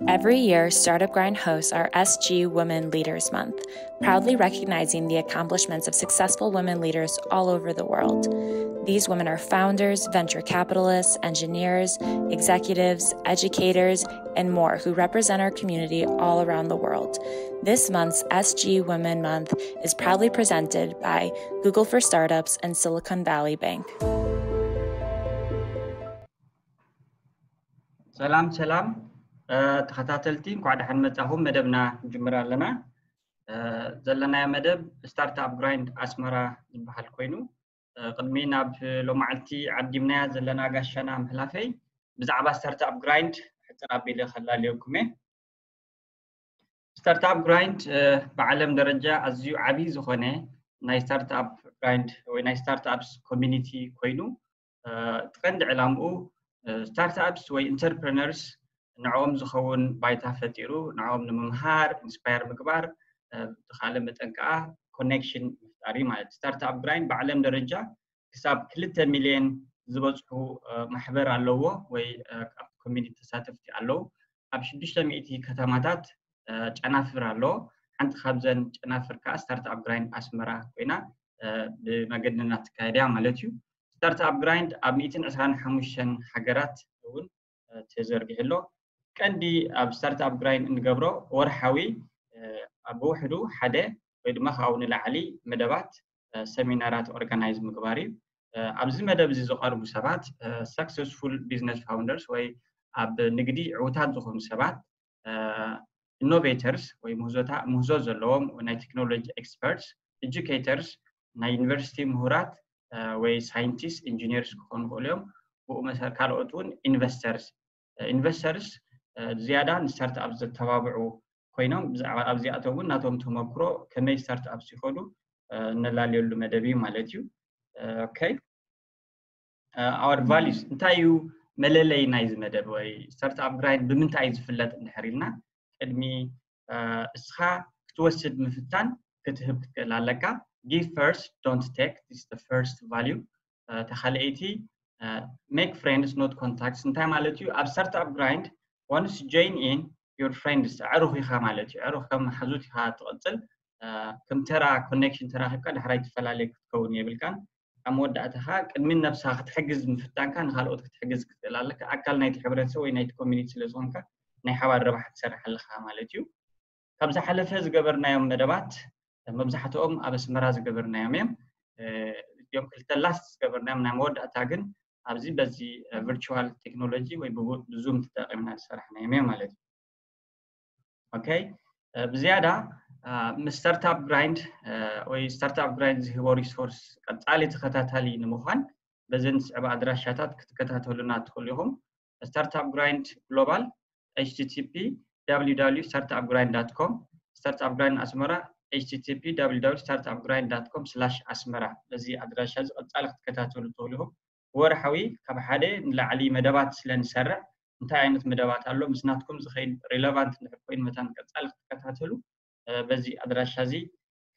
Every year, Startup Grind hosts our S G Women Leaders Month, proudly recognizing the accomplishments of successful women leaders all over the world. These women are founders, venture capitalists, engineers, executives, educators, and more who represent our community all around the world. This month's S G Women Month is proudly presented by Google for Startups and Silicon Valley Bank. ሰላም ሰላም ተኸታተልቲ፣ እንኳዕ ደሓን መጻኹም። መደብና ንጅምር ኣለና። ዘለናዮ መደብ ስታርትኣፕ ግራይንድ ኣስመራ ዝበሃል ኮይኑ፣ ቅድሚ ናብ ሎማዓልቲ ዓዲምናያ ዘለና ጋሻና ምሕላፈይ፣ ብዛዕባ ስታርትኣፕ ግራይንድ ሕጽር ኣቢለ ከላልየኩም እየ። ስታርትኣፕ ግራይንድ ብዓለም ደረጃ ኣዝዩ ዓብዪ ዝኾነ ናይ ስታርትኣፕ ግራይንድ ወይ ናይ ስታርትኣፕስ ኮሚኒቲ ኮይኑ፣ እቲ ቀንዲ ዕላምኡ ስታርትኣፕስ ወይ ኢንተርፕረነርስ ንዕኦም ዝኸውን ባይታ ፈጢሩ ንዕኦም ንምምሃር፣ ኢንስፓየር ምግባር፣ ብኻልእ መጠን ከዓ ኮኔክሽን ምፍጣር እዩ ማለት። ስታርትኣፕ ግራይንድ ብዓለም ደረጃ ክሳብ ክልተ ሚልዮን ዝበፅሑ ማሕበር ኣለዎ ወይ ኣብቲ ኮሚኒቲ ተሳተፍቲ ኣለዉ። ኣብ ሽዱሽተ ሚእቲ ከተማታት ጨናፍር ኣሎ። ሓንቲ ካብዘን ጨናፍር ከዓ ስታርትኣፕ ግራይንድ ኣስመራ ኮይና ብመገድና ትካየድ እያ ማለት እዩ። ስታርትኣፕ ግራይንድ ኣብ ሚእትን ዕስራን ሓሙሽተን ሃገራት እውን ተዘርጊሑ ኣሎ። ቀንዲ ኣብ ስታርትኣፕ ግራይንድ እንገብሮ ወርሓዊ ኣብ ብውሕዱ ሓደ ወይ ድማ ካብኡ ንላዕሊ መደባት ሰሚናራት ኦርጋናይዝ ምግባር እዩ። ኣብዚ መደብ እዚ ዝቐርቡ ሰባት ሰክሰስፉል ቢዝነስ ፋውንደርስ ወይ ኣብ ንግዲ ዕውታት ዝኾኑ ሰባት፣ ኢኖቬተርስ ወይ ምህዞ ዘለዎም ናይ ቴክኖሎጂ ኤክስፐርትስ፣ ኤጁኬተርስ፣ ናይ ዩኒቨርሲቲ ምሁራት ወይ ሳይንቲስት ኢንጂኒርስ ክኾኑ ይኽእሉ እዮም። ብኡ መሰረት ካልኦት እውን ኢንቨስተርስ ኢንቨስተርስ ዝያዳ ንስታርትኣፕ ዘተባብዑ ኮይኖም፣ ብዛዕባ ኣብዚኣቶም እውን ናቶም ተመክሮ ከመይ ስታርትኣፕስ ይኸዱ እነላልየሉ መደብ እዩ ማለት እዩ። ኦኬ፣ our values እንታይ እዩ? መለለይ ናይዚ መደብ ወይ ስታርትኣፕ ግራይንድ ብምንታይ እዩ ዝፍለጥ እንድሕር ኢልና፣ ቅድሚ እስኻ ክትወስድ ምፍታን ክትህብ ክትክእል ኣለካ። Give first, don't take is the first value። ተኻልአይቲ make friends not contacts እንታይ ማለት እዩ? ኣብ ስታርትኣፕ ግራይንድ once join in your friends፣ ኣዕሩኽ ኢኻ ማለት እዩ። ኣዕሩኽ ከም ሓዙት ኢኻ ትቕጽል። ከም ተራ ኮኔክሽን ተራኺብካ ዳሕራይ ትፈላለየ ክትከውን የብልካን። ኣብ መወዳእታ ኸዓ ቅድሚ ነብስኻ ክትሕግዝ ምፍታንካ ንኻልኦት ክትሕግዝ ክትክእል ኣለካ። ኣካል ናይቲ ሕብረተሰብ ወይ ናይቲ ኮሚኒቲ ስለ ዝኾንካ ናይ ሓባር ረብሓ ትሰርሕ ኣለኻ ማለት እዩ። ካብ ዝሓለፈ ዝገበርናዮም መደባት መብዛሕትኦም ኣብ ኣስመራ ዝገበርናዮም እዮም። እዚኦም ክልተ ላስት ዝገበርናዮም ናይ መወዳእታ ግን ኣብዚ በዚ ቨርቹዋል ቴክኖሎጂ ወይ ብዙም ተጠቂምና ዝሰራሕናዮም እዮም ማለት እዩ። ኦኬ፣ ብዝያዳ ምስ ስታርትኣፕ ግራይንድ ወይ ስታርትኣፕ ግራይንድ ዝህቦ ሪሶርስ ቀጻሊ ተኸታታሊ ንምዃን በዘን ዝስዕባ ኣድራሻታት ክትከታተሉና ትኽእሉ ኢኹም። ስታርትኣፕ ግራይንድ ግሎባል http www startupgrind.com፣ ስታርትኣፕ ግራይንድ ኣስመራ http www startupgrind.com/asmara። በዚ ኣድራሻ እዚ ቀጻሊ ክትከታተሉ ትኽእሉ ኢኹም። ወርሓዊ ካብ ሓደ ንላዕሊ መደባት ስለ ንሰርዕ እንታይ ዓይነት መደባት ኣሎ ምስ ናትኩም ዝኸይድ ሪለቫንት እንድሕር ኮይኑ መታን ቀጻሊ ክትከታተሉ በዚ ኣድራሻ እዚ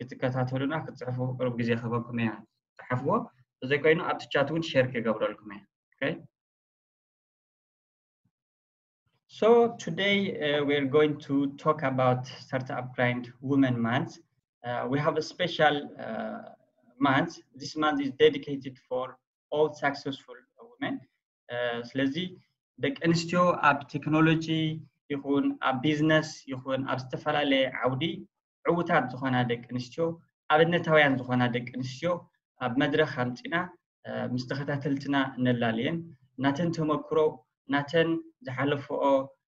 ክትከታተሉና ክትፅሕፉ ቅሩብ ግዜ ክህበኩም እያ። ፅሓፍዎ። ተዘይኮይኑ ኣብቲ ቻት እውን ሼር ክገብረልኩም እያ። Okay? So today uh, we're going to talk about Startup Grind Women Month. Uh, we have a special uh, month. This month is dedicated for all successful women. Uh, ስለዚ ደቂ ኣንስትዮ ኣብ ቴክኖሎጂ ይኹን ኣብ ቢዝነስ ይኹን ኣብ ዝተፈላለየ ዓውዲ ዕውታት ዝኾና ደቂ ኣንስትዮ፣ ኣብነታውያን ዝኾና ደቂ ኣንስትዮ ኣብ መድረኽ ኣምፂና ምስ ተኸታተልትና እነላልየን ናተን ተመክሮ፣ ናተን ዝሓለፈኦ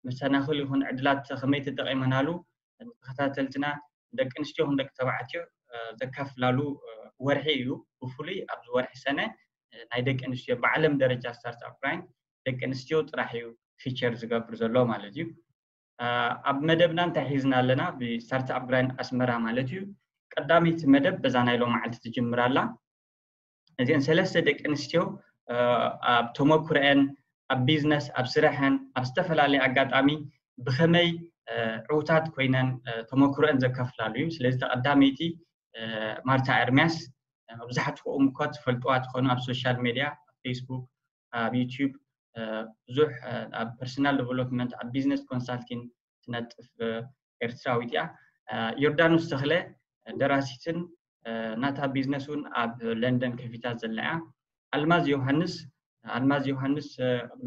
መሰናኽል ይኹን ዕድላት ከመይ ተጠቒመናሉ ንተኸታተልትና ደቂ ኣንስትዮ ይኹን ደቂ ተባዕትዮ ዘካፍላሉ ወርሒ እዩ። ብፍሉይ ኣብዚ ወርሒ ሰነ ናይ ደቂ ኣንስትዮ ብዓለም ደረጃ ስታርትኣፕ ግራይንድ ደቂ ኣንስትዮ ጥራሕ እዩ ፊቸር ዝገብር ዘሎ ማለት እዩ። ኣብ መደብና እንታይ ሒዝና ኣለና? ብስታርትኣፕ ግራይንድ ኣስመራ ማለት እዩ። ቀዳመይቲ መደብ በዛ ናይ ሎማዓልቲ ትጅምር ኣላ። እዚአን ሰለስተ ደቂ ኣንስትዮ ኣብ ተመኩረአን፣ ኣብ ቢዝነስ፣ ኣብ ስራሐን፣ ኣብ ዝተፈላለየ ኣጋጣሚ ብኸመይ ዕውታት ኮይነን ተመኩረአን ዘካፍላሉ እዩ። ስለዚ ተቐዳመይቲ ማርታ ኤርሚያስ፣ መብዛሕትኹም እኮ ትፈልጥዋ ትኾኑ ኣብ ሶሻል ሜድያ፣ ኣብ ፌስቡክ፣ ኣብ ዩቲዩብ፣ ብዙሕ ኣብ ፐርሰናል ዴቨሎፕመንት፣ ኣብ ቢዝነስ ኮንሳልቲንግ፣ ትነጥፍ ኤርትራዊት እያ። ዮርዳኖስ ተኽለ ደራሲትን ናታ ቢዝነስ እውን ኣብ ለንደን ከፊታ ዘላ እያ። ኣልማዝ ዮሃንስ ኣልማዝ ዮሃንስ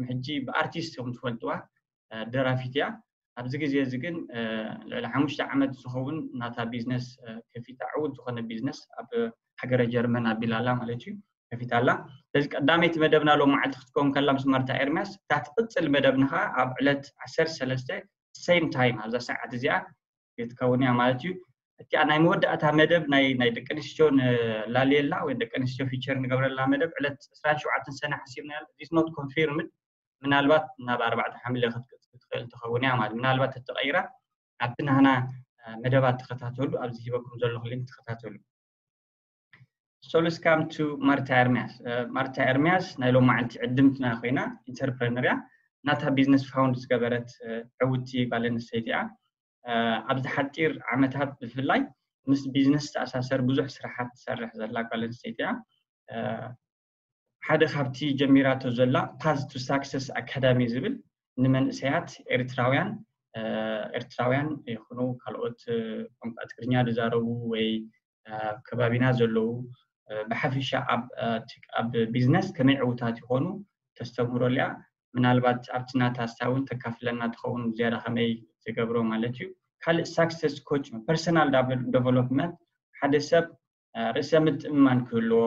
ሕጂ ብኣርቲስት ከም ትፈልጥዋ ደራፊት እያ። ኣብዚ ግዜ እዚ ግን ልዕሊ ሓሙሽተ ዓመት ዝኸውን ናታ ቢዝነስ ከፊታ ዕውት ዝኾነ ቢዝነስ ኣብ ሃገረ ጀርመን ኣቢላላ ማለት እዩ ከፊታላ። ስለዚ ቀዳመይቲ መደብና ሎም መዓልቲ ክትከውን ከላ ምስ ማርታ ኤርሚያስ እታ ትቕፅል መደብና ከዓ ኣብ ዕለት ዓሰርተ ሰለስተ same time ኣብዛ ሰዓት እዚኣ ክትከውን እያ ማለት እዩ። እቲኣ ናይ መወዳእታ መደብ ናይ ናይ ደቂ ኣንስትዮ ንላልየላ ወይ ደቂ ኣንስትዮ ፊቸር ንገብረላ መደብ ዕለት ዕስራን ሸውዓተን ሰነ ሓሲብና። It's not confirmed። ምናልባት ናብ ኣርባዕተ ሓምለ ክትቅፅል ትኽእል ትኸውን እያ ማለት ምናልባት ተተቐይራ ኣብቲ ናህና መደባት ተኸታተሉ። ኣብዚ ሂበኩም ዘለኹ ሊንክ ተኸታተሉ። So let's come to ማርታ ኤርሚያስ። ማርታ ኤርሚያስ ናይ ሎም መዓልቲ ዕድምትና ኮይና ኢንተርፕረነር እያ። ናታ ቢዝነስ ፋውንድ ዝገበረት ዕውቲ ጓል ኣንስተይቲ እያ። ኣብዚ ሓፂር ዓመታት ብፍላይ ምስ ቢዝነስ ዝተኣሳሰር ብዙሕ ስራሓት ትሰርሕ ዘላ ጓል ኣንስተይቲ እያ። ሓደ ካብቲ ጀሚራቶ ዘላ Path to Success Academy ዝብል ንመንእሰያት ኤርትራውያን ኤርትራውያን ይኹኑ ካልኦት ቋንቋ ትግርኛ ዝዛረቡ ወይ ከባቢና ዘለዉ ብሓፈሻ ኣብ ቢዝነስ ከመይ ዕውታት ይኾኑ ተስተምህረሉ እያ። ምናልባት ኣብቲ ናታ ስታ እውን ተካፍለና ትኸውን ዝያዳ ከመይ ትገብሮ ማለት እዩ። ካልእ ሳክሰስ ኮች ፐርሰናል ደቨሎፕመንት ሓደ ሰብ ርእሰ ምትእምማን ክህልዎ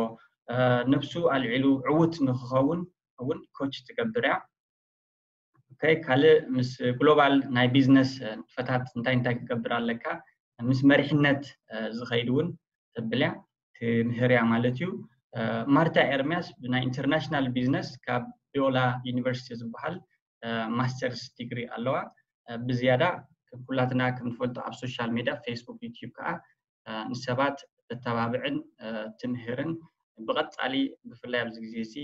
ነብሱ ኣልዒሉ ዕውት ንክኸውን እውን ኮች ትገብር እያ። ካልእ ምስ ግሎባል ናይ ቢዝነስ ንጥፈታት እንታይ እንታይ ክትገብር ኣለካ ምስ መሪሕነት ዝኸይድ እውን ተብል እያ ትምህር እያ ማለት እዩ። ማርታ ኤርሚያስ ብናይ ኢንተርናሽናል ቢዝነስ ካብ ቢዮላ ዩኒቨርሲቲ ዝበሃል ማስተርስ ዲግሪ ኣለዋ። ብዝያዳ ኩላትና ከምንፈልጦ ኣብ ሶሻል ሚድያ ፌስቡክ ዩቲዩብ ከዓ ንሰባት ተተባብዕን ትምህርን ብቐፃሊ ብፍላይ ኣብዚ ግዜ እዚ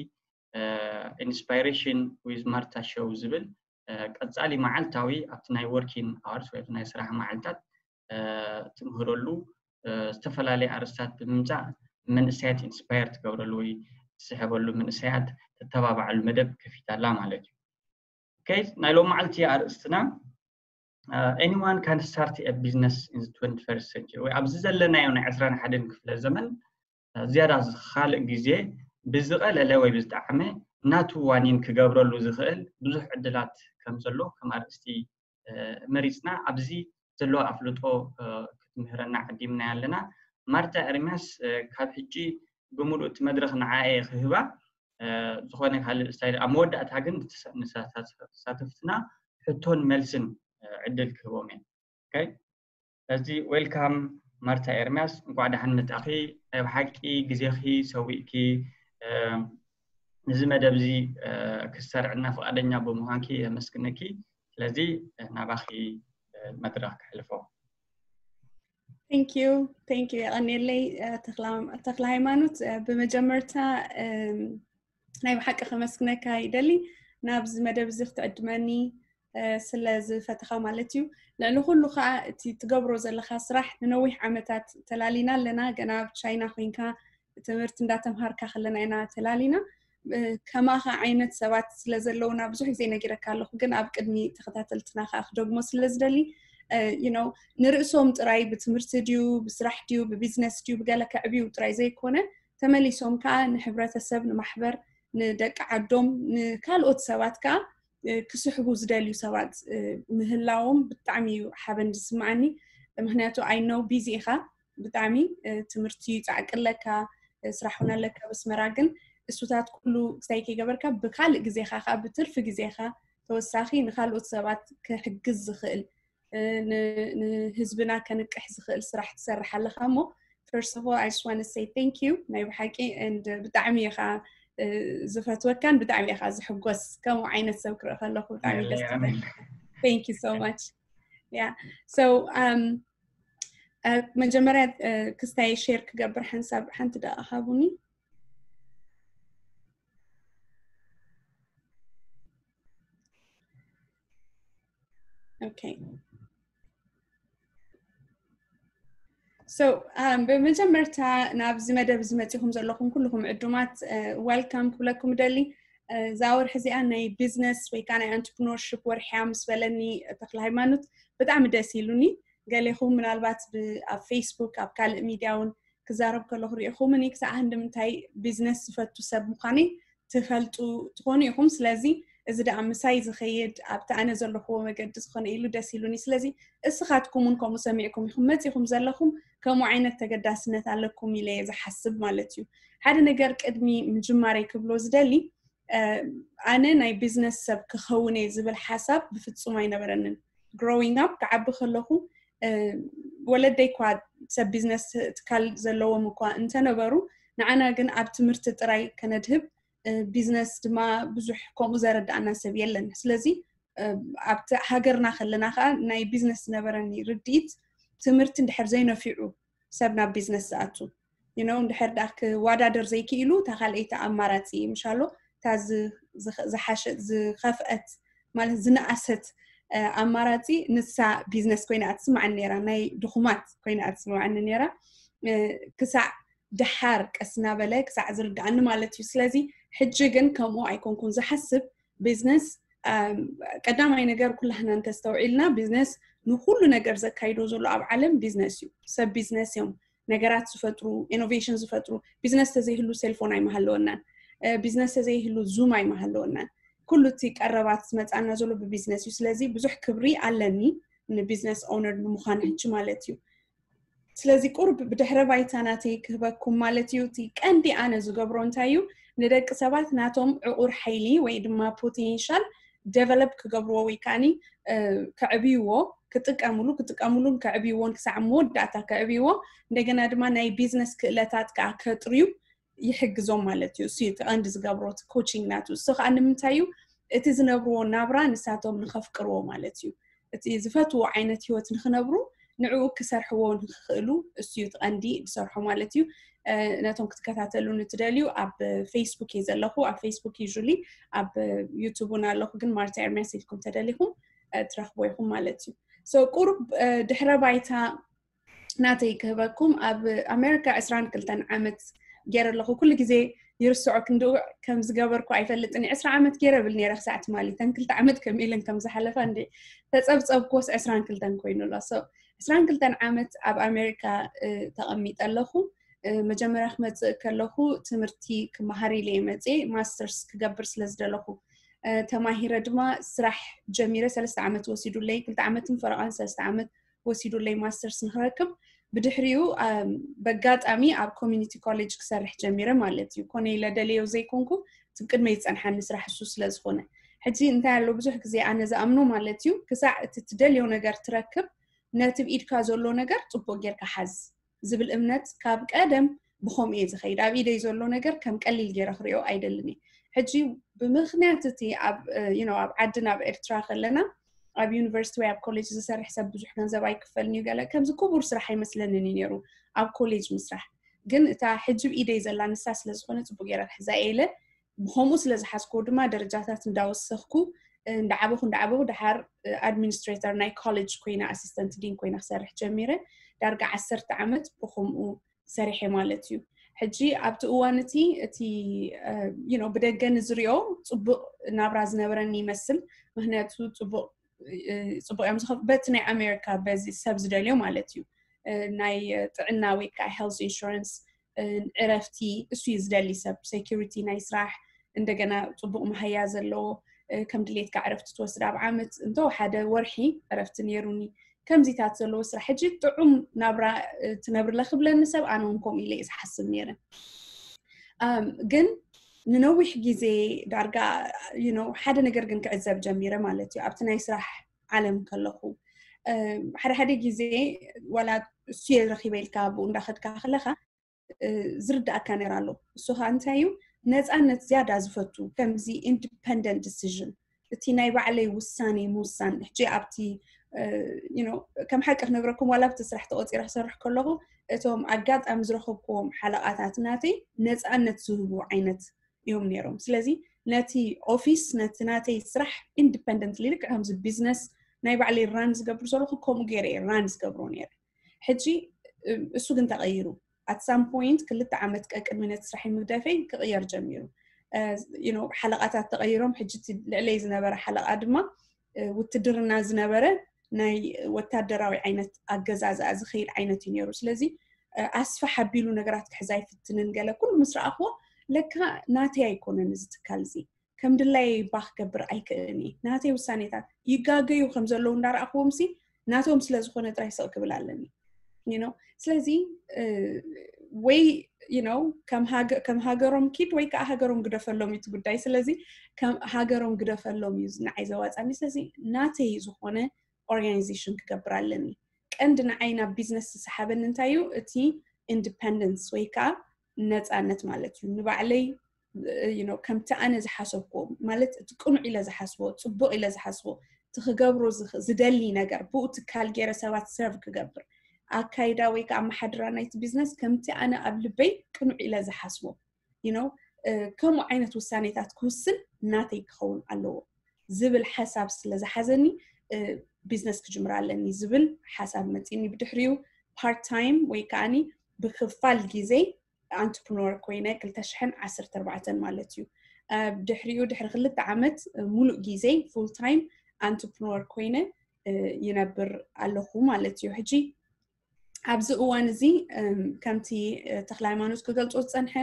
ኢንስፓይሬሽን ዊዝ ማርታ ሾው ዝብል ቀፃሊ መዓልታዊ ኣብቲ ናይ ወርኪን ኣዋርስ ወይ ናይ ስራሕ መዓልታት ትምህረሉ ዝተፈላለየ ኣርስታት ብምምፃእ መንእሰያት ኢንስፓየር ትገብረሉ ወይ ትስሕበሉ መንእሰያት ተተባባዓሉ መደብ ከፊታላ ማለት እዩ። ናይ ሎም መዓልቲ ኣርእስትና anyone can start a business in the twenty-first century ወይ ኣብዚ ዘለናዮ ናይ ዕስራን ሓደን ክፍለ ዘመን ዝያዳ ካልእ ግዜ ብዝቐለለ ወይ ብዝጠዓመ ናቱ ዋኒን ክገብረሉ ዝኽእል ብዙሕ ዕድላት ከም ዘሎ ከም ኣርእስቲ መሪፅና ኣብዚ ዘለዎ ኣፍልጦ ክትምህረና ዓዲምና ኣለና። ማርታ ኤርሚያስ ካብ ሕጂ ብምሉእ እቲ መድረኽ ንዓየ ክህባ ዝኾነ ካልእ ስታይል ኣብ መወዳእታ ግን ንተሳተፍትና ሕቶን መልስን ዕድል ክህቦም እየ። ስለዚ ዌልካም ማርታ ኤርሚያስ፣ እንኳዕ ደሓን መጣኺ። ናይ ብሓቂ ግዜኺ ሰዊእኪ እዚ መደብ እዚ ክሰርዕና ፍቓደኛ ብምዃንኪ የመስግነኪ። ስለዚ ናባኺ መድረኽ ክሕልፎ። Thank you, thank you። የቐንየለይ ተኽለ ሃይማኖት። ብመጀመርታ ናይ ብሓቂ ከመስግነካ ይደሊ ናብዚ መደብ እዚ ክትዕድመኒ ስለ ዝፈተኻ ማለት እዩ። ልዕሊ ኩሉ ከዓ እቲ ትገብሮ ዘለካ ስራሕ ንነዊሕ ዓመታት ተላሊና ኣለና። ገና ኣብ ቻይና ኮይንካ ትምህርቲ እንዳተምሃርካ ከለና ኢና ተላሊና። ከማኻ ዓይነት ሰባት ስለ ዘለውና ብዙሕ ግዜ ነጊረካ ኣለኹ፣ ግን ኣብ ቅድሚ ተኸታተልትና ከዓ ክደግሞ ስለ ዝደሊ you know ንርእሶም ጥራይ ብትምህርቲ ድዩ ብስራሕ ድዩ ብቢዝነስ ድዩ ብገለ ከዕብዩ ጥራይ ዘይኮነ ተመሊሶም ከዓ ንሕብረተሰብ ንማሕበር ንደቂ ዓዶም ንካልኦት ሰባት ከዓ ክስሕቡ ዝደልዩ ሰባት ምህላዎም ብጣዕሚ እዩ ሓበን ዝስማዓኒ። ምክንያቱ I know busy ኢኻ ብጣዕሚ ትምህርቲ ፃዕቂ ኣለካ ስራሕ እውን ኣለካ በስመራ ግን እሱታት ኩሉ ክሳይ ከይገበርካ ብካልእ ግዜኻ ከዓ ብትርፊ ግዜኻ ተወሳኺ ንካልኦት ሰባት ክሕግዝ ዝኽእል ንህዝብና ከንቅሕ ዝኽእል ስራሕ ትሰርሕ ኣለካ እሞ first of all I just want to say thank you ናይ ብሓቂ and ብጣዕሚ ኢኻ ዝፈትወካን ብጣዕሚ ኢኻ ዝሕጎስ ከምኡ ዓይነት ሰብ ክርኢ ከለኹ ብጣዕሚ ደስ thank you so much yeah so um መጀመርያ ክስታይ ሼር ክገብር ሓንሳብ ሓንቲ ደኣ ሃቡኒ okay so ብመጀመርታ ናብዚ መደብ እዚ መፂኹም ዘለኹም ኩልኹም ዕዱማት welcome ክብለኩም ደሊ እዛ ወርሒ እዚኣ ናይ ቢዝነስ ወይ ከዓ ናይ ኣንትርፕኖርሽፕ ወርሕያ ምስ በለኒ ተክለ ሃይማኖት ብጣዕሚ ደስ ኢሉኒ። ገሌኹም ምናልባት ኣብ ፌስቡክ ኣብ ካልእ ሚድያ እውን ክዛረብ ከለኹ ርኢኹምኒ ክሳዕ ክንዲ ምንታይ ቢዝነስ ዝፈቱ ሰብ ምዃነይ ትፈልጡ ትኾኑ ኢኹም። ስለዚ እዚ ደኣ ምሳይ ዝኸይድ ኣብቲ ኣነ ዘለኽዎ መገዲ ዝኾነ ኢሉ ደስ ኢሉኒ። ስለዚ እስኻትኩም እውን ከምኡ ሰሚዕኩም ኢኹም መፂኹም ዘለኹም፣ ከምኡ ዓይነት ተገዳስነት ኣለኩም ኢለ እየ ዝሓስብ ማለት እዩ። ሓደ ነገር ቅድሚ ምጅማረይ ክብሎ ዝደሊ፣ ኣነ ናይ ቢዝነስ ሰብ ክኸውን እየ ዝብል ሓሳብ ብፍፁም ኣይነበረንን። ግሮዊንግ ኣፕ ክዓቢ ከለኹ ወለደይ እኳ ሰብ ቢዝነስ ትካል ዘለዎም እኳ እንተነበሩ፣ ንዓና ግን ኣብ ትምህርቲ ጥራይ ከነድህብ፣ ቢዝነስ ድማ ብዙሕ ከምኡ ዘረዳእና ሰብ የለን። ስለዚ ኣብቲ ሃገርና ከለና ከዓ ናይ ቢዝነስ ዝነበረኒ ርድኢት፣ ትምህርቲ እንድሕር ዘይነፊዑ ሰብ ናብ ቢዝነስ ዝኣቱ፣ you know፣ እንድሕር ደኣ ክዋዳደር ዘይክኢሉ እታ ካልኣይቲ ኣማራፂ ምሻሎ እታ ዝሓሸ ዝኸፍአት ማለት ዝነኣሰት ኣማራፂ ንሳ ቢዝነስ ኮይና ኣትስማዓኒ ነራ፣ ናይ ድኹማት ኮይና ኣትስማዓኒ ነራ። ክሳዕ ደሓር ቀስ እናበለ ክሳዕ ዝርድኣኒ ማለት እዩ። ስለዚ ሕጂ ግን ከምኡ ኣይኮንኩን ዝሓስብ። ቢዝነስ ቀዳማይ ነገር ኩላህና እንተስተውዒልና ቢዝነስ ንኩሉ ነገር ዘካይዶ ዘሎ ኣብ ዓለም ቢዝነስ እዩ። ሰብ ቢዝነስ እዮም ነገራት ዝፈጥሩ፣ ኢኖቬሽን ዝፈጥሩ። ቢዝነስ ተዘይህሉ ሴልፎን ኣይመሃለወናን። ቢዝነስ ተዘይህሉ ዙም ኣይመሃለወናን። ኩሉ እቲ ቀረባት ዝመፃና ዘሎ ብቢዝነስ እዩ። ስለዚ ብዙሕ ክብሪ ኣለኒ ንቢዝነስ ኦነር ንምዃን ሕጂ ማለት እዩ። ስለዚ ቁርብ ብድሕረ ባይታ ናተይ ክህበኩም ማለት እዩ። እቲ ቀንዲ ኣነ ዝገብሮ እንታይ እዩ፣ ንደቂ ሰባት ናቶም ዕቑር ሓይሊ ወይ ድማ ፖቴንሻል ደቨሎፕ ክገብርዎ ወይ ከዓኒ ከዕብይዎ፣ ክጥቀምሉ ክጥቀምሉን ከዕብይዎን ክሳዕ መወዳእታ ከዕብይዎ፣ እንደገና ድማ ናይ ቢዝነስ ክእለታት ከዓ ከጥርዩ ይሕግዞም ማለት እዩ። እሱ እቲ ቀንዲ ዝገብሮ ኮቺንግ ናቱ። እሱ ከዓ ንምንታይ እዩ፣ እቲ ዝነብርዎ ናብራ ንሳቶም ንኸፍቅርዎ ማለት እዩ። እቲ ዝፈትዎ ዓይነት ህይወት ንኽነብሩ ንዕኡ ክሰርሕዎ ንኽኽእሉ እሱ እዩ እቲ ቀንዲ ዝሰርሖ ማለት እዩ። ነቶም ክትከታተሉኒ ትደልዩ ኣብ ፌስቡክ እየ ዘለኹ። ኣብ ፌስቡክ ዩሊ ኣብ ዩቱብ እውን ኣለኹ፣ ግን ማርታ ኤርሚያስ ኢልኩም ተደሊኹም ትረኽቦ ኢኹም ማለት እዩ። ቁሩብ ድሕረ ባይታ ናተይ ክህበኩም፣ ኣብ ኣሜሪካ ዕስራን ክልተን ዓመት ገይረ ኣለኹ። ኩሉ ግዜ ይርስዖ ክንድኡ ከም ዝገበርኩ ኣይፈልጥን። ዕስራ ዓመት ገይረ ብል ነይረ ክሳዕ ትማሊ፣ ተን ክልተ ዓመት ከም ኢለን ከም ዝሓለፋ እንዲ ተፀብፀብኩዎስ ዕስራን ክልተን ኮይኑ ኣሎ። ዕስራን ክልተን ዓመት ኣብ ኣሜሪካ ተቐሚጠ ኣለኹ። መጀመርያ ክመፅእ ከለኹ ትምህርቲ ክመሃር ኢለ እየ መፅየ፣ ማስተርስ ክገብር ስለ ዝደለኹ ተማሂረ ድማ ስራሕ ጀሚረ። ሰለስተ ዓመት ወሲዱለይ፣ ክልተ ዓመትን ፈረቓን ሰለስተ ዓመት ወሲዱለይ ማስተርስ ንክረክብ። ብድሕሪኡ በጋጣሚ ኣብ ኮሚኒቲ ኮሌጅ ክሰርሕ ጀሚረ ማለት እዩ። ኮነ ኢለ ደለዮ ዘይኮንኩ፣ እቲ ቅድመይ ዝፀንሓኒ ስራሕ እሱ ስለ ዝኾነ። ሕጂ እንታይ ኣሎ፣ ብዙሕ ግዜ ኣነ ዝኣምኖ ማለት እዩ፣ ክሳዕ እቲ ትደልዮ ነገር ትረክብ፣ ነቲ ብኢድካ ዘሎ ነገር ፅቡቅ ጌርካ ሓዝ ዝብል እምነት ካብ ቀደም ብኸምኡ እየ ዝኸይድ። ኣብ ኢደይ ዘሎ ነገር ከም ቀሊል ገይረ ክሪኦ ኣይደልን እየ። ሕጂ ብምኽንያት እቲ ኣብ ኣብ ዓድና ኣብ ኤርትራ ከለና ኣብ ዩኒቨርሲቲ ወይ ኣብ ኮሌጅ ዝሰርሕ ሰብ ብዙሕ ገንዘብ ኣይክፈልን እዩ፣ ገለ ከምዚ ክቡር ስራሕ ኣይመስለንን እዩ ነይሩ ኣብ ኮሌጅ ምስራሕ። ግን እታ ሕጂ ብኢደይ ዘላ ንሳ ስለ ዝኾነ ፅቡቅ ገይረ ክሕዛ እየ ኢለ ብኸምኡ ስለ ዝሓዝኩዎ ድማ ደረጃታት እንዳወሰኽኩ እንዳዓበኹ እንዳዓበኹ ድሓር ኣድሚኒስትሬተር ናይ ኮሌጅ ኮይነ ኣሲስተንት ዲን ኮይነ ክሰርሕ ጀሚረ። ዳርጋ ዓሰርተ ዓመት ብኸምኡ ሰሪሐ ማለት እዩ። ሕጂ ኣብቲ እዋን እቲ እቲ ብደገ ንዝሪኦ ፅቡቅ ናብራ ዝነበረኒ ይመስል። ምክንያቱ ፅቡቅ ፅቡቅ እዮም ዝኸፍ በቲ ናይ ኣሜሪካ በዚ ሰብ ዝደልዮ ማለት እዩ። ናይ ጥዕና ወይ ከዓ ሄልት ኢንሹራንስ፣ ዕረፍቲ፣ እሱ እዩ ዝደሊ ሰብ። ሴኪሪቲ ናይ ስራሕ፣ እንደገና ፅቡቅ መሃያ ዘለዎ፣ ከም ድሌትካ ዕረፍቲ ትወስድ ኣብ ዓመት እንተወሓደ ወርሒ ዕረፍቲ ነይሩኒ። ከምዚታት ዘለዎ ስራሕ ሕጂ ጥዑም ናብራ ትነብርለ ክብለኒ ሰብ ኣነ እውን ከምኡ ኢለ እየ ዝሓስብ ነይረ። ግን ንነዊሕ ግዜ ዳርጋ ሓደ ነገር ግን ክዕዘብ ጀሚረ ማለት እዩ። ኣብቲ ናይ ስራሕ ዓለም ከለኹ ሓደ ሓደ ግዜ ዋላ እሱ እየ ረኪበ ኢልካ ኣብኡ እንዳኸድካ ከለካ ዝርዳእካ ነገር ኣሎ። እሱ ከዓ እንታይ እዩ? ነፃነት ዝያዳ ዝፈቱ፣ ከምዚ ኢንዲፐንደንት ዲሲዥን፣ እቲ ናይ ባዕለይ ውሳኔ ምውሳን። ሕጂ ኣብቲ ከም ሓቂ ክነግረኩም ዋላ ኣብቲ ስራሕ ተቆፂረ ክሰርሕ ከለኹ እቶም ኣጋጣሚ ዝረኸብክዎም ሓለቓታት ናተይ ነፃነት ዝህቡ ዓይነት እዮም ነይሮም። ስለዚ ነቲ ኦፊስ ነቲ ናተይ ስራሕ ኢንዲፐንደንትሊ ልክዕ ከምዚ ቢዝነስ ናይ ባዕለይ ራን ዝገብር ዘለኹ ከምኡ ገይረ እየ ራን ዝገብሮ ነይረ። ሕጂ እሱ ግን ተቐይሩ። ኣት ሳም ፖይንት ክልተ ዓመት ቀቅድሚ ነቲ ስራሕ ምግደፈይ ክቕየር ጀሚሩ። ሓለቓታት ተቐይሮም ሕጂ ልዕለይ ዝነበረ ሓለቓ ድማ ውትድርና ዝነበረ ናይ ወታደራዊ ዓይነት ኣገዛዝኣ ዝኸይድ ዓይነት እዩ ነይሩ። ስለዚ ኣስፋሕ ኣቢሉ ነገራት ክሕዝ ኣይፍትንን። ገለ ኩሉ ምስ ረኣኽዎ ለካ ናተይ ኣይኮነን እዚ ትካል እዚ፣ ከም ድላይ ባክ ገብር ኣይክእልን እየ። ናተይ ውሳኔታት ይጋገዩ ከም ዘለዉ እንዳረኣኽዎም ሲ ናቶም ስለ ዝኾነ ጥራይ ስቕ ክብል ኣለኒ። You know? ስለዚ ወይ you know ከም ሃገሮም ኪድ ወይ ከዓ ሃገሮም ግደፈሎም እዩ እቲ ጉዳይ። ስለዚ ሃገሮም ግደፈሎም እዩ ንዓይ ዘዋፃኒ። ስለዚ ናተይ ዝኾነ ኦርጋናይዜሽን ክገብር ኣለኒ። ቀንዲ ንዓይ ናብ ቢዝነስ ዝሰሓበኒ እንታይ እዩ? እቲ ኢንዲፐንደንስ ወይ ከዓ ነፃነት ማለት እዩ። ንባዕለይ ከምቲ ኣነ ዝሓሰብኩዎ ማለት እቲ ቅኑዕ ኢለ ዝሓስቦ፣ ፅቡቕ ኢለ ዝሓስቦ፣ እቲ ክገብሮ ዝደሊ ነገር ብኡ ትካል ገይረ ሰባት ሰርቭ ክገብር፣ ኣካይዳ ወይ ከዓ ኣመሓድራ ናይቲ ቢዝነስ ከምቲ ኣነ ኣብ ልበይ ቅኑዕ ኢለ ዝሓስቦ you know ከምኡ ዓይነት ውሳኔታት ክውስን ናተይ ክኸውን ኣለዎ ዝብል ሓሳብ ስለ ዝሓዘኒ ቢዝነስ ክጅምር ኣለኒ ዝብል ሓሳብ መፂኒ። ብድሕሪኡ ፓርት ታይም ወይ ከዓኒ ብክፋል ግዜ ኣንትርፕኖር ኮይነ ክልተ ሽሕን ዓሰርተ ኣርባዕተን ማለት እዩ። ድሕሪኡ ድሕሪ ክልተ ዓመት ሙሉእ ግዜ ፉል ታይም ኣንትርፕኖር ኮይነ ይነብር ኣለኹ ማለት እዩ። ሕጂ ኣብዚ እዋን እዚ ከምቲ ተክለ ሃይማኖት ክገልፆ ዝፀንሐ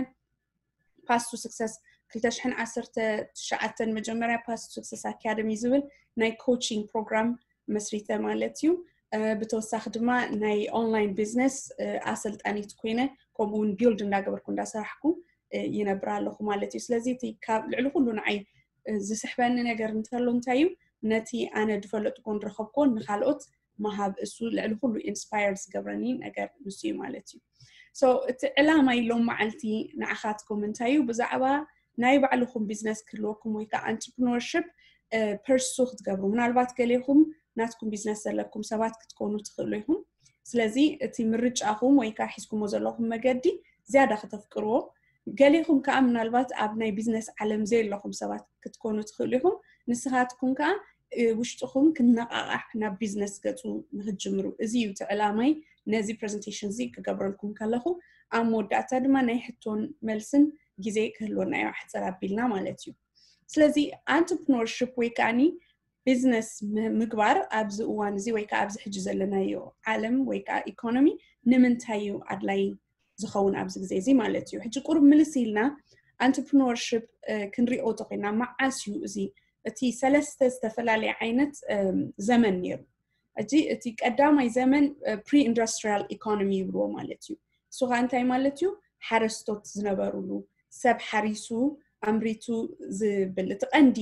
ፓስቱ ስክሰስ ክልተ ሽሕን ዓሰርተ ትሽዓተን መጀመርያ ፓስቱ ስክሰስ ኣካደሚ ዝብል ናይ ኮቺንግ ፕሮግራም መስሪተ ማለት እዩ። ብተወሳኺ ድማ ናይ ኦንላይን ቢዝነስ ኣሰልጣኒት ኮይነ ከምኡ እውን ቢልድ እንዳገበርኩ እንዳሰራሕኩ ይነብር ኣለኹ ማለት እዩ። ስለዚ እቲ ካብ ልዕሊ ኩሉ ንዓይ ዝስሕበኒ ነገር እንተሎ እንታይ እዩ፣ ነቲ ኣነ ዝፈለጥኩን ዝረኸብኩን ንካልኦት ምሃብ እሱ ልዕሊ ኩሉ ኢንስፓየር ዝገብረኒ ነገር ንሱ እዩ ማለት እዩ። So እቲ ዕላማ ኢሎም መዓልቲ ንዓኻትኩም እንታይ እዩ? ብዛዕባ ናይ ባዕልኹም ቢዝነስ ክህልወኩም ወይ ከዓ ኣንትርፕኖርሽፕ ፐርሱ ክትገብሩ፣ ምናልባት ገሌኹም ናትኩም ቢዝነስ ዘለኩም ሰባት ክትኮኑ ትኽእሉ ኢኹም። ስለዚ እቲ ምርጫኹም ወይ ከዓ ሒዝኩሞ ዘለኹም መገዲ ዝያዳ ከተፍቅርዎ፣ ገሌኹም ከዓ ምናልባት ኣብ ናይ ቢዝነስ ዓለም ዘየለኹም ሰባት ክትኮኑ ትኽእሉ ኢኹም። ንስኻትኩም ከዓ ውሽጥኹም ክነቓቓሕ ናብ ቢዝነስ ገፁ ንክትጅምሩ፣ እዚ እዩ እቲ ዕላማይ። ነዚ ፕሬዘንቴሽን እዚ ክገብረልኩም ከለኹ ኣብ መወዳእታ ድማ ናይ ሕቶን መልስን ግዜ ክህልወና እዩ ኣሕፅር ኣቢልና ማለት እዩ። ስለዚ ኣንትርፕኖርሽፕ ወይ ከዓኒ ቢዝነስ ምግባር ኣብዚ እዋን እዚ ወይ ከዓ ኣብዚ ሕጂ ዘለናዮ ዓለም ወይ ከዓ ኢኮኖሚ ንምንታይ እዩ ኣድላይ ዝኸውን ኣብዚ ግዜ እዚ ማለት እዩ። ሕጂ ቁሩብ ምልስ ኢልና ኣንትርፕኖርሽፕ ክንሪኦ ተኮይና መዓስ እዩ እዚ እቲ ሰለስተ ዝተፈላለየ ዓይነት ዘመን ነይሩ። ሕጂ እቲ ቀዳማይ ዘመን ፕሪ ኢንዱስትሪያል ኢኮኖሚ ይብልዎ ማለት እዩ። እሱ ከዓ እንታይ ማለት እዩ? ሓረስቶት ዝነበሩሉ፣ ሰብ ሓሪሱ ኣምሪቱ ዝብል እቲ ቀንዲ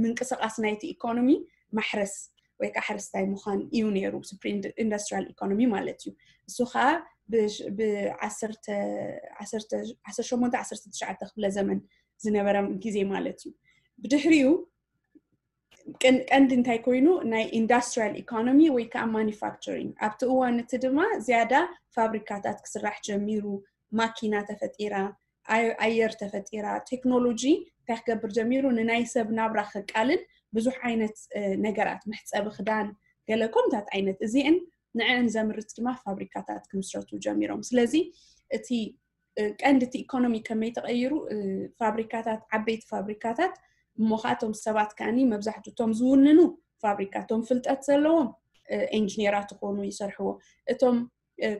ምንቅስቃስ ናይቲ ኢኮኖሚ ማሕረስ ወይ ከዓ ሓረስታይ ምዃን እዩ ነይሩ። ፕሪ ኢንዱስትሪያል ኢኮኖሚ ማለት እዩ። እሱ ከዓ ብዓሰርተ ሸሞንተ ዓሰርተ ትሽዓተ ክፍለ ዘመን ዝነበረ ግዜ ማለት እዩ። ብድሕሪኡ ቀንዲ እንታይ ኮይኑ ናይ ኢንዱስትሪያል ኢኮኖሚ ወይ ከዓ ማኒፋክቸሪንግ። ኣብቲ እዋን እቲ ድማ ዝያዳ ፋብሪካታት ክስራሕ ጀሚሩ፣ ማኪና ተፈጢራ፣ ኣየር ተፈጢራ፣ ቴክኖሎጂ እንታይ ክገብር ጀሚሩ፣ ንናይ ሰብ ናብራ ከቃልል ብዙሕ ዓይነት ነገራት፣ መሕፀቢ ክዳን፣ ገለ ከምታት ዓይነት እዚአን ንዕን ዘምርት ድማ ፋብሪካታት ክምስረቱ ጀሚሮም። ስለዚ እቲ ቀንዲ እቲ ኢኮኖሚ ከመይ ተቐይሩ፣ ፋብሪካታት፣ ዓበይቲ ፋብሪካታት እሞ ከዓ እቶም ሰባት ከዓኒ መብዛሕትኡ እቶም ዝውንኑ ፋብሪካ እቶም ፍልጠት ዘለዎም ኢንጂነራት ዝኾኑ ይሰርሕዎ። እቶም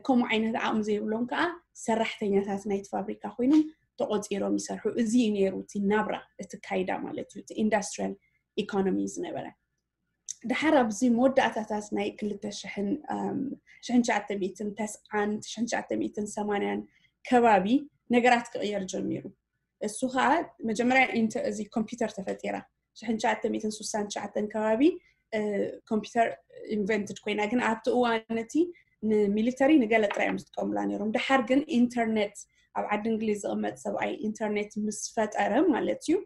ከምኡ ዓይነት ዓቕሚ ዘይብሎም ከዓ ሰራሕተኛታት ናይቲ ፋብሪካ ኮይኖም ተቆፂሮም ይሰርሑ። እዚ እዩ ነይሩ እቲ ናብራ እቲ ካይዳ ማለት እዩ፣ እቲ ኢንዱስትሪያል ኢኮኖሚ ዝነበረ። ድሓር ኣብዚ መወዳእታታት ናይ ክልተ ሽሕን ሽሕን ትሽዓተ ሚእትን ተስዓን ሽሕን ትሽዓተ ሚእትን ሰማንያን ከባቢ ነገራት ክቕየር ጀሚሩ። እሱ ከዓ መጀመርያ እዚ ኮምፒውተር ተፈጢራ። ሽሕን ትሽዓተ ሚእትን ስሳን ትሽዓተን ከባቢ ኮምፒውተር ኢንቨንትድ ኮይና፣ ግን ኣብቲ እዋን እቲ ንሚሊተሪ ንገለ ጥራይ እዮም ዝጥቀሙላ ነይሮም። ድሓር ግን ኢንተርኔት ኣብ ዓዲ እንግሊዝ ዝቕመጥ ሰብኣይ ኢንተርኔት ምስ ፈጠረ ማለት እዩ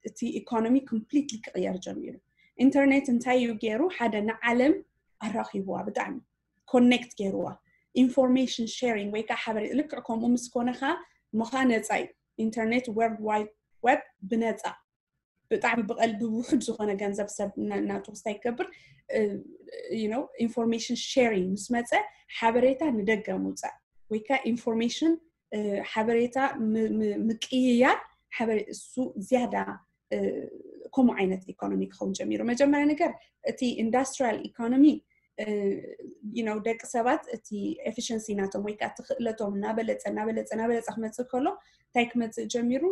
እቲ ኢኮኖሚ ኮምፕሊትሊ ክቕየር ጀሚሩ። ኢንተርኔት እንታይ እዩ ገይሩ? ሓደ ንዓለም ኣራኺብዋ፣ ብጣዕሚ ኮኔክት ገይርዋ። ኢንፎርሜሽን ሼሪንግ ወይ ከዓ ሓበሬታ ልክዕ ከምኡ ምስ ኮነ ከዓ ምኻ ነፃ እዩ። ኢንተርኔት፣ ወርልድ ዋይድ ዌብ ብነፃ ብጣዕሚ ብቐል ብውሑድ ዝኾነ ገንዘብ ሰብ ናቱ ክስታይ ክገብር ኢንፎርሜሽን ሼሪንግ ምስ መፀ ሓበሬታ ንደገ ምውፃእ ወይ ከዓ ኢንፎርሜሽን ሓበሬታ ምቅይያር እሱ ዝያዳ ከምኡ ዓይነት ኢኮኖሚ ክኸውን ጀሚሩ። መጀመርያ ነገር እቲ ኢንዳስትሪያል ኢኮኖሚ ደቂ ሰባት እቲ ኤፊሽንሲ ናቶም ወይ ከዓ እቲ ክእለቶም እናበለፀ እናበለፀ እናበለፀ ክመፅእ ከሎ እንታይ ክመፅእ ጀሚሩ?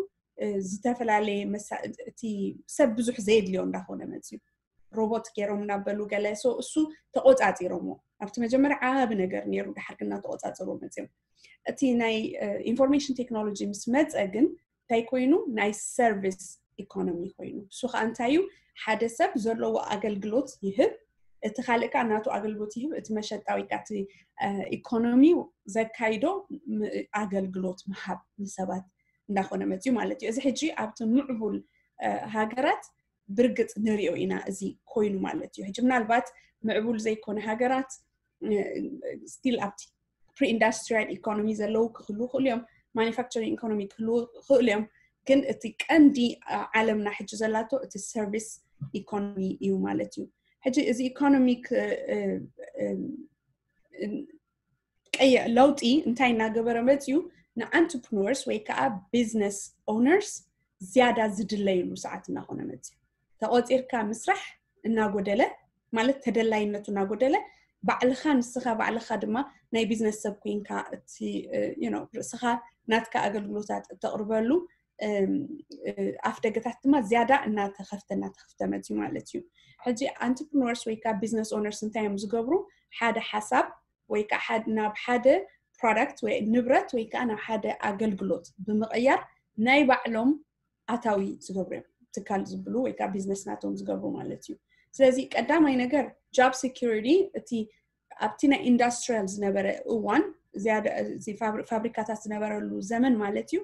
ዝተፈላለየ እቲ ሰብ ብዙሕ ዘየድልዮ እንዳኾነ መፅዩ። ሮቦት ገይሮም እናበሉ ገለ እሱ ተቆፃፂሮሞ ኣብቲ መጀመርያ ዓቢ ነገር ነይሩ። ድሓር ግና ተቆፃፅሮ መፅዮም። እቲ ናይ ኢንፎርሜሽን ቴክኖሎጂ ምስ መፀ ግን እንታይ ኮይኑ? ናይ ሰርቪስ ኢኮኖሚ ኮይኑ። እሱ ከዓ እንታይ እዩ? ሓደ ሰብ ዘለዎ ኣገልግሎት ይህብ፣ እቲ ካልእ ከዓ ናቱ ኣገልግሎት ይህብ። እቲ መሸጣ ወይ ከዓ እቲ ኢኮኖሚ ዘካይዶ ኣገልግሎት ምሃብ ንሰባት እንዳኾነ መፅዩ ማለት እዩ። እዚ ሕጂ ኣብቲ ምዕቡል ሃገራት ብርግፅ ንሪኦ ኢና እዚ ኮይኑ ማለት እዩ። ሕጂ ምናልባት ምዕቡል ዘይኮነ ሃገራት ስቲል ኣብቲ ፕሪኢንዳስትሪያል ኢኮኖሚ ዘለዉ ክህሉ ይኽእሉ እዮም፣ ማኒፋክቸሪንግ ኢኮኖሚ ክህሉ ይኽእሉ እዮም። ግን እቲ ቀንዲ ዓለምና ሕጂ ዘላቶ እቲ ሰርቪስ ኢኮኖሚ እዩ ማለት እዩ። ሕጂ እዚ ኢኮኖሚ ቀይዕ ለውጢ እንታይ እናገበረ መፅዩ? ንኣንትርፕነርስ ወይ ከዓ ቢዝነስ ኦነርስ ዝያዳ ዝድለይሉ ሰዓት እናኾነ መፅዩ። ተቆፂርካ ምስራሕ እናጎደለ ማለት ተደላይነቱ እናጎደለ ባዕልኻ ንስኻ ባዕልኻ ድማ ናይ ቢዝነስ ሰብ ኮይንካ እቲ ርእስኻ ናትካ ኣገልግሎታት እተቕርበሉ ኣፍ ደገታት ድማ ዝያዳ እናተኸፍተ እናተኸፍተ መፅዩ ማለት እዩ። ሕጂ ኣንትርፕነርስ ወይ ከዓ ቢዝነስ ኦነርስ እንታይ እዮም ዝገብሩ? ሓደ ሓሳብ ወይ ከዓ ናብ ሓደ ፕሮዳክት ወይ ንብረት ወይ ከዓ ናብ ሓደ ኣገልግሎት ብምቕያር ናይ ባዕሎም ኣታዊ ዝገብሩ እዮም። ትካል ዝብሉ ወይ ከዓ ቢዝነስ ናቶም ዝገብሩ ማለት እዩ። ስለዚ ቀዳማይ ነገር ጃብ ሴኪሪቲ እቲ ኣብቲ ናይ ኢንዳስትሪያል ዝነበረ እዋን ፋብሪካታት ዝነበረሉ ዘመን ማለት እዩ።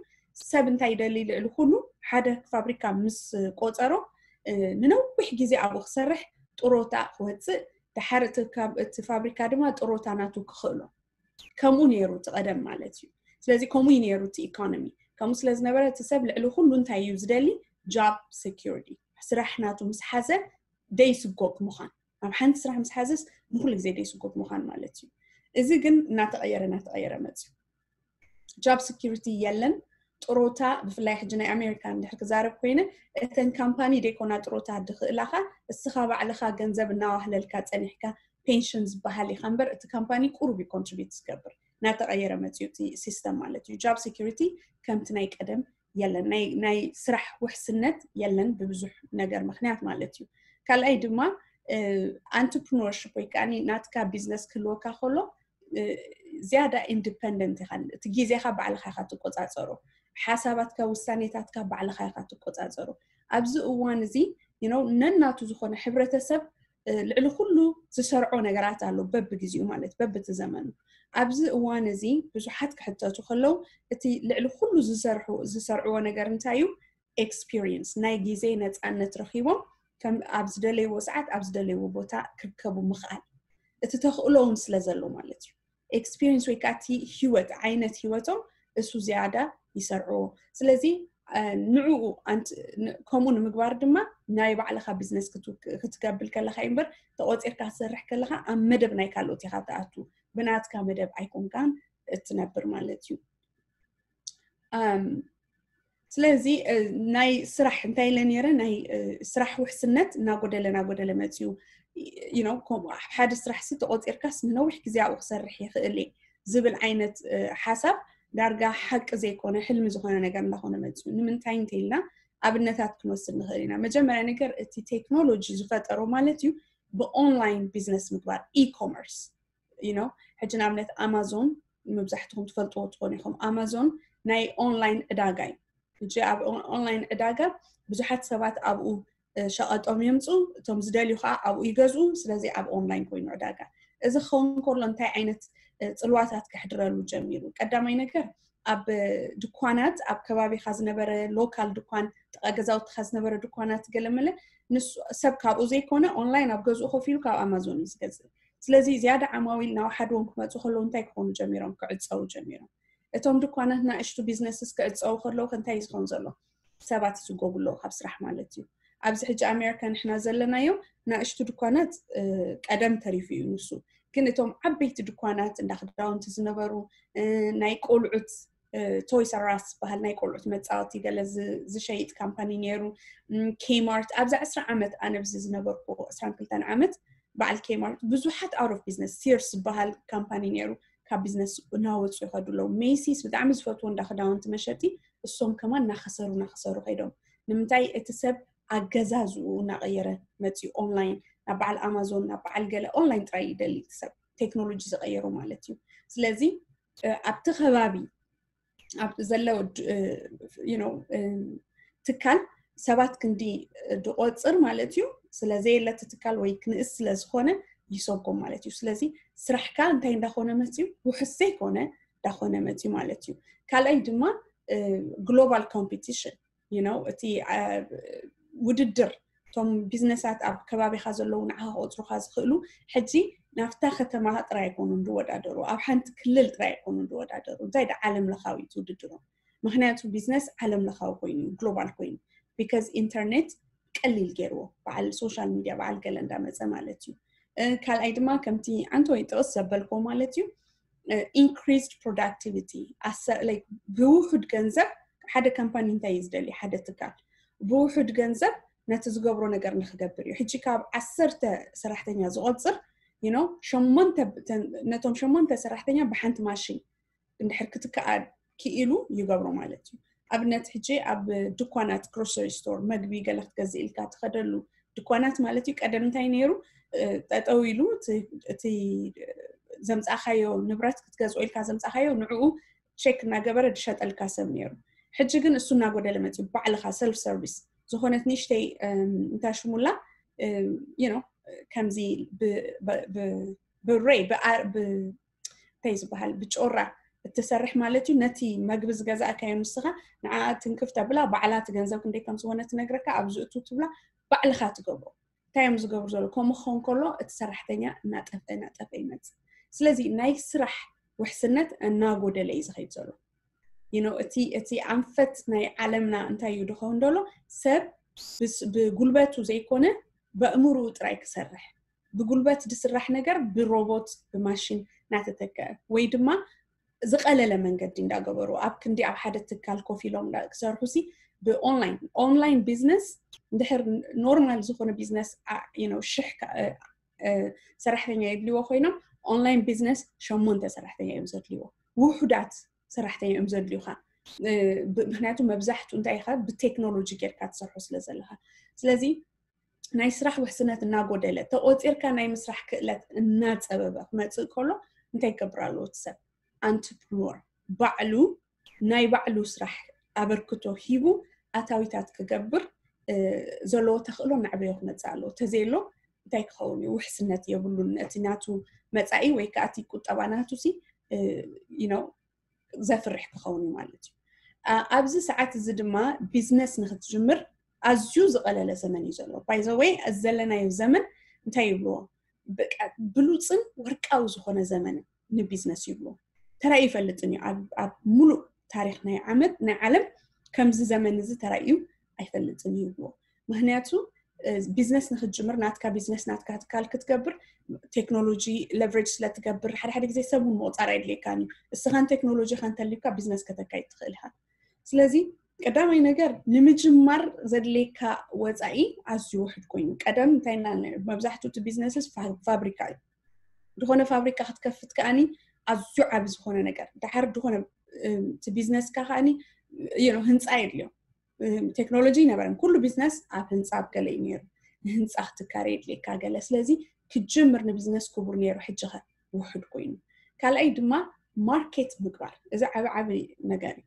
ሰብ እንታይ ይደሊ? ልዕሊ ኩሉ ሓደ ፋብሪካ ምስ ቆፀሮ ንነዊሕ ግዜ ኣብኡ ክሰርሕ፣ ጥሮታ ክወፅእ፣ ድሓር እቲ ፋብሪካ ድማ ጥሮታ ናቱ ክኽእሎ። ከምኡ ነይሩ እቲ ቀደም ማለት እዩ። ስለዚ ከምኡ እዩ ነይሩ እቲ ኢኮኖሚ። ከምኡ ስለ ዝነበረ እቲ ሰብ ልዕሊ ኩሉ እንታይ እዩ ዝደሊ? ጃብ ሴኪሪቲ፣ ስራሕ ናቱ ምስ ሓዘ ደይስጎግ ምዃን። ኣብ ሓንቲ ስራሕ ምስ ሓዘስ ንኩሉ ግዜ ደይስጎግ ምዃን ማለት እዩ። እዚ ግን እናተቐየረ እናተቐየረ መፅዩ። ጃብ ሴኪሪቲ የለን። ጥሮታ ብፍላይ ሕጂ ናይ ኣሜሪካ እንድሕር ክዛረብ ኮይነ እተን ካምፓኒ ደይኮና ጥሮታ ድኽእላኻ እስኻ ባዕልኻ ገንዘብ እናዋህለልካ ፀኒሕካ ፔንሽን ዝበሃል ኢኻ እምበር እቲ ካምፓኒ ቁሩብ እዩ ኮንትሪቢዩት ዝገብር። እናተቐየረ መፅዩ እቲ ሲስተም ማለት እዩ። ጃብ ሴኪሪቲ ከምቲ ናይ ቀደም የለን። ናይ ስራሕ ውሕስነት የለን ብብዙሕ ነገር ምክንያት ማለት እዩ። ካልኣይ ድማ ኣንትርፕነርሽፕ ወይ ከዓ ናትካ ቢዝነስ ክህልወካ ከሎ ዝያዳ ኢንዲፐንደንት ኢኻ። እቲ ግዜኻ ባዕልኻ ኢኻ ትቆፃፀሮ። ሓሳባትካ ውሳኔታትካ ባዕልኻ ኢኻ ትቆፃፀሮ። ኣብዚ እዋን እዚ ነናቱ ዝኾነ ሕብረተሰብ ልዕሊ ኩሉ ዝሰርዖ ነገራት ኣሎ በብግዜኡ ማለት በብቲ ዘመኑ። ኣብዚ እዋን እዚ ብዙሓት ክሕተቱ ከለዉ እቲ ልዕሊ ኩሉ ዝሰርሑ ዝሰርዕዎ ነገር እንታይ እዩ? ኤክስፒሪየንስ ናይ ግዜ ነፃነት ረኺቦም ከም ኣብ ዝደለይዎ ሰዓት ኣብ ዝደለይዎ ቦታ ክርከቡ ምኽኣል እቲ ተኽእሎ እውን ስለ ዘሎ ማለት እዩ። ኤክስፒሪየንስ ወይ ከዓ እቲ ህይወት ዓይነት ህይወቶም እሱ ዝያዳ ይሰርዕዎ። ስለዚ ንዕኡ ከምኡ ንምግባር ድማ ናይ ባዕልኻ ቢዝነስ ክትገብር ከለኻ እምበር ተቆፂርካ ክትሰርሕ ከለኻ ኣብ መደብ ናይ ካልኦት ኢኻ ትኣቱ፣ ብናትካ መደብ ኣይኮንካን እትነብር ማለት እዩ። ስለዚ ናይ ስራሕ እንታይ ኢለ ነይረ ናይ ስራሕ ውሕስነት እናጎደለ እናጎደለ መፅዩ። ሓደ ስራሕ ሲ ተቆፂርካስ ንነዊሕ ግዜ ኣብኡ ክሰርሕ ይኽእል እየ ዝብል ዓይነት ሓሳብ ዳርጋ ሓቂ ዘይኮነ ሕልሚ ዝኾነ ነገር እንዳኾነ መፅዩ። ንምንታይ እንተኢልና ኣብነታት ክንወስድ ንኽእል ኢና። መጀመርያ ነገር እቲ ቴክኖሎጂ ዝፈጠሮ ማለት እዩ ብኦንላይን ቢዝነስ ምግባር፣ ኢኮመርስ። ሕጂ ንኣብነት ኣማዞን መብዛሕትኹም ትፈልጥዎ ትኾኑ ኢኹም። ኣማዞን ናይ ኦንላይን ዕዳጋ እዩ። ሕጂ ኣብ ኦንላይን ዕዳጋ ብዙሓት ሰባት ኣብኡ ሸቐጦም የምፁ፣ እቶም ዝደልዩ ከዓ ኣብኡ ይገዝኡ። ስለዚ ኣብ ኦንላይን ኮይኑ ዕዳጋ። እዚ ክኸውን ከሎ እንታይ ዓይነት ፅልዋታት ከሕድረሉ ጀሚሩ? ቀዳማይ ነገር ኣብ ድኳናት ኣብ ከባቢኻ ዝነበረ ሎካል ድኳን ጥቓ ገዛውትኻ ዝነበረ ድኳናት ገለመለ ንሱ ሰብ ካብኡ ዘይኮነ ኦንላይን ኣብ ገዝኡ ኮፍ ኢሉ ካብ ኣማዞን እዩ ዝገዝእ። ስለዚ ዝያዳ ዓማዊል ናብ ሓደ እውን ክመፁ ከለዉ እንታይ ክኾኑ ጀሚሮም? ክዕፀው ጀሚሮም። እቶም ድኳናት ናእሽቱ ቢዝነስስ ክዕፀው ከለዉ እንታይ ዝኸውን ዘሎ? ሰባት ይስጎጉ ኣለዉ ካብ ስራሕ ማለት እዩ። ኣብዚ ሕጂ ኣሜሪካ ንሕና ዘለናዮ ናእሽቱ ድኳናት ቀደም ተሪፉ እዩ ንሱ። ግን እቶም ዓበይቲ ድኳናት እንዳ ክዳውንቲ ዝነበሩ ናይ ቆልዑት ቶይስ ኣራስ ዝበሃል ናይ ቆልዑት መፃወቲ ገለ ዝሸይጥ ካምፓኒ ነይሩ። ኬማርት ኣብዚ ዕስራ ዓመት ኣነ ብዚ ዝነበርኩ ዕስራን ክልተን ዓመት በዓል ኬማርት ብዙሓት out of business፣ ሲርስ ዝበሃል ካምፓኒ ነይሩ ካብ ቢዝነስ እናወፁ ይኸዱ ኣለዉ። ሜሲስ ብጣዕሚ ዝፈትዎ እንዳ ክዳውንቲ መሸጢ እሶም ከማን እናኸሰሩ እናኸሰሩ ከይዶም። ንምንታይ እቲ ሰብ ኣገዛዝኡ እናቐየረ መፅዩ ኦንላይን ናብ በዓል ኣማዞን ናብ በዓል ገለ ኦንላይን ጥራይ ይደሊ እቲ ሰብ ቴክኖሎጂ ዝቐየሩ ማለት እዩ። ስለዚ ኣብቲ ከባቢ ዘለዉ ትካል ሰባት ክንዲ ድቆፅር ማለት እዩ። ስለዘየለቲ ትካል ወይ ክንእስ ስለዝኮነ ይሰጎም ማለት እዩ። ስለዚ ስራሕካ እንታይ እንዳኮነ መፅዩ ውሕስ ዘይኮነ እንዳኮነ መፅዩ ማለት እዩ። ካልኣይ ድማ ግሎባል ኮምፒቲሽን እቲ ውድድር እቶም ቢዝነሳት ኣብ ከባቢኻ ዘለዉ ንዓኻ ክቆፅሩኻ ዝኽእሉ ሕጂ ናብታ ከተማ ጥራይ ኣይኮኑን ዝወዳደሩ፣ ኣብ ሓንቲ ክልል ጥራይ ኣይኮኑን ዝወዳደሩ። እንታይ ደ ዓለም ለኻዊ እቲ ውድድሮም። ምክንያቱ ቢዝነስ ዓለም ለኻዊ ኮይኑ እዩ፣ ግሎባል ኮይኑ። ቢካዝ ኢንተርኔት ቀሊል ገይርዎ፣ በዓል ሶሻል ሚድያ በዓል ገለ እንዳመፀ ማለት እዩ። ካልኣይ ድማ ከምቲ ዓንተወይ ጥቕስ ዘበልኮ ማለት እዩ፣ increased productivity። ብውሑድ ገንዘብ ሓደ ካምፓኒ እንታይ እዩ ዝደሊ? ሓደ ትካል ብውሑድ ገንዘብ ነቲ ዝገብሮ ነገር ንክገብር እዩ። ሕጂ ካብ ዓሰርተ ሰራሕተኛ ዝቆፅር ነቶም ሸሞንተ ሰራሕተኛ ብሓንቲ ማሽን እንድሕር ክትከኣ ክኢሉ ይገብሮ ማለት እዩ። ኣብነት ሕጂ ኣብ ድኳናት ግሮሰሪ ስቶር መግቢ ገለ ክትገዝእ ኢልካ ትኸደሉ ድኳናት ማለት እዩ። ቀደም እንታይ ነይሩ? ጠጠው ኢሉ እቲ ዘምፃእካዮ ንብረት ክትገዝኦ ኢልካ ዘምፃእካዮ ንዕኡ ቼክ እናገበረ ዝሸጠልካ ሰብ ነይሩ። ሕጂ ግን እሱ እናጎደለ መፅዩ ባዕልኻ ሰልፍ ሰርቪስ ዝኾነት ንእሽተይ እንታይ ሽሙላ ከምዚ ብሬ እንታይ ዝበሃል ብጮራ እትሰርሕ ማለት እዩ። ነቲ መግቢ ዝገዛእካዮ ንስኻ ንዓ ትንክፍ ተብላ ባዕላ እቲ ገንዘብ ክንደይ ከም ዝኾነ ትነግረካ ኣብዚ እቱ ትብላ ባዕልኻ ትገብሮ። እንታይ እዮም ዝገብሩ ዘሎ? ከምኡ ክኸውን ከሎ እቲ ሰራሕተኛ እናጠፍአ እናጠፍአ ይመፅእ። ስለዚ ናይ ስራሕ ውሕስነት እናጎደለ እዩ ዝኸይድ ዘሎ። እቲ እቲ ኣንፈት ናይ ዓለምና እንታይ እዩ ዝኸውን ዘሎ? ሰብ ብጉልበቱ ዘይኮነ በእምርኡ ጥራይ ክሰርሕ፣ ብጉልበት ዝስራሕ ነገር ብሮቦት ብማሽን እናተተከአ ወይ ድማ ዝቐለለ መንገዲ እንዳገበሩ ኣብ ክንዲ ኣብ ሓደ ትካል ኮፍ ኢሎም ክሰርሑ ሲ ብኦንላይን ኦንላይን ቢዝነስ እንድሕር ኖርማል ዝኾነ ቢዝነስ ሽሕ ሰራሕተኛ የድልዎ ኮይኖም ኦንላይን ቢዝነስ ሸሞንተ ሰራሕተኛ እዮም ዘድልዎ። ውሑዳት ሰራሕተኛ እዮም ዘድልዩካ። ምክንያቱ መብዛሕቱ እንታይ ኢኻ ብቴክኖሎጂ ጌርካ ትሰርሖ ስለ ዘለካ። ስለዚ ናይ ስራሕ ውሕስነት እናጎደለ ተቆፂርካ ናይ ምስራሕ ክእለት እናፀበበ ክመፅእ ከሎ እንታይ ይገብር ኣለዎ እቲ ሰብ? ኣንትርፕኖር ባዕሉ ናይ ባዕሉ ስራሕ ኣበርክቶ ሂቡ ኣታዊታት ክገብር ዘለዎ ተኽእሎ እናዕበዮ ክመፅእ ኣለዎ። ተዘየሎ እንታይ ክኸውን እዩ? ውሕስነት የብሉን። እቲ ናቱ መፃኢ ወይ ከዓ እቲ ቁጠባ ናቱ ሲ ዘፍርሕ ክኸውን እዩ ማለት እዩ። ኣብዚ ሰዓት እዚ ድማ ቢዝነስ ንክትጅምር ኣዝዩ ዝቐለለ ዘመን እዩ ዘሎ። ባይዘወይ እዚ ዘለናዮ ዘመን እንታይ ይብልዎ? ብሉፅን ወርቃዊ ዝኾነ ዘመን ንቢዝነስ ይብልዎ። ተራእዩ ይፈልጥን እዩ ኣብ ሙሉእ ታሪክ ናይ ዓመት ናይ ዓለም ከምዚ ዘመን እዚ ተራእዩ ኣይፈልጥን እዩ ይብልዎ። ምክንያቱ ቢዝነስ ንክትጅምር ናትካ ቢዝነስ ናትካ ትካል ክትገብር ቴክኖሎጂ ለቨሬጅ ስለትገብር ሓደ ሓደ ግዜ ሰብ እውን ምቁፃር ኣይድልየካን እዩ። እስኻን ቴክኖሎጂ ከንተልዩካ ቢዝነስ ከተካይድ ትኽእል ኢኻ። ስለዚ ቀዳማይ ነገር ንምጅማር ዘድልየካ ወፃኢ ኣዝዩ ውሕድ ኮይኑ ቀደም እንታይ መብዛሕትኡ እቲ ቢዝነስስ ፋብሪካ እዩ። ዝኾነ ፋብሪካ ክትከፍት ከኣኒ ኣዝዩ ዓብ ዝኾነ ነገር ድሓር ዝኾነ እቲ ቢዝነስካ ከኣኒ ህንፃ የድልዮ። ቴክኖሎጂ ይነበረን ኩሉ ቢዝነስ ኣብ ህንፃ ኣብ ገለ እዩ ነይሩ። ንህንፃ ክትካረ የድልየካ ገለ ስለዚ ክጅምር ንቢዝነስ ክቡር ነይሩ ሕጂ ኸ ውሕድ ኮይኑ። ካልኣይ ድማ ማርኬት ምግባር እዚ ዓብ ዓብ ነገር እዩ።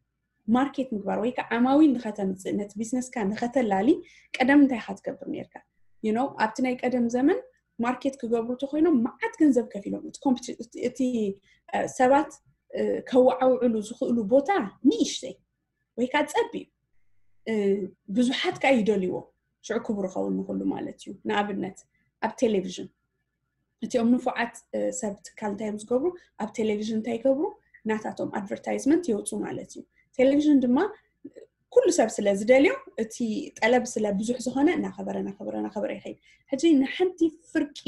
ማርኬት ምግባር ወይ ከዓ ዓማዊል ንኸተምፅእ ነቲ ቢዝነስካ ንኸተላሊ ቀደም እንታይ ኢኻ ትገብር ነይርካ? You know ኣብቲ ናይ ቀደም ዘመን ማርኬት ክገብሩ ተኮይኖም መዓት ገንዘብ ከፊሎም እቲ ሰባት ከወዓውዕሉ ዝኽእሉ ቦታ ንእሽተይ ወይ ከዓ ፀቢብ ብዙሓት ከዓ ይደልይዎ ሽዑ ክቡር ይኸውን ንክሉ ማለት እዩ። ንኣብነት ኣብ ቴሌቪዥን እቲኦም ንፉዓት ሰብ ትካል እንታይ እዮም ዝገብሩ? ኣብ ቴሌቪዥን እንታይ ይገብሩ? ናታቶም ኣድቨርታይዝመንት የውፁ ማለት እዩ። ቴሌቪዥን ድማ ኩሉ ሰብ ስለ ዝደልዮ እቲ ጠለብ ስለ ብዙሕ ዝኾነ እናኸበረ እናኸበረ እናኸበረ ይኸይድ። ሕጂ ንሓንቲ ፍርቂ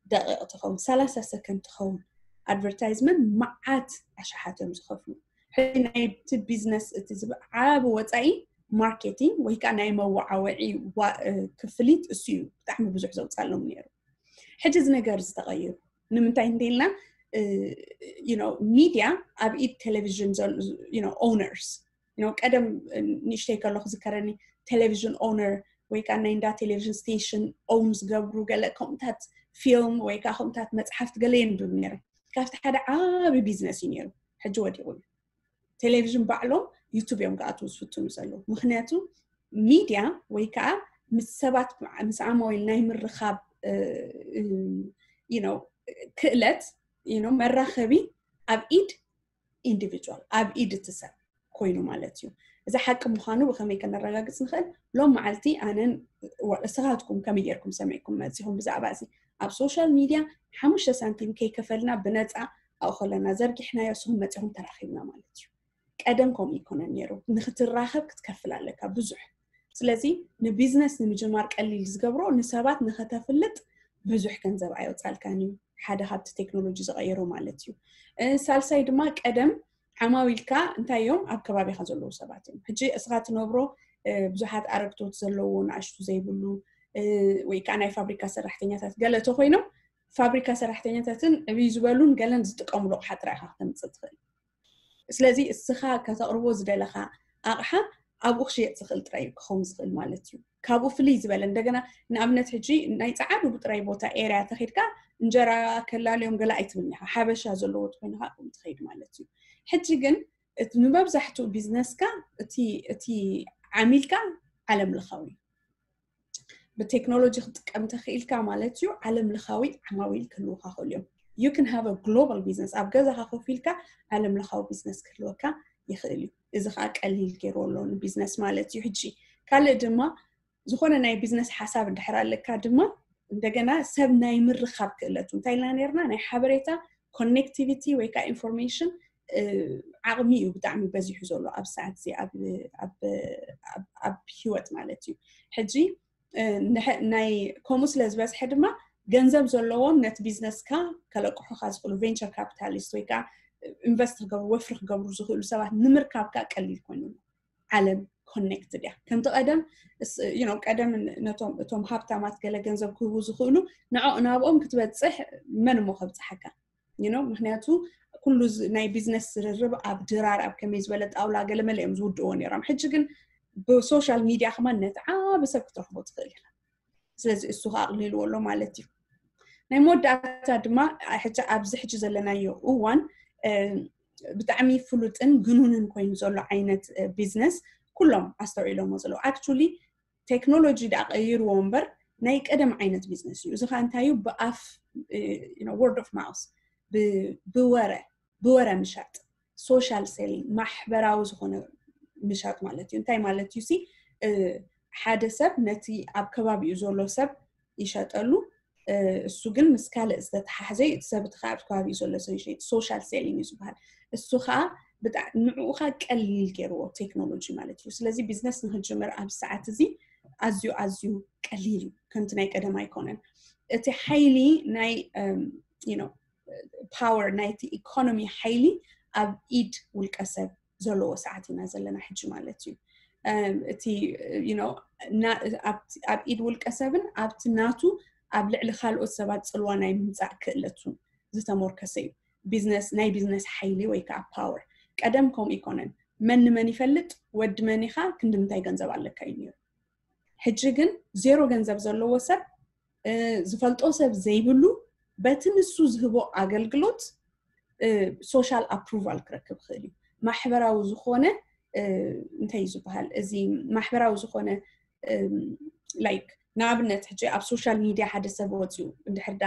ደቂቕ ትኸውን ሰላሳ ሰከንድ ትኸውን ኣድቨርታይዝመንት መዓት ኣሽሓት እዮም ዝኸፍሉ። ናይቲ ቢዝነስ እቲ ዝዓብ ወፃኢ ማርኬቲንግ ወይ ከዓ ናይ መወዓወዒ ክፍሊት እሱ እዩ ብጣዕሚ ብዙሕ ዘውፃሎም ነይሩ። ሕጂ እዚ ነገር ዝተቐይሩ ንምንታይ እንተኢልና ሚድያ ኣብ ኢድ ቴሌቪዥን ኦነርስ ቀደም ንእሽተይ ከሎ ክዝከረኒ ቴሌቪዥን ኦነር ወይ ከዓ ናይ እንዳ ቴሌቪዥን ስቴሽን ኦውን ዝገብሩ ገለ ከምኡታት ፊልም ወይ ከዓ ከምኡታት መፅሓፍቲ ገለ የንብብ ነይረ። ካብቲ ሓደ ዓብዪ ቢዝነስ እዩ ነይሩ። ሕጂ ወዲቑ እዩ። ቴሌቪዥን ባዕሎም ዩቱብ እዮም ክኣትዉ ዝፍትኑ ዘለዉ። ምክንያቱ ሚድያ ወይ ከዓ ምስ ሰባት ምስ ዓማዊል ናይ ምርኻብ ክእለት መራኸቢ ኣብ ኢድ ኢንዲቪጁዋል ኣብ ኢድ እቲ ሰብ ኮይኑ ማለት እዩ። እዚ ሓቂ ምዃኑ ብኸመይ ከነረጋግፅ ንኽእል? ሎም መዓልቲ ኣነን እስኻትኩም ከመይ ጌርኩም ሰሚዕኩም መፂኹም ብዛዕባ እዚ ኣብ ሶሻል ሚድያ ሓሙሽተ ሳንቲም ከይከፈልና ብነፃ ኣብኡ ከለና ዘርጊሕናዮ እስኹም መፂኹም ተራኺብና ማለት እዩ። ቀደም ከምኡ ይኮነን ነይሩ። ንክትራኸብ ክትከፍል ኣለካ ብዙሕ። ስለዚ ንቢዝነስ ንምጅማር ቀሊል ዝገብሮ ንሰባት ንኸተፍልጥ ብዙሕ ገንዘብ ኣየውፃልካን እዩ። ሓደ ካብቲ ቴክኖሎጂ ዝቐየሮ ማለት እዩ። ሳልሳይ ድማ ቀደም ዓማዊልካ እንታይ እዮም ኣብ ከባቢኻ ዘለዉ ሰባት እዮም። ሕጂ እስኻ ትነብሮ ብዙሓት ኣረግቶት ዘለዎ ንኣሽቱ ዘይብሉ ወይ ከዓ ናይ ፋብሪካ ሰራሕተኛታት ገለ ተኮይኖም ፋብሪካ ሰራሕተኛታትን ዕብይ ዝበሉን ገለን ዝጥቀምሉ ኣቕሓ ጥራይ ኢኻ ክተምፅእ ትኽእል። ስለዚ እስኻ ከተቕርቦ ዝደለኻ ኣቕሓ ኣብኡ ክሽየጥ ዝኽእል ጥራይ ክኸውን ዝኽእል ማለት እዩ። ካብኡ ፍልይ ዝበለ እንደገና ንኣብነት ሕጂ ናይ ፀዓዱ ብጥራይ ቦታ ኤርያ ተኸድካ እንጀራ ከላልዮም ገለ ኣይትብልን ኢኻ። ሓበሻ ዘለዎ ተኮይንካ ትኸይድ ማለት እዩ። ሕጂ ግን ንመብዛሕትኡ ቢዝነስካ እቲ ዓሚልካ ዓለም ለኻዊ ብቴክኖሎጂ ክትጥቀም ተኽኢልካ ማለት እዩ። ዓለም ለኻዊ ዓማዊል ክህልውካ ክእሉ እዮም። You can have a global business ኣብ ገዛኻ ኮፍ ኢልካ ዓለም ለኻዊ ቢዝነስ ክህልወካ ይኽእል እዩ። እዚ ከዓ ቀሊል ገይሩ ኣሎ ንቢዝነስ ማለት እዩ። ሕጂ ካልእ ድማ ዝኾነ ናይ ቢዝነስ ሓሳብ እንድሕር ኣለካ ድማ እንደገና ሰብ ናይ ምርኻብ ክእለቱ እንታይ ኢልና ነርና ናይ ሓበሬታ ኮኔክቲቪቲ ወይ ከዓ ኢንፎርሜሽን ዓቕሚ እዩ ብጣዕሚ በዚሑ ዘሎ ኣብ ሰዓት እዚ ኣብ ህይወት ማለት እዩ። ሕጂ ናይ ከምኡ ስለ ዝበዝሐ ድማ ገንዘብ ዘለዎም ነቲ ቢዝነስካ ከለቅሑካ ዝኽእሉ ቬንቸር ካፒታሊስት ወይ ከዓ ኢንቨስት ክገብሩ ወፍሪ ክገብሩ ዝኽእሉ ሰባት ንምርካብ ከዓ ቀሊል ኮይኑ ኣሎ። ዓለም ኮኔክትድ እያ። ከምቲ ቀደም ቀደም ነቶም እቶም ሃብታማት ገለ ገንዘብ ክህቡ ዝኽእሉ ንዕኡ ናብኦም ክትበፅሕ መን እሞ ከብፅሓካ? ምክንያቱ ኩሉ ናይ ቢዝነስ ዝርርብ ኣብ ድራር ኣብ ከመይ ዝበለ ጣውላ ገለ መለ እዮም ዝውድእዎ ነይሮም። ሕጂ ግን ብሶሻል ሚድያ ከማን ነቲ ዓቢ ሰብ ክትረኽቦ ትኽእል ኢኻ። ስለዚ እሱ ከኣቕሊልዎ ኣሎ ማለት እዩ። ናይ መወዳእታ ድማ ሕጂ ኣብዚ ሕጂ ዘለናዮ እዋን ብጣዕሚ ፍሉጥን ግኑንን ኮይኑ ዘሎ ዓይነት ቢዝነስ ኩሎም ኣስተውዒሎሞ ዘለዉ ኣክቹሊ ቴክኖሎጂ ደኣ ቀይርዎ እምበር ናይ ቀደም ዓይነት ቢዝነስ እዩ። እዚ ከዓ እንታይ እዩ? ብኣፍ word of mouth ብወረ ብወረ ምሻጥ ሶሻል ሴሊንግ ማሕበራዊ ዝኾነ ምሻጥ ማለት እዩ። እንታይ ማለት እዩ ሲ ሓደ ሰብ ነቲ ኣብ ከባቢኡ ዘሎ ሰብ ይሸጠሉ እሱ ግን ምስ ካልእ ዝተተሓሕዘ እቲ ሰብ እቲ ኣብ ከባቢኡ ዘሎ ሰብ ይሸጥ ሶሻል ሴሊንግ እዩ ዝበሃል። እሱ ከዓ ንዕኡ ከዓ ቀሊል ገይርዎ ቴክኖሎጂ ማለት እዩ። ስለዚ ቢዝነስ ንክጅምር ኣብ ሰዓት እዚ ኣዝዩ ኣዝዩ ቀሊል እዩ። ከምቲ ናይ ቀደም ኣይኮነን። እቲ ሓይሊ ናይ ፓወር ናይቲ ኢኮኖሚ ሓይሊ ኣብ ኢድ ውልቀ ሰብ ዘለዎ ሰዓት ኢና ዘለና ሕጂ ማለት እዩ። እቲ ኣብ ኢድ ውልቀ ሰብን ኣብቲ ናቱ ኣብ ልዕሊ ካልኦት ሰባት ፅልዋ ናይ ምምፃእ ክእለቱ ዝተሞርከሰ እዩ። ቢዝነስ ናይ ቢዝነስ ሓይሊ ወይ ከዓ ፓወር ቀደም ከምኡ ይኮነን። መን ንመን ይፈልጥ ወዲ መን ኢኻ ክንዲ ምንታይ ገንዘብ ኣለካ እዩ ነይሩ። ሕጂ ግን ዜሮ ገንዘብ ዘለዎ ሰብ ዝፈልጦ ሰብ ዘይብሉ በቲ ንሱ ዝህቦ ኣገልግሎት ሶሻል ኣፕሩቫል ክረክብ ይኽእል እዩ። ማሕበራዊ ዝኾነ እንታይ እዩ ዝበሃል እዚ ማሕበራዊ ዝኾነ ላይክ ንኣብነት ሕጂ ኣብ ሶሻል ሚድያ ሓደ ሰብ ወፂኡ እንድሕር ዳ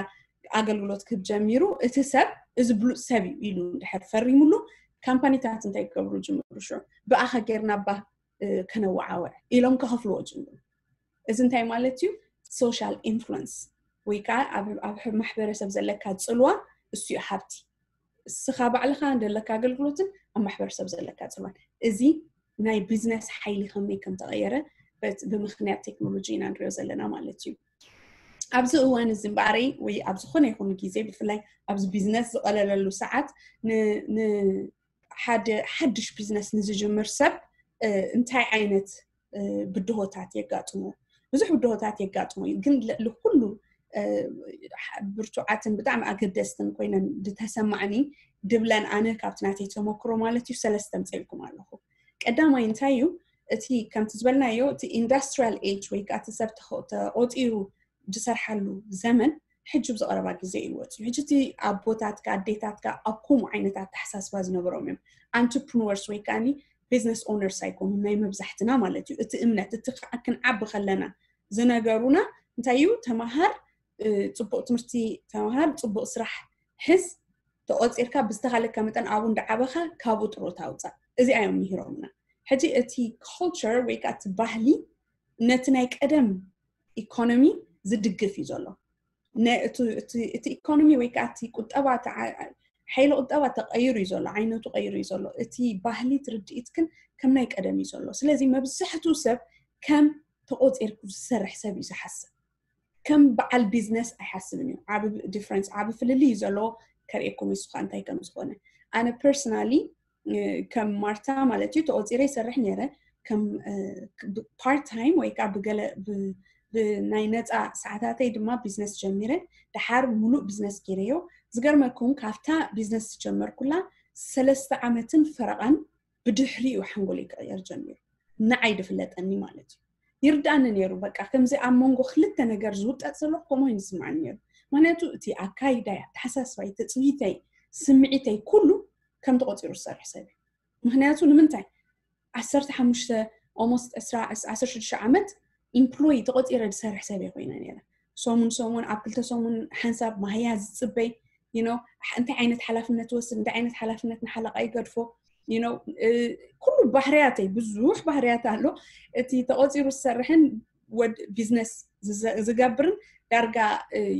ኣገልግሎት ክህብ ጀሚሩ እቲ ሰብ እዚ ብሉፅ ሰብ እዩ ኢሉ እንድሕር ፈሪሙሉ ካምፓኒታት እንታይ ክገብሩ ጅምሩ ሽዑ ብኣኸ ጌርና ባ ከነወዓወዕ ኢሎም ከኸፍልዎ ጅምሩ። እዚ እንታይ ማለት እዩ? ሶሻል ኢንፍሉንስ ወይ ከዓ ኣብ ማሕበረሰብ ዘለካ ፅልዋ እሱ እዩ ሃብቲ። እስኻ ባዕልኻ ዘለካ ኣገልግሎትን ኣብ ማሕበረሰብ ዘለካ ፅልዋን እዚ ናይ ቢዝነስ ሓይሊ ከመይ ከም ተቐየረ ብምኽንያት ቴክኖሎጂ ኢና ንሪኦ ዘለና ማለት እዩ። ኣብዚ እዋን እዚ እምበኣረይ ወይ ኣብ ዝኾነ ይኹን ግዜ ብፍላይ ኣብዚ ቢዝነስ ዝቐለለሉ ሰዓት ሓደ ሓድሽ ቢዝነስ ንዝጅምር ሰብ እንታይ ዓይነት ብድሆታት የጋጥሞ? ብዙሕ ብድሆታት የጋጥሞ እዩ። ግን ልኩሉ ብርቱዓትን ብጣዕሚ ኣገደስትን ኮይነን ዝተሰማዕኒ ድብለን ኣነ ካብቲ ናተይ ተመክሮ ማለት እዩ ሰለስተ ምፀልኩም ኣለኹ። ቀዳማይ እንታይ እዩ? እቲ ከምቲ ዝበልናዮ እቲ ኢንዱስትሪያል ኤጅ ወይ ከዓ እቲ ሰብ ተቆፂሩ ዝሰርሓሉ ዘመን ሕጂ ብዝቀረባ ግዜ እዩ ወፅዩ። ሕጂ እቲ ኣቦታትካ ኣዴታትካ ኣብ ከምኡ ዓይነት ኣተሓሳስባ ዝነበሮም እዮም። ኣንትርፕርነርስ ወይ ከዓ ቢዝነስ ኦነርስ ኣይኮኑን ናይ መብዛሕትና ማለት እዩ። እቲ እምነት እቲ ከዓ ክንዓቢ ከለና ዝነገሩና እንታይ እዩ? ተማሃር፣ ፅቡቅ ትምህርቲ ተማሃር፣ ፅቡቅ ስራሕ ሕዝ፣ ተቆፂርካ ብዝተኻለካ መጠን ኣብኡ እንዳዓበኻ ካብኡ ጥሮታ ኣውፃእ። እዚኣ እዮም ምሂሮምና። ሕጂ እቲ ኮልቸር ወይ ከዓ እቲ ባህሊ ነቲ ናይ ቀደም ኢኮኖሚ ዝድግፍ እዩ ዘሎ። እቲ ኢኮኖሚ ወይ ከዓ እቲ ቁጠባ ሓይሊ ቁጠባ ተቀይሩ እዩ ዘሎ፣ ዓይነቱ ቀይሩ እዩ ዘሎ። እቲ ባህሊ ትርድኢት ግን ከም ናይ ቀደም እዩ ዘሎ። ስለዚ መብዛሕትኡ ሰብ ከም ተቆፂርኩ ዝሰርሕ ሰብ እዩ ዝሓስብ። ከም በዓል ቢዝነስ ኣይሓስብን እዩ። ዓብ ዲፍረንስ፣ ዓብ ፍልልይ እዩ ዘለዎ። ከርእየኩም ይስኻ እንታይ ከም ዝኾነ። ኣነ ፐርሰናሊ ከም ማርታ ማለት እዩ ተቆፂረ ይሰርሕ ነይረ። ከም ፓርት ታይም ወይ ከዓ ብገለ ብናይ ነፃ ሰዓታተይ ድማ ቢዝነስ ጀሚረ። ደሓር ሙሉእ ቢዝነስ ገይረዮ። ዝገርመኩም ካብታ ቢዝነስ ዝጀመርኩላ ሰለስተ ዓመትን ፈረቓን ብድሕሪኡ ሓንጎለይ ክቕየር ጀሚሩ። ንዓይ ድፍለጠኒ ማለት እዩ። ይርዳኒ ነይሩ። በቃ ከምዚ ኣብ መንጎ ክልተ ነገር ዝውጠጥ ዘለኹ ከምኡ ይስምዓኒ ነይሩ። ምክንያቱ እቲ ኣካይዳይ፣ ኣተሓሳስባይ፣ ትፅቢተይ፣ ስምዒተይ ኩሉ ከም ተቆፂሩ ዝሰርሕ ሰብ እዩ። ምክንያቱ ንምንታይ ዓሰርተ ሓሙሽተ almost ዕስራ ዓሰርተ ሽዱሽተ ዓመት ኢምፕሎይ ተቆፂረ ዝሰርሕ ሰብ እየ ኮይነ ነይረ። ሰሙን ሰሙን ኣብ ክልተ ሰሙን ሓንሳብ ማህያ ዝፅበይ you know እንታይ ዓይነት ሓላፍነት ወስድ እንታይ ዓይነት ሓላፍነት ንሓለቃ ይገድፎ you know ኩሉ ባህርያተይ ብዙሕ ባህርያት ኣሎ። እቲ ተቆፂሩ ዝሰርሕን ወድ ቢዝነስ ዝገብርን ዳርጋ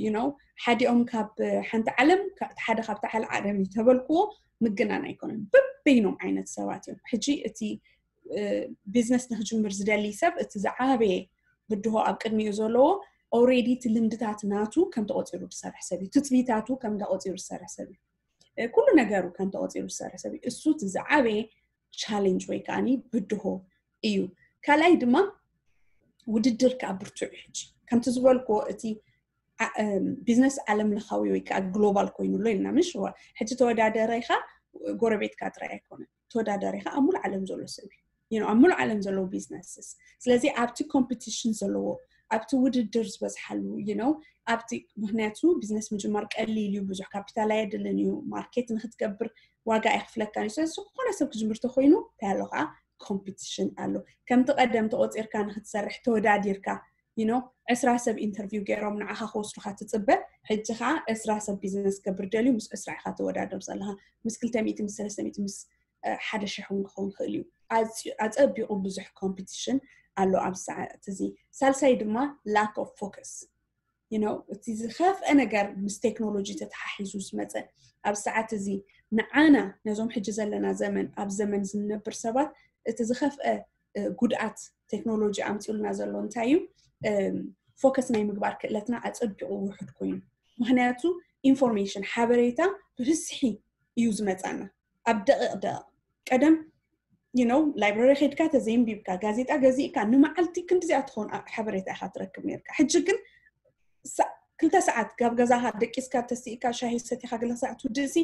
you know ሓዲኦም ካብ ሓንቲ ዓለም ሓደ ካብቲ ሓደ ዓለም እዩ ተበልክዎ ምግናን ኣይኮነን። በበይኖም ዓይነት ሰባት እዮም። ሕጂ እቲ ቢዝነስ ንክጅምር ዝደሊ ሰብ እቲ ዝዓበየ ብድሆ ኣብ ቅድሚኡ ዘለዎ ኦሬዲ እቲ ልምድታት ናቱ ከም ተቆፂሩ ዝሰርሕ ሰብ እዩ። ትፅቢታቱ ከም ተቆፂሩ ዝሰርሕ ሰብ እዩ። ኩሉ ነገሩ ከም ተቆፂሩ ዝሰርሕ ሰብ እዩ። እሱ እቲ ዝዓበየ ቻሌንጅ ወይ ከዓ ብድሆ እዩ። ካልኣይ ድማ ውድድር ከዓ ብርቱዕ እዩ። ሕጂ ከምቲ ዝበልክዎ እቲ ቢዝነስ ዓለም ለኻዊ ወይ ከዓ ግሎባል ኮይኑ ኣሎ ኢልና ምሽ ሕጂ ተወዳደረ ኢኻ ጎረቤትካ ጥራይ ኣይኮነን። ተወዳዳሪ ከዓ ኣብ ሙሉ ዓለም ዘሎ ሰብ እዩ። ኣብ ሙሉ ዓለም ዘለዉ ቢዝነስስ ስለዚ ኣብቲ ኮምፒቲሽን ዘለዎ ኣብቲ ውድድር ዝበዝሓሉ you know ኣብቲ ምክንያቱ ቢዝነስ ምጅማር ቀሊል እዩ። ብዙሕ ካፒታል ኣየድልን እዩ። ማርኬት ንክትገብር ዋጋ ኣይክፍለካን እዩ። ስለዚ ዝኾነ ሰብ ክጅምር ተኮይኑ እንታይ ኣሎ ከዓ ኮምፒቲሽን ኣሎ። ከምቲ ቀደም ተቆፂርካ ንክትሰርሕ ተወዳዲርካ you know ዕስራ ሰብ ኢንተርቪው ገይሮም ንዓኻ ክወስዱካ ትፅበ። ሕጂ ከዓ ዕስራ ሰብ ቢዝነስ ገብር ደልዩ ምስ ዕስራ ኢካ ተወዳደር ዘለካ ምስ ክልተ ሚእቲ ምስ ሰለስተ ሚእቲ ምስ ሓደ ሽሕ እውን ክኸውን ይኽእል እዩ። ኣፀቢቑ ብዙሕ ኮምፒቲሽን ኣሎ ኣብ ሰዓት እዚ። ሳልሳይ ድማ lack of focus you know እቲ ዝኸፍአ ነገር ምስ ቴክኖሎጂ ተተሓሒዙ ዝመፀ ኣብ ሰዓት እዚ ንዓና ነዞም ሕጂ ዘለና ዘመን ኣብ ዘመን ዝንነብር ሰባት እቲ ዝኸፍአ ጉድኣት ቴክኖሎጂ ኣምፂኡልና ዘሎ እንታይ እዩ? ፎከስ ናይ ምግባር ክእለትና ኣፀቢቑ ውሑድ ኮይኑ ምክንያቱ ኢንፎርሜሽን ሓበሬታ ብብዝሒ እዩ ዝመፃና። ኣብ ደቂቕ ደቂቕ ቀደም you know ላይብረሪ ከድካ ተዘይንቢብካ ጋዜጣ ገዚእካ ንመዓልቲ ክንዲዚኣ ትኸውን ሓበሬታ ኢካ ትረክብ ነርካ። ሕጂ ግን ክልተ ሰዓት ጋብ ገዛካ ደቂስካ ተስኢካ ሻሂ ሰቲካ ገለ ሰዓት ትውድእሲ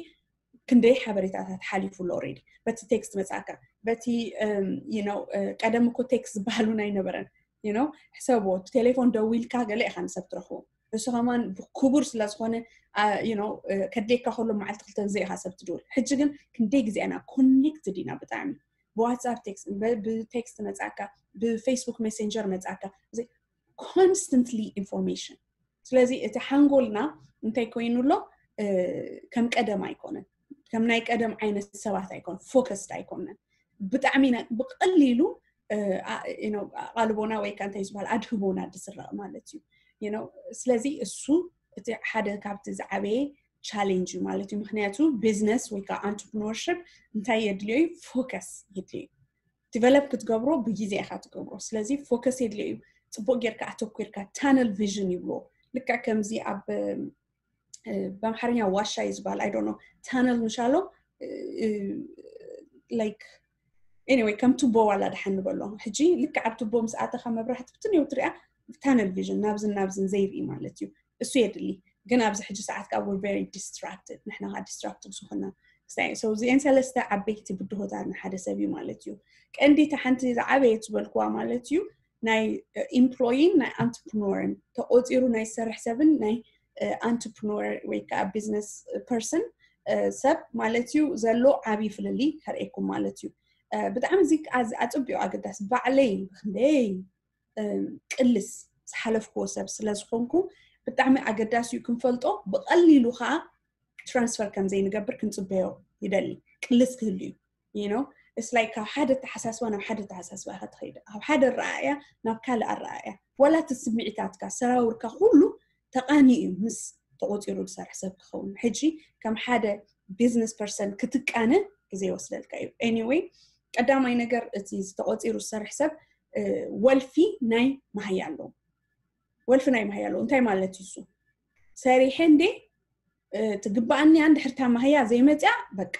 ክንደይ ሓበሬታታት ሓሊፉ ኣሎ ኦሬዲ። በቲ ቴክስት መፅኣካ በቲ you know ቀደም እኮ ቴክስት ዝበሃል እውን ኣይነበረን። you know ሕሰብዎ ቴሌፎን ደዊልካ ገለ ኢካ ንሰብ ትረክቦ እሱ ከማን ክቡር ስለዝኮነ you know ከድልየካ ከሎ መዓልቲ ክልተ ግዜ ኢካ ሰብ ትድውል። ሕጂ ግን ክንደይ ግዜ ኢና ኮኔክትድ ኢና ብጣዕሚ ብዋትስኣፕ ቴክስት ብቴክስት መፅኣካ ብፌስቡክ ሜሴንጀር መፅኣካ ኮንስተንትሊ ኢንፎርሜሽን። ስለዚ እቲ ሓንጎልና እንታይ ኮይኑ ኣሎ ከም ቀደም ኣይኮነን። ከም ናይ ቀደም ዓይነት ሰባት ኣይኮን ፎከስድ ኣይኮነን። ብጣዕሚ ብቀሊሉ ኣቓልቦና ወይ ከዓ እንታይ ዝበሃል ኣድህቦና ዝስረቕ ማለት እዩ። ስለዚ እሱ እቲ ሓደ ካብቲ ዝዓበየ ቻሌንጅ እዩ ማለት እዩ። ምክንያቱ ቢዝነስ ወይ ከዓ ኣንትርፕርነርሽፕ እንታይ የድልዮ እዩ? ፎከስ የድልዮ እዩ። ዲቨሎፕ ክትገብሮ ብግዜ ኢካ ትገብሮ። ስለዚ ፎከስ የድልዮ እዩ። ፅቡቅ ጌርካ ኣተኩርካ ታነል ቪዥን ይብልዎ። ልክዕ ከምዚ ኣብ ብኣምሓርኛ ዋሻ እዩ ዝበሃል ኣይዶኖ ታነል ምሻሎ like anyway ከም ቱቦ ዋላ ደሓን ንበሎ ሕጂ ልክዕ ኣብ ቱቦ ምስ ኣተኻ መብራህቲ ብትን የው ትሪኣ tunnel vision ናብዝን ናብዝን ዘይርኢ ማለት እዩ። እሱ የድሊ ግን ኣብዚ ሕጂ ሰዓት ካብ we're very distracted ንሕና ካ distracted ዝኾና እዚአን ሰለስተ ዓበይቲ ብድሆታት ንሓደ ሰብ እዩ ማለት እዩ። ቀንዲቲ ሓንቲ ዝዓበየት ዝበልክዋ ማለት እዩ ናይ employee ን ናይ entrepreneur ን ተቆፂሩ ናይ ዝሰርሕ ሰብን ናይ entrepreneur ወይ ከዓ business person ሰብ ማለት እዩ ዘሎ ዓብዪ ፍልልይ ከርእየኩም ማለት እዩ። ብጣዕሚ እዚ ኣፅቢቑ ኣገዳሲ ባዕለይ ክንደይ ቅልስ ዝሓለፍክዎ ሰብ ስለ ዝኾንኩ ብጣዕሚ ኣገዳሲ እዩ ክንፈልጦ ብቐሊሉ ከዓ transfer ከም ዘይንገብር ክንፅበዮ ይደሊ። ቅልስ ክህሉ እዩ you know it's like ካብ ሓደ ተሓሳስባ ናብ ሓደ ተሓሳስባ ኢኻ ትኸይድ ካብ ሓደ ኣረኣእያ ናብ ካልእ ኣረኣእያ ዋላ እቲ ስምዒታትካ ሰራውርካ ኩሉ ተቃኒ እዩ ምስ ተቆፂሩ ዝሰርሕ ሰብ ክኸውን ሕጂ ከም ሓደ business person ክትቃነ ግዜ ይወስደልካ እዩ። Anyway ቀዳማይ ነገር እቲ ዝተቆፂሩ ዝሰርሕ ሰብ ወልፊ ናይ መሃያ ኣለዎ። ወልፊ ናይ መሃያ ኣለዎ እንታይ ማለት እዩ እሱ ሰሪሐ እንዴ ትግባኣኒ እንድሕር እታ መሃያ ዘይመፅያ በቃ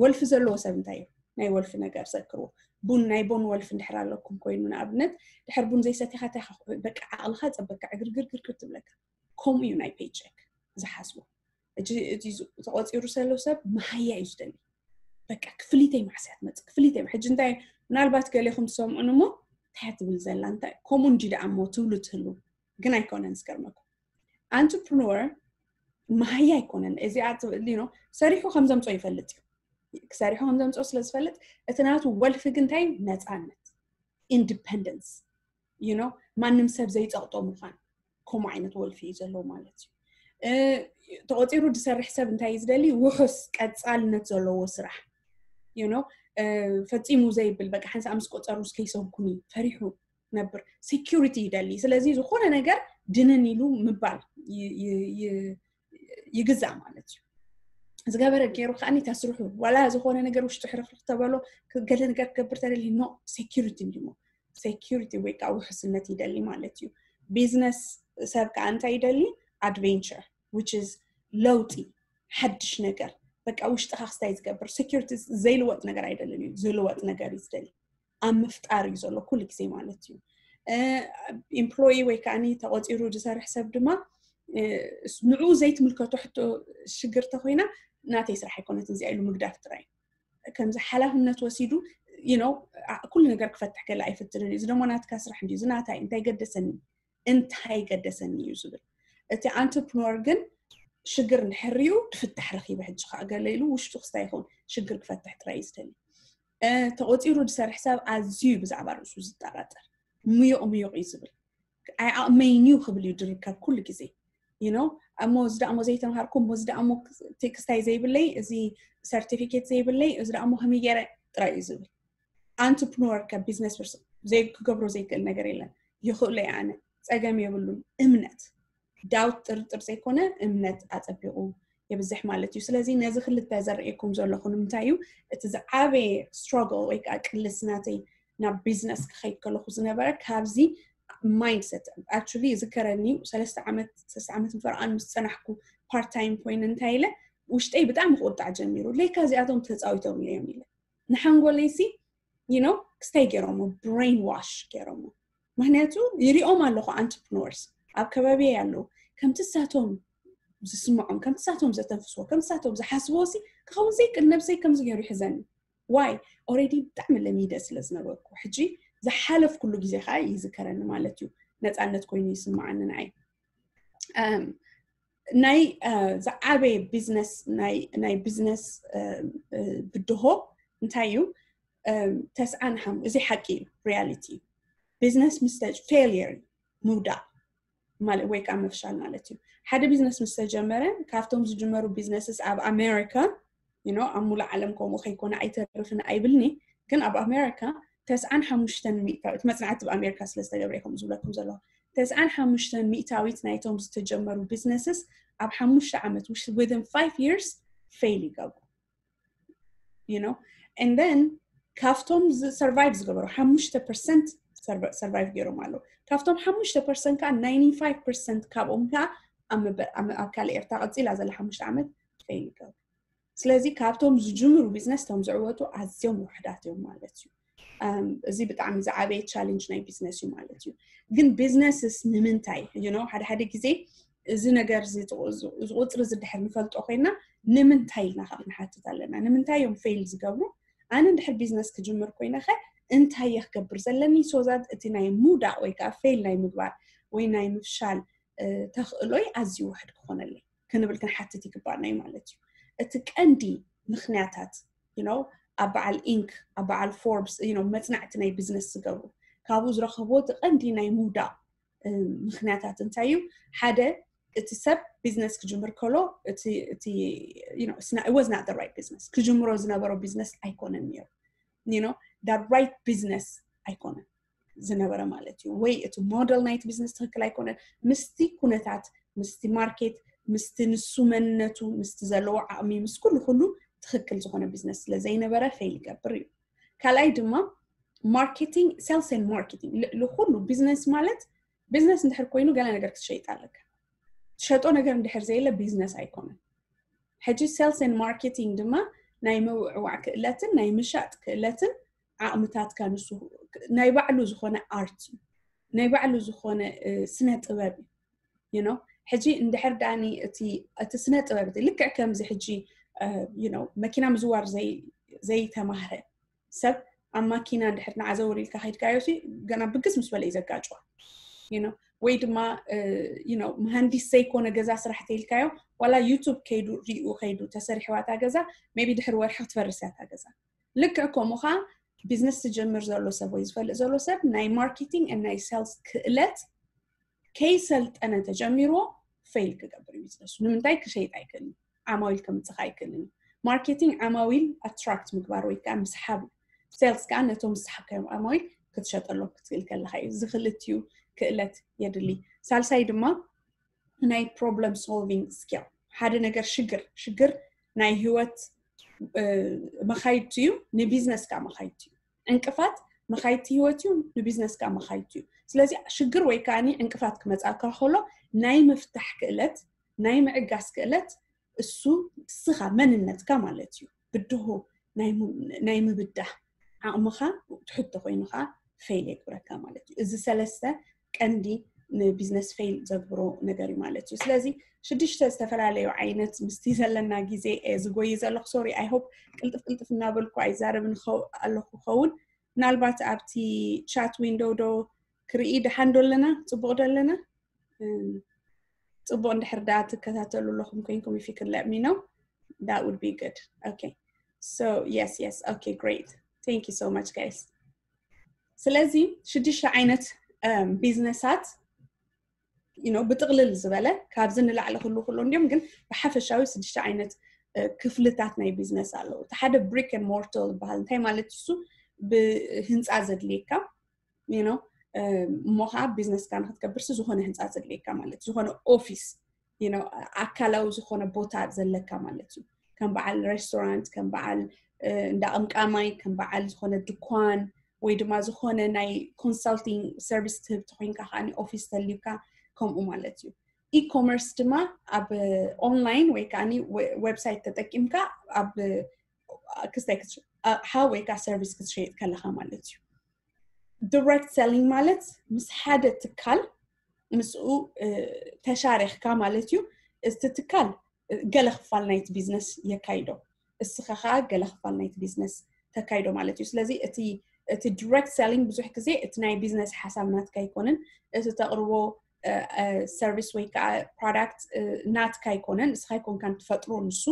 ወልፊ ዘለዎ ሰብ እንታይ እዩ ናይ ወልፊ ነገር ዘክርዎ ቡን ናይ ቦን ወልፊ እንድሕር ኣለኩም ኮይኑ ንኣብነት ድሕር ቡን ዘይሰቲኻ እንታይ በቃ ዓቕልኻ ፀበካ ዕግርግርግርግር ትብለካ ከምኡ እዩ ናይ paycheck ዝሓስቦ እቲ ተቆፂሩ ዘሎ ሰብ መሃያ እዩ ዝደሊ በቃ ክፍሊተይ ማዕስያ ትመፅእ ክፍሊተይ ሕጂ እንታይ ምናልባት ገሌኹም ትሰምዑን እሞ እንታይ ትብል ዘላ እንታይ ከምኡ እንጂ ደኣ እሞ ትብሉ ትህሉ ግን ኣይኮነን ዝገርመኩም entrepreneur መሃያ ኣይኮነን እዚኣ ትብሊ ነው ሰሪሑ ከም ዘምፅኦ ይፈልጥ እዩ ሰሪሑ ከም ዘምፅኦ ስለ ዝፈልጥ እቲ ናቱ ወልፊ ግን እንታይ ነፃነት independence you know ማንም ሰብ ዘይፀቕጦ ምዃን ከምኡ ዓይነት ወልፊ እዩ ዘለዎ ማለት እዩ ተቆፂሩ ዝሰርሕ ሰብ እንታይ ዝደሊ ውሑስ ቀፃልነት ዘለዎ ስራሕ you know ፈፂሙ ዘይብል በቃ ሓንሳእ ምስ ቆፀሩ እስከይሰንኩኒ ፈሪሑ ነብር security ይደሊ ስለዚ ዝኾነ ነገር ድንን ኢሉ ምባል ይግዛእ ማለት እዩ ዝገበረ ገይሩ ከዓ ተስርሑ ዋላ ዝኾነ ነገር ውሽጡ ሕርፍርፍ ተበሎ ገለ ነገር ክገብር ተደሊ no security እንዲሞ security ወይ ከዓ ውሕስነት ይደሊ ማለት እዩ business ሰብ ከዓ እንታይ ይደሊ adventure which is ለውጢ ሓድሽ ነገር በቃ ውሽጥኻ ክስታይ ዝገብር security ዘይልወጥ ነገር ኣይደልን እዩ ዝልወጥ ነገር እዩ ዝደሊ ኣብ ምፍጣር እዩ ዘሎ ኩሉ ግዜ ማለት እዩ employee ወይ ከዓ ተቆፂሩ ዝሰርሕ ሰብ ድማ ንኡ ዘይትምልከቶ ሕቶ ሽግር ተኮይና ናተይ ስራሕ ኣይኮነትን እዚኣ ኢሉ ምግዳፍ ጥራይ ከምዚ ሓላፍነት ወሲዱ you know ኩሉ ነገር ክፈትሕ ከለ ኣይፍትንን እዩ እዚ ደሞ ናትካ ስራሕ እንዲ እዚ ናታይ እንታይ ገደሰኒ እንታይ ገደሰኒ እዩ ዝብል እቲ entrepreneur ግን ሽግር እንድሕር እዩ ትፍታሕ ረኪበ ሕጂ ከዓ ገለ ኢሉ ውሽጡ ክስታይ ይኸውን ሽግር ክፈትሕ ጥራይ እዩ ዝደሊ ተቆፂሩ ዝሰርሕ ሰብ ኣዝዩ ብዛዕባ ርእሱ ዝጠራጠር ምዩቕ ምዩቕ እዩ ዝብል ኣይኣቕመይን እዩ ክብል እዩ ዝርከብ ኩሉ ግዜ you know እሞ እዚ ደኣ እሞ ዘይተምሃርኩ እሞ እዚ ደኣ እሞ ክስታይ ዘይብለይ እዚ certificate ዘይብለይ እዚ ደኣ እሞ ከመይ ገይረ ጥራይ እዩ ዝብል entrepreneur ከ business person ክገብሮ ዘይክእል ነገር የለን ይኽእሎ ኣነ ፀገም የብሉን እምነት doubt ጥርጥር ዘይኮነ እምነት ኣፀቢቑ የብዝሕ ማለት እዩ ስለዚ ነዚ ክልተ ዘርእየኩም ዘለኹ ንምንታይ እዩ እቲ ዝዓበየ struggle ወይ ከዓ ቅልስ ናተይ ናብ business ክኸይድ ከለኹ ዝነበረ ካብዚ mindset actually ዝከረኒ ሰለስተ ዓመት ሰለስተ ዓመት ፈርቓን ምስ ፀናሕኩ part time ኮይነ እንታይ ኢለ ውሽጠይ ብጣዕሚ ክቁጣዕ ጀሚሩ ለካ እዚኣቶም ተፃዊቶም እዮም ኢለ ንሓንጎለይሲ you know ክስታይ ገይሮሞ brainwash ገይሮሞ ምክንያቱ ይሪኦም ኣለኹ entrepreneurs ኣብ ከባቢ ኣለዉ ከምቲ ሳቶም ዝስምዖም ከምቲ ሳቶም ዘተንፍስዎ ከምቲ ሳቶም ዝሓስብዎ ሲ ክኸውን ዘይክእል ነብሰይ ከምዚ ገይሩ ይሕዘኒ why already ብጣዕሚ ለሚደ ስለ ዝነበርኩ ሕጂ ዝሓለፍኩሉ ግዜ ከዓ ይዝከረኒ ማለት እዩ ነፃነት ኮይኑ ይስምዓኒ ንዓይ ናይ ዝዓበየ business ናይ business ብድሆ እንታይ እዩ ተስዓን ሓሙ እዚ ሓቂ እዩ reality business ምስ failure ምውዳቕ ማለት ወይ ከዓ ምፍሻል ማለት እዩ ሓደ business ምስ ተጀመረ ካብቶም ዝጅመሩ businesses ኣብ ኣሜሪካ you know ኣብ ሙሉእ ዓለም ከምኡ ከይኮነ ኣይተርፍን ኣይብልኒ ግን ኣብ ኣሜሪካ ተስዓን ሓሙሽተን ሚእታዊት መፅናዕቲ ኣብ ኣሜሪካ ስለ ዝተገብረ ከምኡ ዝብለኩም ዘለኹ ተስዓን ሓሙሽተን ሚእታዊት ናይቶም ዝተጀመሩ businesses ኣብ ሓሙሽተ ዓመት within five years fail ይገብሩ you know and then ካብቶም survive ዝገበሩ ሓሙሽተ percent survive ገይሮም ኣለዉ ካብቶም ሓሙሽተ percent ከዓ ninety five percent ካብኦም ከዓ ኣብ ካልእ ኤርትራ ቀፂላ ዘላ ሓሙሽተ ዓመት fail ይገብሩ ስለዚ ካብቶም ዝጅምሩ ቢዝነስ እቶም ዝዕወቱ ኣዝዮም ውሕዳት እዮም ማለት እዩ። እዚ ብጣዕሚ ዝዓበየ ቻሌንጅ ናይ ቢዝነስ እዩ ማለት እዩ። ግን ቢዝነስስ ንምንታይ? ሓደ ሓደ ግዜ እዚ ነገር ዝቁፅሪ ዝድሕር ንፈልጦ ኮይና ንምንታይ ኢልና ካብ ንሓትት ኣለና። ንምንታይ እዮም ፌል ዝገብሩ? ኣነ እንድሕር ቢዝነስ ክጅምር ኮይነ ከ እንታይ እየ ክገብር ዘለኒ? ሶዛት እቲ ናይ ምውዳቅ ወይ ከዓ ፌል ናይ ምግባር ወይ ናይ ምፍሻል ተኽእሎይ ኣዝዩ ውሕድ ክኾነለይ ክንብል ክንሓትት ይግባና እዩ ማለት እዩ። እቲ ቀንዲ ምክንያታት you know ኣብ በዓል ኢንክ ኣብ በዓል ፎርብስ you know መፅናዕቲ ናይ ቢዝነስ ዝገብሩ ካብኡ ዝረኸብዎ እቲ ቀንዲ ናይ ምውዳቕ ምክንያታት እንታይ እዩ? ሓደ እቲ ሰብ ቢዝነስ ክጅምር ከሎ እቲ was not the right business ክጅምሮ ዝነበሮ ቢዝነስ ኣይኮነን ነይሩ። you know right business ኣይኮነን ዝነበረ ማለት እዩ። ወይ እቲ ሞደል ናይቲ ቢዝነስ ትኽክል ኣይኮነን፣ ምስቲ ኩነታት፣ ምስቲ ማርኬት፣ ምስቲ ንሱ መንነቱ፣ ምስቲ ዘለዎ ዓቕሚ፣ ምስ ኩሉ ኩሉ ትኽክል ዝኾነ ቢዝነስ ስለ ዘይነበረ ፌል ይገብር እዩ። ካልኣይ ድማ ማርኬቲንግ፣ sales and marketing። ልዕሊ ኩሉ ቢዝነስ ማለት ቢዝነስ እንድሕር ኮይኑ ገለ ነገር ክትሸይጥ ኣለካ። ትሸጦ ነገር እንድሕር ዘየለ ቢዝነስ ኣይኮነን። ሕጂ sales and marketing ድማ ናይ ምውዕዋዕ ክእለትን ናይ ምሻጥ ክእለትን ዓቕምታትካ ንሱ ናይ ባዕሉ ዝኾነ ኣርት እዩ። ናይ ባዕሉ ዝኾነ ስነ ጥበብ እዩ። you know ሕጂ እንድሕር ዳኒ እቲ እቲ ስነ ጥበብ እቲ ልክዕ ከምዚ ሕጂ you know መኪና ምዝዋር ዘይተማህረ ሰብ ኣብ ማኪና እንድሕር ንዓዘውር ኢልካ ከይድካዮ ገና ብግስ ምስ በለ እዩ ዘጋጭዋ። you know ወይ ድማ you know መሃንዲስ ዘይኮነ ገዛ ስራሕ ተይልካዮ ዋላ ዩቱብ ከይዱ ሪኡ ከይዱ ተሰሪሕዋታ ገዛ maybe ድሕሪ ወርሒ ክትፈርስ እያ እታ ገዛ። ልክዕ ከምኡ ከዓ ቢዝነስ ዝጀምር ዘሎ ሰብ ወይ ዝፈልጥ ዘሎ ሰብ ናይ ማርኬቲንግ ናይ ሴልስ ክእለት ከይሰልጠነ ተጀሚርዎ ፌል ክገብር እዩ ቢዝነሱ። ንምንታይ ክሸይጥ ኣይክእልን፣ ዓማዊል ከምፅእ ኣይክእልን። ማርኬቲንግ ዓማዊል ኣትራክት ምግባር ወይ ከዓ ምስሓብ፣ ሴልስ ከዓ ነቶም ዝሰሓብካዮም ዓማዊል ክትሸጠሎም ክትክእል ከለካ እዩ። እዚ ክልቲኡ ክእለት የድሊ። ሳልሳይ ድማ ናይ problem solving skill፣ ሓደ ነገር ሽግር ሽግር ናይ ህይወት መካይድቲ እዩ፣ ንቢዝነስ ከዓ መካይድቲ እዩ። ዕንቅፋት መካይድቲ ህይወት እዩ፣ ንቢዝነስ ከዓ መካይድቲ እዩ። ስለዚ ሽግር ወይ ከዓ ዕንቅፋት ክመፃካ ከሎ ናይ ምፍታሕ ክእለት፣ ናይ ምዕጋስ ክእለት እሱ እስኻ መንነትካ ማለት እዩ። ብድሆ ናይ ምብዳህ ዓቕምኻ ትሕቶ ኮይኑ ከዓ ፌል የግብረካ ማለት እዩ። እዚ ሰለስተ ቀንዲ ንቢዝነስ ፌል ዘግብሮ ነገር እዩ ማለት እዩ። ስለዚ ሽዱሽተ ዝተፈላለዩ ዓይነት ምስቲ ዘለና ግዜ ዝጎይ ዘለኹ ሶሪ I hope ቅልጥፍ ቅልጥፍ እናበልኩ ኣይዛረብን ኣለኹ ኸውን። ምናልባት ኣብቲ ቻት ዊንዶው ዶ ክርኢ ደሓን ዶ ኣለና? ፅቡቕ ዶ ኣለና? ፅቡቕ እንድሕር ዳ ትከታተሉ ኣለኹም ኮይንኩም if you can let me know that would be good. Okay, so yes, yes, okay, great, thank you so much guys. ስለዚ ሽዱሽተ ዓይነት ቢዝነሳት you know ብጥቕልል ዝበለ ካብዚ ንላዕሊ ክሉ ክሉ እንዲዮም፣ ግን ብሓፈሻዊ ሽዱሽተ ዓይነት ክፍልታት ናይ ቢዝነስ ኣለዉ። እቲ ሓደ brick and mortar ዝበሃል እንታይ ማለት እሱ? ብህንፃ ዘድልየካ you know እሞ ከዓ ቢዝነስካ ንክትገብርሲ ዝኾነ ህንፃ ዘድልየካ ማለት ዝኾነ ኦፊስ you know ኣካላዊ ዝኾነ ቦታ ዘለካ ማለት እዩ። ከም በዓል ሬስቶራንት፣ ከም በዓል እንዳ ቅምቃማይ፣ ከም በዓል ዝኾነ ድኳን ወይ ድማ ዝኾነ ናይ ኮንሳልቲንግ ሰርቪስ ትህብ ተኮይንካ ከዓ ኦፊስ ተልዩካ ከምኡ ማለት እዩ። ኢኮመርስ ድማ ኣብ ኦንላይን ወይ ከዓ ዌብሳይት ተጠቂምካ ኣብ ክስታይ ኣቕሓ ወይ ከዓ ሰርቪስ ክትሸይጥ ከለካ ማለት እዩ። ዲሬክት ሰሊንግ ማለት ምስ ሓደ ትካል ምስኡ ተሻሪኽካ ማለት እዩ። እቲ ትካል ገለ ክፋል ናይቲ ቢዝነስ የካይዶ፣ እስኻ ከዓ ገለ ክፋል ናይቲ ቢዝነስ ተካይዶ ማለት እዩ። ስለዚ እቲ እቲ ዲሬክት ሰሊንግ ብዙሕ ግዜ እቲ ናይ ቢዝነስ ሓሳብ ናትካ ኣይኮንን፣ እቲ ተቕርቦ ሰርቪስ ወይ ከዓ ፕሮዳክት ናትካ ኣይኮነን፣ እስኻ ኣይኮንካን ትፈጥሮ ንሱ፣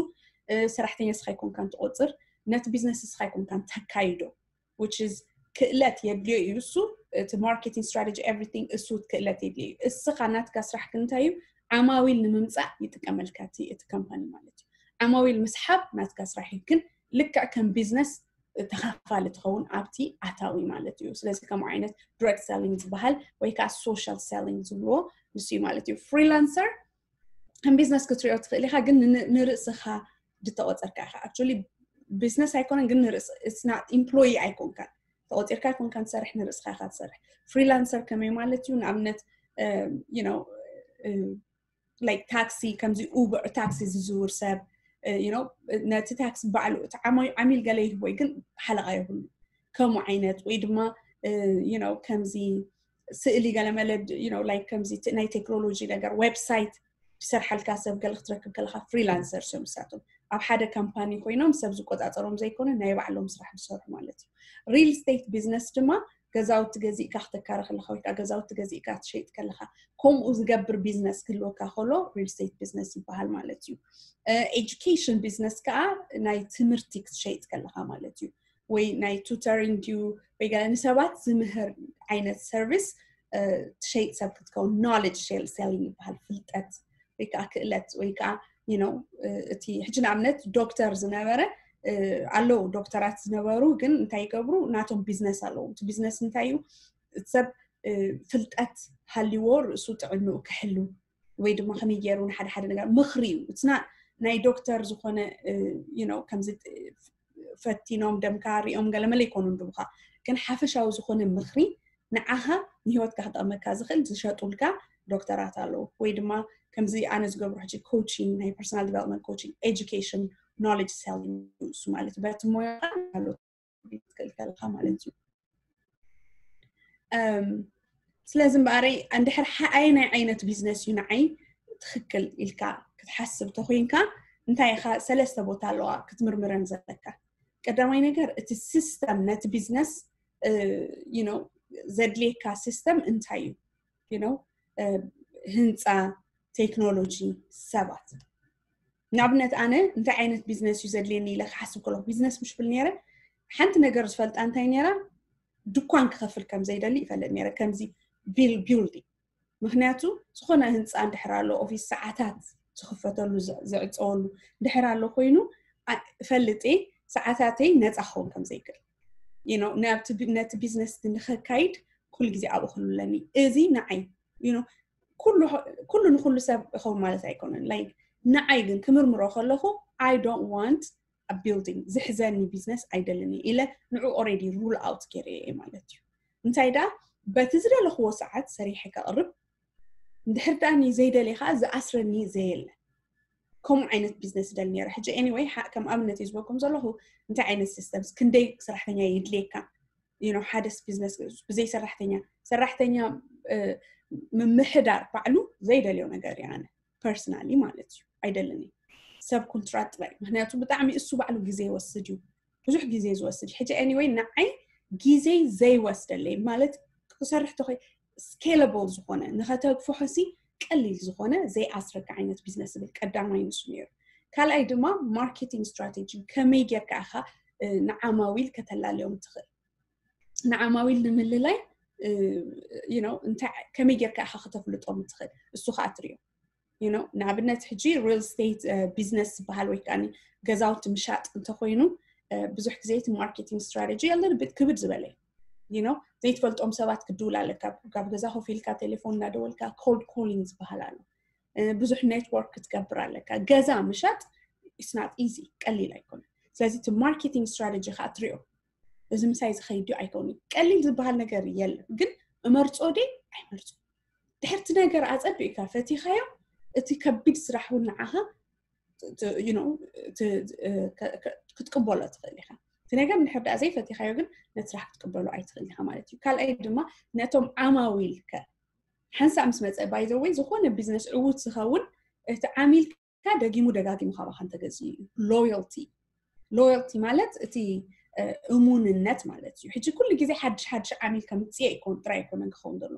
ሰራሕተኛ እስኻ ኣይኮንካን ትቆፅር፣ ነቲ ቢዝነስ እስኻ ኣይኮንካን ተካይዶ። which is ክእለት የድልዮ እዩ እሱ፣ እቲ marketing strategy everything እሱ ክእለት የድልዮ እዩ። እስኻ ናትካ ስራሕ ክንታይ እዩ? ዓማዊል ንምምፃእ ይጥቀመልካ እቲ እቲ ካምፓኒ ማለት እዩ። ዓማዊል ምስሓብ ናትካ ስራሕ እዩ፣ ግን ልክዕ ከም ቢዝነስ ተኻፋሊ ትኸውን ኣብቲ ኣታዊ ማለት እዩ። ስለዚ ከምኡ ዓይነት ዲሬክት ሰሊንግ ዝበሃል ወይ ከዓ ሶሻል ሰሊንግ ዝብልዎ ንሱ እዩ ማለት እዩ። ፍሪላንሰር ከም ቢዝነስ ክትሪኦ ትኽእል ኢኻ፣ ግን ንርእስኻ ዝተቆፀርካ ኢኻ። Actually ቢዝነስ ኣይኮነን፣ ግን ንርእስ it's not employee ኣይኮንካን፣ ተቆፂርካ ኣይኮንካን ትሰርሕ፣ ንርእስኻ ኢኻ ትሰርሕ። ፍሪላንሰር ከመይ ማለት እዩ? ንኣብነት you know like ታክሲ፣ ከምዚ ኡበር ታክሲ ዝዝውር ሰብ፣ ነቲ tax ባዕሉ እቲ ዓሚል ገለ ይህቦ ግን ሓለቓ የብሉ። ከምኡ ዓይነት ወይ ድማ ከምዚ ስእሊ ገለመለ like ከምዚ ናይ ቴክኖሎጂ ነገር website ዝሰርሓልካ ሰብ ገለ ክትረክብ ከለካ freelancers እዮም ንሳቶም። ኣብ ሓደ company ኮይኖም ሰብ ዝቆፃፀሮም ዘይኮነ ናይ ባዕሎም ስራሕ ዝሰርሑ ማለት እዩ። Real estate business ድማ ገዛውቲ ገዚእካ ክተካረ ከለካ ወይ ከዓ ገዛውቲ ገዚእካ ትሸይጥ ከለካ ከምኡ ዝገብር business ክህልወካ ከሎ real estate business ይበሃል ማለት እዩ። Education business ከዓ ናይ ትምህርቲ ክትሸይጥ ከለካ ማለት እዩ። ወይ ናይ tutoring ድዩ ወይ ገለ ንሰባት ዝምህር ዓይነት service ትሸይጥ ሰብ ክትከውን knowledge selling ይበሃል። ፍልጠት ወይ ከዓ ክእለት ወይ ከዓ እቲ ሕጂ ንኣብነት ዶክተር ዝነበረ ኣለዉ ዶክተራት ዝነበሩ ግን እንታይ ይገብሩ? ናቶም business ኣለዉ። እቲ business እንታይ እዩ? ሰብ ፍልጠት ሃልዎ ርእሱ ጥዕንኡ ክሕሉ ወይ ድማ ከመይ ገይሩ ንሓደ ሓደ ነገር ምኽሪ እዩ። እትና ናይ ዶክተር ዝኾነ ከምዚ ፈቲኖም ደምካ ሪኦም ገለመለ ይኮኑ ንድቡካ ግን ሓፈሻዊ ዝኾነ ምኽሪ ንዓኻ ንህይወትካ ክጠቕመካ ዝኽእል ዝሸጡልካ ዶክተራት ኣለዉ ወይ ድማ ከምዚ ኣነ ዝገብሮ ሕጂ coaching ናይ personal development coaching education knowledge selling እሱ ማለት በቲ ሞያካ ትክእል ከለካ ማለት እዩ። ስለዚ እምበኣረይ እንድሕር ሓኣይ ናይ ዓይነት business እዩ ንዓይ ትኽክል ኢልካ ክትሓስብ ተኮይንካ እንታይ ኢኻ ሰለስተ ቦታ ኣለዋ ክትምርምረን ዘለካ። ቀዳማይ ነገር እቲ system ነቲ business ዘድልየካ system እንታይ እዩ? ህንፃ፣ ቴክኖሎጂ፣ ሰባት። ንኣብነት ኣነ እንታይ ዓይነት business እዩ ዘድልየኒ ኢለ ክሓስብ ከለኩ business ምሽ ብል ነረ ሓንቲ ነገር ዝፈልጣ እንታይ ነራ ድኳን ክኸፍል ከም ዘይደሊ ይፈልጥ ነረ ከምዚ building ምክንያቱ ዝኾነ ህንፃ እንድሕር ኣሎ ኦፊስ ሰዓታት ዝኽፈተሉ ዝዕፀወሉ እንድሕር ኣሎ ኮይኑ ፈልጥ ሰዓታተይ ነፃ ክኸውን ከም ዘይክእል ነቲ business ንኸካይድ ኩሉ ግዜ ኣብኡ ክህሉ ኣለኒ። እዚ ንዓይ ኩሉ ንኩሉ ሰብ ይኸውን ማለት ኣይኮነን። Like ንዓይ ግን ክምርምሮ ከለኹ I don't want a building ዝሕዘኒ business ኣይደልን ኢለ ንዑ already rule out ገይረ እየ ማለት እዩ። እንታይ ደኣ በቲ ዝደለኽዎ ሰዓት ሰሪሐ ከቕርብ እንድሕር ደኣ ዘይደልየ ከዓ ዝኣስረኒ ዘየለ ከምኡ ዓይነት business ደል ነረ። ሕጂ anyway ከም ኣብነት እዩ ዝበኩም ዘለኹ እንታይ ዓይነት systems ክንደይ ሰራሕተኛ የድልየካ you know ሓደስ business ብዘይ ሰራሕተኛ ሰራሕተኛ ምምሕዳር ባዕሉ ዘይደልዮ ነገር እየ ኣነ personally ማለት እዩ። ኣይደልን ሰብ contract ጥራይ ምክንያቱ ብጣዕሚ እሱ ባዕሉ ግዜ ይወስድ እዩ። ብዙሕ ግዜ ዝወስድ ሕጂ anyway ንዓይ ግዜ ዘይወስደለይ ማለት ክሰርሕ ተኮይ scalable ዝኾነ ንኸተግፍሖ ሲ ቀሊል ዝኾነ ዘይኣስረካ ዓይነት business ዝብል ቀዳማይ ንሱ ነይሩ። ካልኣይ ድማ marketing strategy ከመይ ጌርካ ኢኻ ንዓማዊል ከተላለዮም ትኽእል ንዓማዊል ንምልላይ you know እንታይ ከመይ ጌርካ ኢኻ ከተፍልጦም ትኽእል እሱ ከዓ ትሪኦ you know ንኣብነት ሕጂ real estate business ዝበሃል ወይ ከዓ ገዛውቲ ምሻጥ እንተኮይኑ ብዙሕ ግዜ እቲ marketing strategy a little bit ክብድ ዝበለ you know ዘይትፈልጦም ሰባት ክድውል ኣለካ ካብ ገዛ ኮፍ ኢልካ ቴሌፎን እናደወልካ cold calling ዝበሃል ኣሎ ብዙሕ network ክትገብር ኣለካ ገዛ ምሻጥ it's not easy ቀሊል ኣይኮነ ስለዚ እቲ marketing strategy ከዓ ትሪኦ እዚ ምሳይ ዝኸይድ ድዩ ኣይከውን ቀሊል ዝበሃል ነገር የለን ግን እመርፆ ዲ ኣይመርፆ ድሕርቲ ነገር ኣፀቢእካ ፈቲኻዮ እቲ ከቢድ ስራሕ እውን ንዓኻ ክትቅበሎ ትኽእል ኢኻ እቲ ነገር እንድሕር ደኣ ዘይፈቲኻዮ ግን ነቲ ስራሕ ክትቅበሎ ኣይትኽእል ኢኻ ማለት እዩ ካልኣይ ድማ ነቶም ዓማዊልከ ሓንሳእ ምስ መፀ ባይዘወይ ዝኾነ business ዕዉት ዝኸውን እቲ ዓሚል ደጊሙ ደጋጊሙ ካባኻ እንተገዝኡ እዩ loyalty loyalty ማለት እቲ እሙንነት ማለት እዩ ሕጂ ኩሉ ግዜ ሓድሽ ሓድሽ ዓሚል ከምፅእ ይኮን ጥራይ ኣይኮነን ክኸውን ዘሎ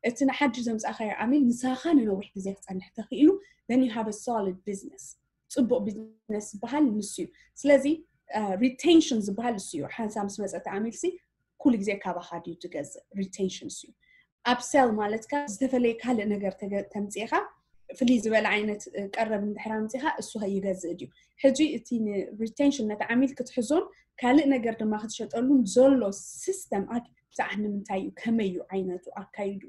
እቲ ንሓድሽ ዘምፃእካዮ ዓሚል ምሳኻ ንነዊሕ ግዜ ክፀንሕ ተኽኢሉ then you have a solid business ፅቡቅ business ዝበሃል ንሱ እዩ ስለዚ retention ዝበሃል ንሱ እዩ ሓንሳ ምስ መፀ እቲ ዓሚል ሲ ኩሉ ግዜ ካባኻ ድዩ ትገዝእ retention ንሱ እዩ upsell ማለት ከዓ ዝተፈለየ ካልእ ነገር ተምፅእኻ ፍልይ ዝበለ ዓይነት ቀረብ እንድሕር ኣምፅኻ እሱ ይገዝእ ድዩ ሕጂ እቲ retention ነቲ ዓሚል ክትሕዞን ካልእ ነገር ድማ ክትሸጠሉን ዘሎ system ብዛዕባ ንምንታይ እዩ ከመይ እዩ ዓይነቱ ኣካይዱ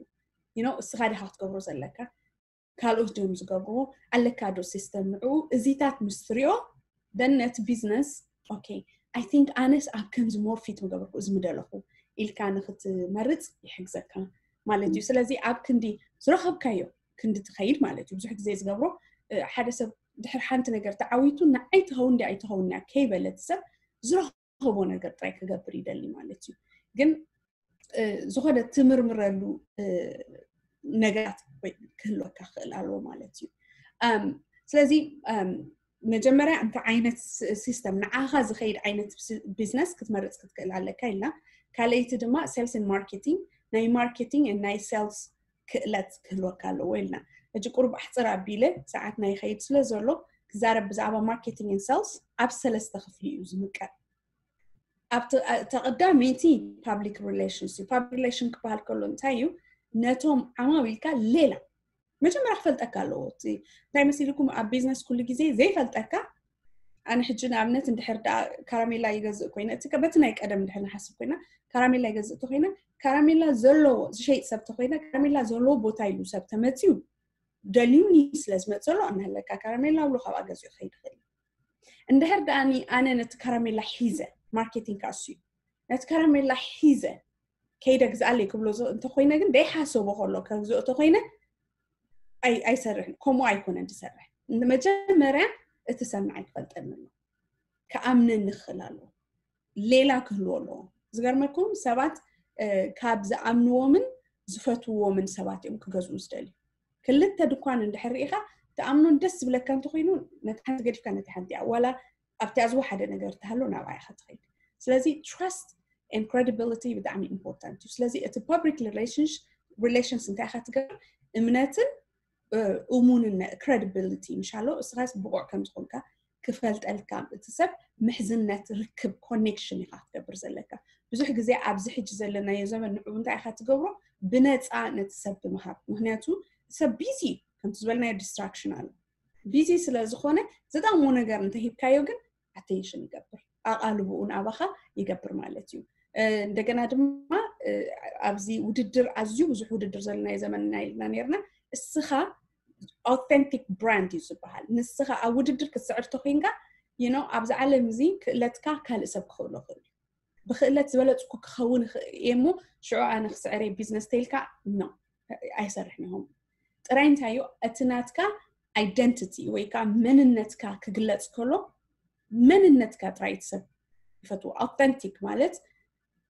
you know እስኻ ዲኻ ክትገብሮ ዘለካ ካልኦት ድዮም ዝገብርዎ ኣለካ ዶ system ንዕኡ እዚታት ምስ ትሪኦ then ነቲ business okay I think ኣነስ ኣብ ከምዚ more fit ምገበርኩ እዚ ምደለኹ ኢልካ ንክትመርፅ ይሕግዘካ ማለት እዩ ስለዚ ኣብ ክንዲ ዝረኸብካዮ ክንዲ ትኸይድ ማለት እዩ ብዙሕ ግዜ ዝገብሮ ሓደ ሰብ ድሕር ሓንቲ ነገር ተዓዊቱ ንዓይ ትኸውን ዲ ኣይትኸውን እያ ከይበለ እቲ ሰብ ዝረኸቦ ነገር ጥራይ ክገብር ይደሊ ማለት እዩ። ግን ዝኾነ ትምርምረሉ ነገራት ክህልወካ ክኽእል ኣለዎ ማለት እዩ። ስለዚ መጀመርያ እንታይ ዓይነት ሲስተም ንዓኻ ዝኸይድ ዓይነት ቢዝነስ ክትመርፅ ክትክእል ኣለካ ኢልና። ካልኣይቲ ድማ ሴልስ ማርኬቲንግ፣ ናይ ማርኬቲንግ ናይ ሴልስ ክእለት ክህልወካ ኣለዎ ኢልና። ሕጂ ቁሩብ ኣሕፅር ኣቢለ ሰዓት ናይ ኸይድ ስለ ዘሎ ክዛረብ ብዛዕባ ማርኬቲንግ ን ሴልስ ኣብ ሰለስተ ክፍሊ እዩ ዝምቀል። ኣብቲ ቀዳመይቲ ፓብሊክ ሪሌሽንስ እዩ። ፓብሊክ ሪሌሽን ክበሃል ከሎ እንታይ እዩ? ነቶም ዓማዊልካ ሌላ መጀመርያ ክፈልጠካ ኣለዎ። እቲ እንታይ መሲልኩም ኣብ ቢዝነስ ኩሉ ግዜ ዘይፈልጠካ ኣነ ሕጂ ንኣብነት እንድሕር ደኣ ካራሜላ ይገዝእ ኮይነ እቲ በቲ ናይ ቀደም እንድሕር ንሓስብ ኮይና ካራሜላ ይገዝእ ተኮይነ ካራሜላ ዘለዎ ዝሸይጥ ሰብ ተኮይነ ካራሜላ ዘለዎ ቦታ ኢሉ ሰብ ተመፅዩ ደልዩኒ ስለ ዝመፀሎ ኣናለካ ካራሜላ ብሎ ካብኣ ገዚኡ ክኸይድ ይኽእል። እንድሕር ደኣኒ ኣነ ነቲ ካራሜላ ሒዘ ማርኬቲንግ ካሱ እዩ ነቲ ካራሜላ ሒዘ ከይደ ግዝኣለይ ክብሎ እንተኮይነ ግን ደይሓሰቦ ከሎ ከግዝኦ ተኮይነ ኣይሰርሕን። ከምኡ ኣይኮነን ዝሰርሕ። መጀመርያ እቲ ሰብ ንዓይ ክፈልጠኒ ኣሎ፣ ክኣምነኒ ክኽእል ኣለዎ፣ ሌላ ክህልዎ ኣለዎ። ዝገርመኩም ሰባት ካብ ዝኣምንዎምን ዝፈትውዎምን ሰባት እዮም ክገዝኡ ዝደልዩ። ክልተ ድኳን እንድሕር ርኢኻ ትኣምኖን ደስ ዝብለካ እንተኮይኑ ነቲ ሓንቲ ገዲፍካ ነቲ ሓንቲ እያ ዋላ ኣብቲ ኣዝዎ ሓደ ነገር ተሃሎ ናብኣ ኢኻ ትኸይድ። ስለዚ trust and credibility ብጣዕሚ ኢምፖርታንት እዩ። ስለዚ እቲ ፓብሊክ ሪሌሽንስ እንታይ ኢኻ ትገብር? እምነትን እሙንነት፣ ክሬዲቢሊቲ ምሻሎ እስኻስ ብቑዕ ከም ዝኾንካ ክፈልጠልካ እቲ ሰብ ምሕዝነት ርክብ ኮኔክሽን ኢኻ ክትገብር ዘለካ። ብዙሕ ግዜ ኣብዚ ሕጂ ዘለናዮ ዘመን ንዕኡ እንታይ ኢኻ ትገብሮ? ብነፃ ነቲ ሰብ ብምሃብ። ምክንያቱ ሰብ ቢዚ ከምቲ ዝበልናዮ ዲስትራክሽን ኣሎ። ቢዚ ስለ ዝኾነ ዝጠቕሞ ነገር እንተሂብካዮ ግን ኣቴንሽን ይገብር፣ ኣቓልብኡ ናባኻ ይገብር ማለት እዩ። እንደገና ድማ ኣብዚ ውድድር ኣዝዩ ብዙሕ ውድድር ዘለናዮ ዘመንና ኢልና ነርና። እስኻ ኣውተንቲክ ብራንድ እዩ ዝበሃል። ንስኻ ኣብ ውድድር ክትስዕር ተኮይንካ ይኖ ኣብዚ ዓለም እዚ ክእለትካ ካልእ ሰብ ክኽእሎ ክእል እዩ። ብክእለት ዝበለፅኩ ክኸውን እየ እሞ ሽዑ ኣነ ክስዕር እየ ቢዝነስ ተይልካ ኖ ኣይሰርሕን ኢኹም። ጥራይ እንታይ እዩ እቲ ናትካ ኣይደንቲቲ ወይ ከዓ መንነትካ ክግለፅ ከሎ መንነትካ ጥራይ እቲ ሰብ ይፈትዎ። ኣውተንቲክ ማለት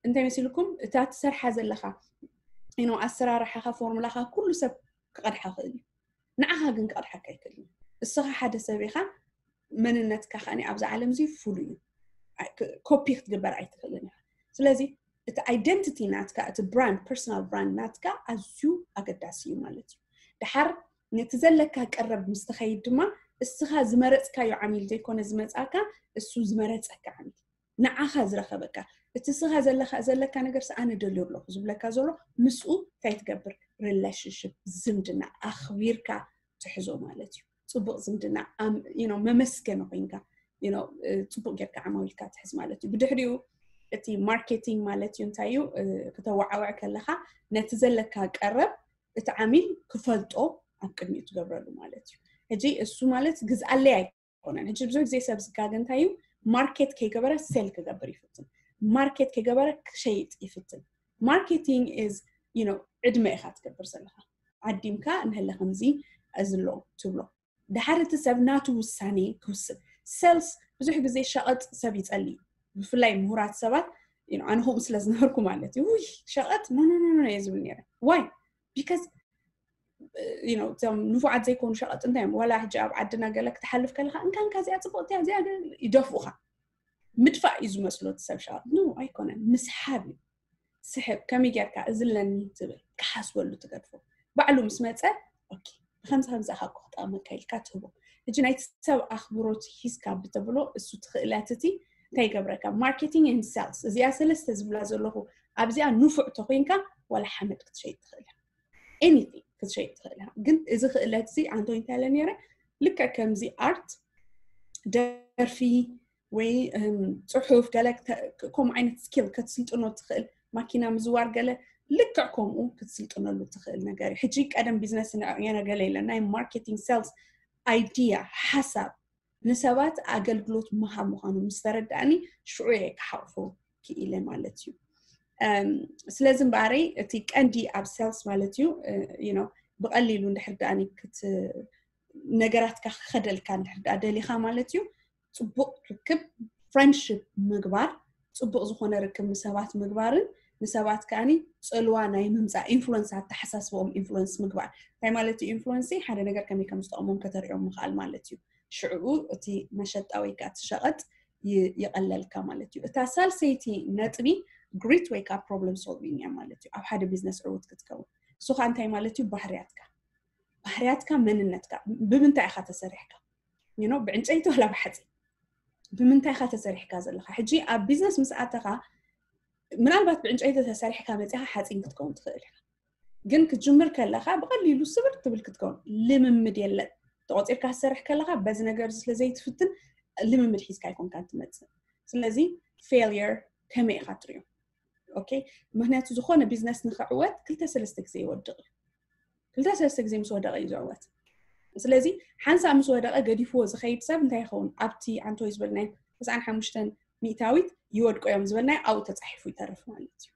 እንታይ መሲልኩም እታ ትሰርሓ ዘለኻ ኖ ኣሰራርሓኻ ፎርሙላኻ ኩሉ ሰብ ክቐድሓ ክእል እዩ። ንዓኻ ግን ክቐድሓካ ኣይክእልን። እስኻ ሓደ ሰብ ኢኻ፣ መንነትካ ከኣ ኣብዚ ዓለም እዚ ፍሉይ እዩ። ኮፒ ክትግበር ኣይትኽእልን ኢኻ። ስለዚ እቲ ኣይደንቲቲ ናትካ እቲ ብራንድ ፐርሶናል ብራንድ ናትካ ኣዝዩ ኣገዳሲ እዩ ማለት እዩ። ድሓር ነቲ ዘለካ ቀረብ ምስ ትኸይድ ድማ እስኻ ዝመረፅካዮ ዓሚል ዘይኮነ ዝመፃካ እሱ ዝመረፀካ ዓሚል ንዓኻ ዝረኸበካ እቲ እስኻ ዘለካ ነገር ኣነ ደልዮ ኣለኹ ዝብለካ ዘሎ ምስኡ እንታይ ትገብር ሪሌሽንሽፕ ዝምድና ኣኽቢርካ ትሕዞ ማለት እዩ። ፅቡቅ ዝምድና መመስገኒ ኮይንካ ፅቡቅ ጌርካ ዓማዊልካ ትሕዝ ማለት እዩ። ብድሕሪኡ እቲ ማርኬቲንግ ማለት እዩ እንታይ እዩ? ክተወዓውዕ ከለካ ነቲ ዘለካ ቀረብ እቲ ዓሚል ክፈልጦ ኣብ ቅድሚኡ ትገብረሉ ማለት እዩ። ሕጂ እሱ ማለት ግዝኣለይ ኣይኮነን። ሕጂ ብዙሕ ግዜ ሰብ ዝጋገ እንታይ እዩ? ማርኬት ከይገበረ ሴል ክገብር ይፍትን። ማርኬት ከይገበረ ክሸይጥ ይፍትን። ማርኬቲንግ ኢዝ ዕድመ ኢኻ ትገብር ዘለኻ። ዓዲምካ እንሀለ ከምዚ እዚ ኣሎ ትብሎ። ድሓር እቲ ሰብ ናቱ ውሳኔ ክውስን። ሴልስ ብዙሕ ግዜ ሸቐጥ ሰብ ይጸሊ። ብፍላይ ምሁራት ሰባት ኣነ ከምኡ ስለ ዝነበርኩ ማለት እዩ። ውይ ሸቐጥ ኖ ኖ ኖ እየ ዝብል ነይረ። ዋይ ቢካዝ እቶም ንፉዓት ዘይኮኑ ሸቐጥ እንታይ እዮም? ዋላ ሕጂ ኣብ ዓድና ገለ ክትሓልፍ ከለካ እንካ እንካ እዚኣ ፅቡቕቲ እዚኣ ይደፍኡኻ። ምድፋእ እዩ ዝመስሎ እቲ ሰብ ሸቐጥ። ኖ ኣይኮነን፣ ምስሓብ እዩ። ስሕብ ከመይ ጌርካ እዚ ኣለኒ ትብል ክሓስበሉ ትገድፎ። ባዕሉ ምስ መፀ ኦኬ ብከምዚ ከምዚ ኣኻ እኮ ክጠቕመካ ኢልካ ትህቦ። ሕጂ ናይቲ ሰብ ኣኽብሮት ሂዝካ ብተብሎ እሱ ትኽእለት እቲ እንታይ ይገብረካ? ማርኬቲንግ ን ሴልስ እዚኣ ሰለስተ ዝብላ ዘለኹ ኣብዚኣ ንፉዕ ተኮይንካ ዋላ ሓመድ ክትሸይጥ ትኽእል ኢኻ። ኤኒቲንግ ክትሸይጥ ትኽእል ኢኻ። ግን እዚ ክእለት እዚ ኣንቶኒ እንታይ ኢለ ነይረ? ልክዕ ከምዚ ኣርት፣ ደርፊ ወይ ጽሑፍ ገለ ከምኡ ዓይነት ስኪል ክትስልጥኖ ትኽእል፣ ማኪና ምዝዋር ገለ ልክዕ ከምኡ ክትስልጥነሉ ትኽእል ነገር እዩ። ሕጂ ቀደም ቢዝነስ ንዕየነ ገለ የለን ናይ ማርኬቲንግ ሴልስ ኣይዲያ ሓሳብ ንሰባት ኣገልግሎት ምሃብ ምዃኑ ምስ ተረዳእኒ ሽዑ እየ ክሓቑፎ ክኢለ ማለት እዩ። ስለዚ እምበኣረይ እቲ ቀንዲ ኣብ ሴልስ ማለት እዩ ብቐሊሉ እንድሕር ደኣኒ ነገራትካ ክኸደልካ እንድሕር ደኣ ደሊኻ ማለት እዩ። ጽቡቕ ርክብ፣ ፍሬንድሽፕ ምግባር፣ ጽቡቕ ዝኾነ ርክብ ንሰባት ምግባርን ንሰባት ከኣኒ ጽልዋ ናይ ምምጻእ፣ ኢንፍሉንስ፣ ኣተሓሳስበኦም ኢንፍሉንስ ምግባር። እንታይ ማለት እዩ ኢንፍሉንስ? ሓደ ነገር ከመይ ከም ዝጠቕሞም ከተርእዮም ምኽኣል ማለት እዩ። ሽዕኡ እቲ መሸጣ ወይ ከዓ እቲ ሸቐጥ ይቐለልካ ማለት እዩ። እታ ሳልሰይቲ ነጥቢ ግሪት ወይ ከዓ ፕሮብለም ሶልቪንግ እያ ማለት እዩ። ኣብ ሓደ ቢዝነስ ዕውት ክትከውን እሱ ከዓ እንታይ ማለት እዩ? ባህርያትካ፣ ባህርያትካ፣ መንነትካ፣ ብምንታይ ኢኻ ተሰሪሕካ? ብዕንጨይቲ ዋላ ብሓፂን? ብምንታይ ኢኻ ተሰሪሕካ ዘለኻ? ሕጂ ኣብ ቢዝነስ ምስ ኣተኻ ምናልባት ብዕንጨይቲ ተሰሪሕካ መፂኻ ሓፂን ክትከውን ትኽእል ኢኻ። ግን ክትጅምር ከለኻ ብቐሊሉ ስብር ትብል ክትከውን፣ ልምምድ የለን። ተቆፂርካ ትሰርሕ ከለኻ በዚ ነገር ስለ ዘይትፍትን ልምምድ ሒዝካ ኣይኮንካን ትመፅእ። ስለዚ ፌልየር ከመይ ኢኻ ትሪኦ? ኦኬ፣ ምክንያቱ ዝኾነ ቢዝነስ ንክዕወት ክልተ ሰለስተ ግዜ ይወድቕ እዩ። ክልተ ሰለስተ ግዜ ምስ ወደቐ እዩ ዝዕወት። ስለዚ ሓንሳእ ምስ ወደቐ ገዲፍዎ ዝኸይድ ሰብ እንታይ ይኸውን? ኣብቲ ኣንቶይ ዝበልናዮ ተስዓን ሓሙሽተን ሚእታዊት ይወድቁ እዮም ዝበልናዮ ኣብኡ ተፃሒፉ ይተርፍ ማለት እዩ።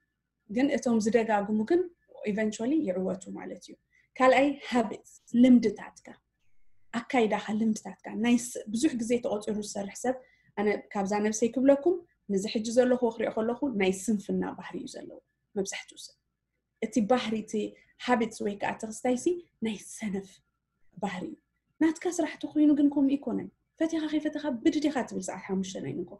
ግን እቶም ዝደጋግሙ ግን ኢቨንቹዋሊ ይዕወቱ ማለት እዩ። ካልኣይ ሃቢትስ፣ ልምድታትካ፣ ኣካይዳኻ፣ ልምድታትካ ናይ ብዙሕ ግዜ ተቆፂሩ ዝሰርሕ ሰብ፣ ኣነ ካብዛ ነብሰይ ክብለኩም፣ ንዚ ሕጂ ዘለኹ ክሪኦ ከለኹ ናይ ስንፍና ባህሪ እዩ ዘለዎ መብዛሕትኡ ሰብ። እቲ ባህሪ፣ እቲ ሃቢትስ ወይ ከዓ እቲ ክስታይሲ ናይ ሰነፍ ባህሪ እዩ። ናትካ ስራሕ ተኮይኑ ግን ከምኡ ይኮነን። ፈቲኻ ከይፈተኻ ብድድ ኢኻ ትብል ሰዓት ሓሙሽተ ናይ ንጎ።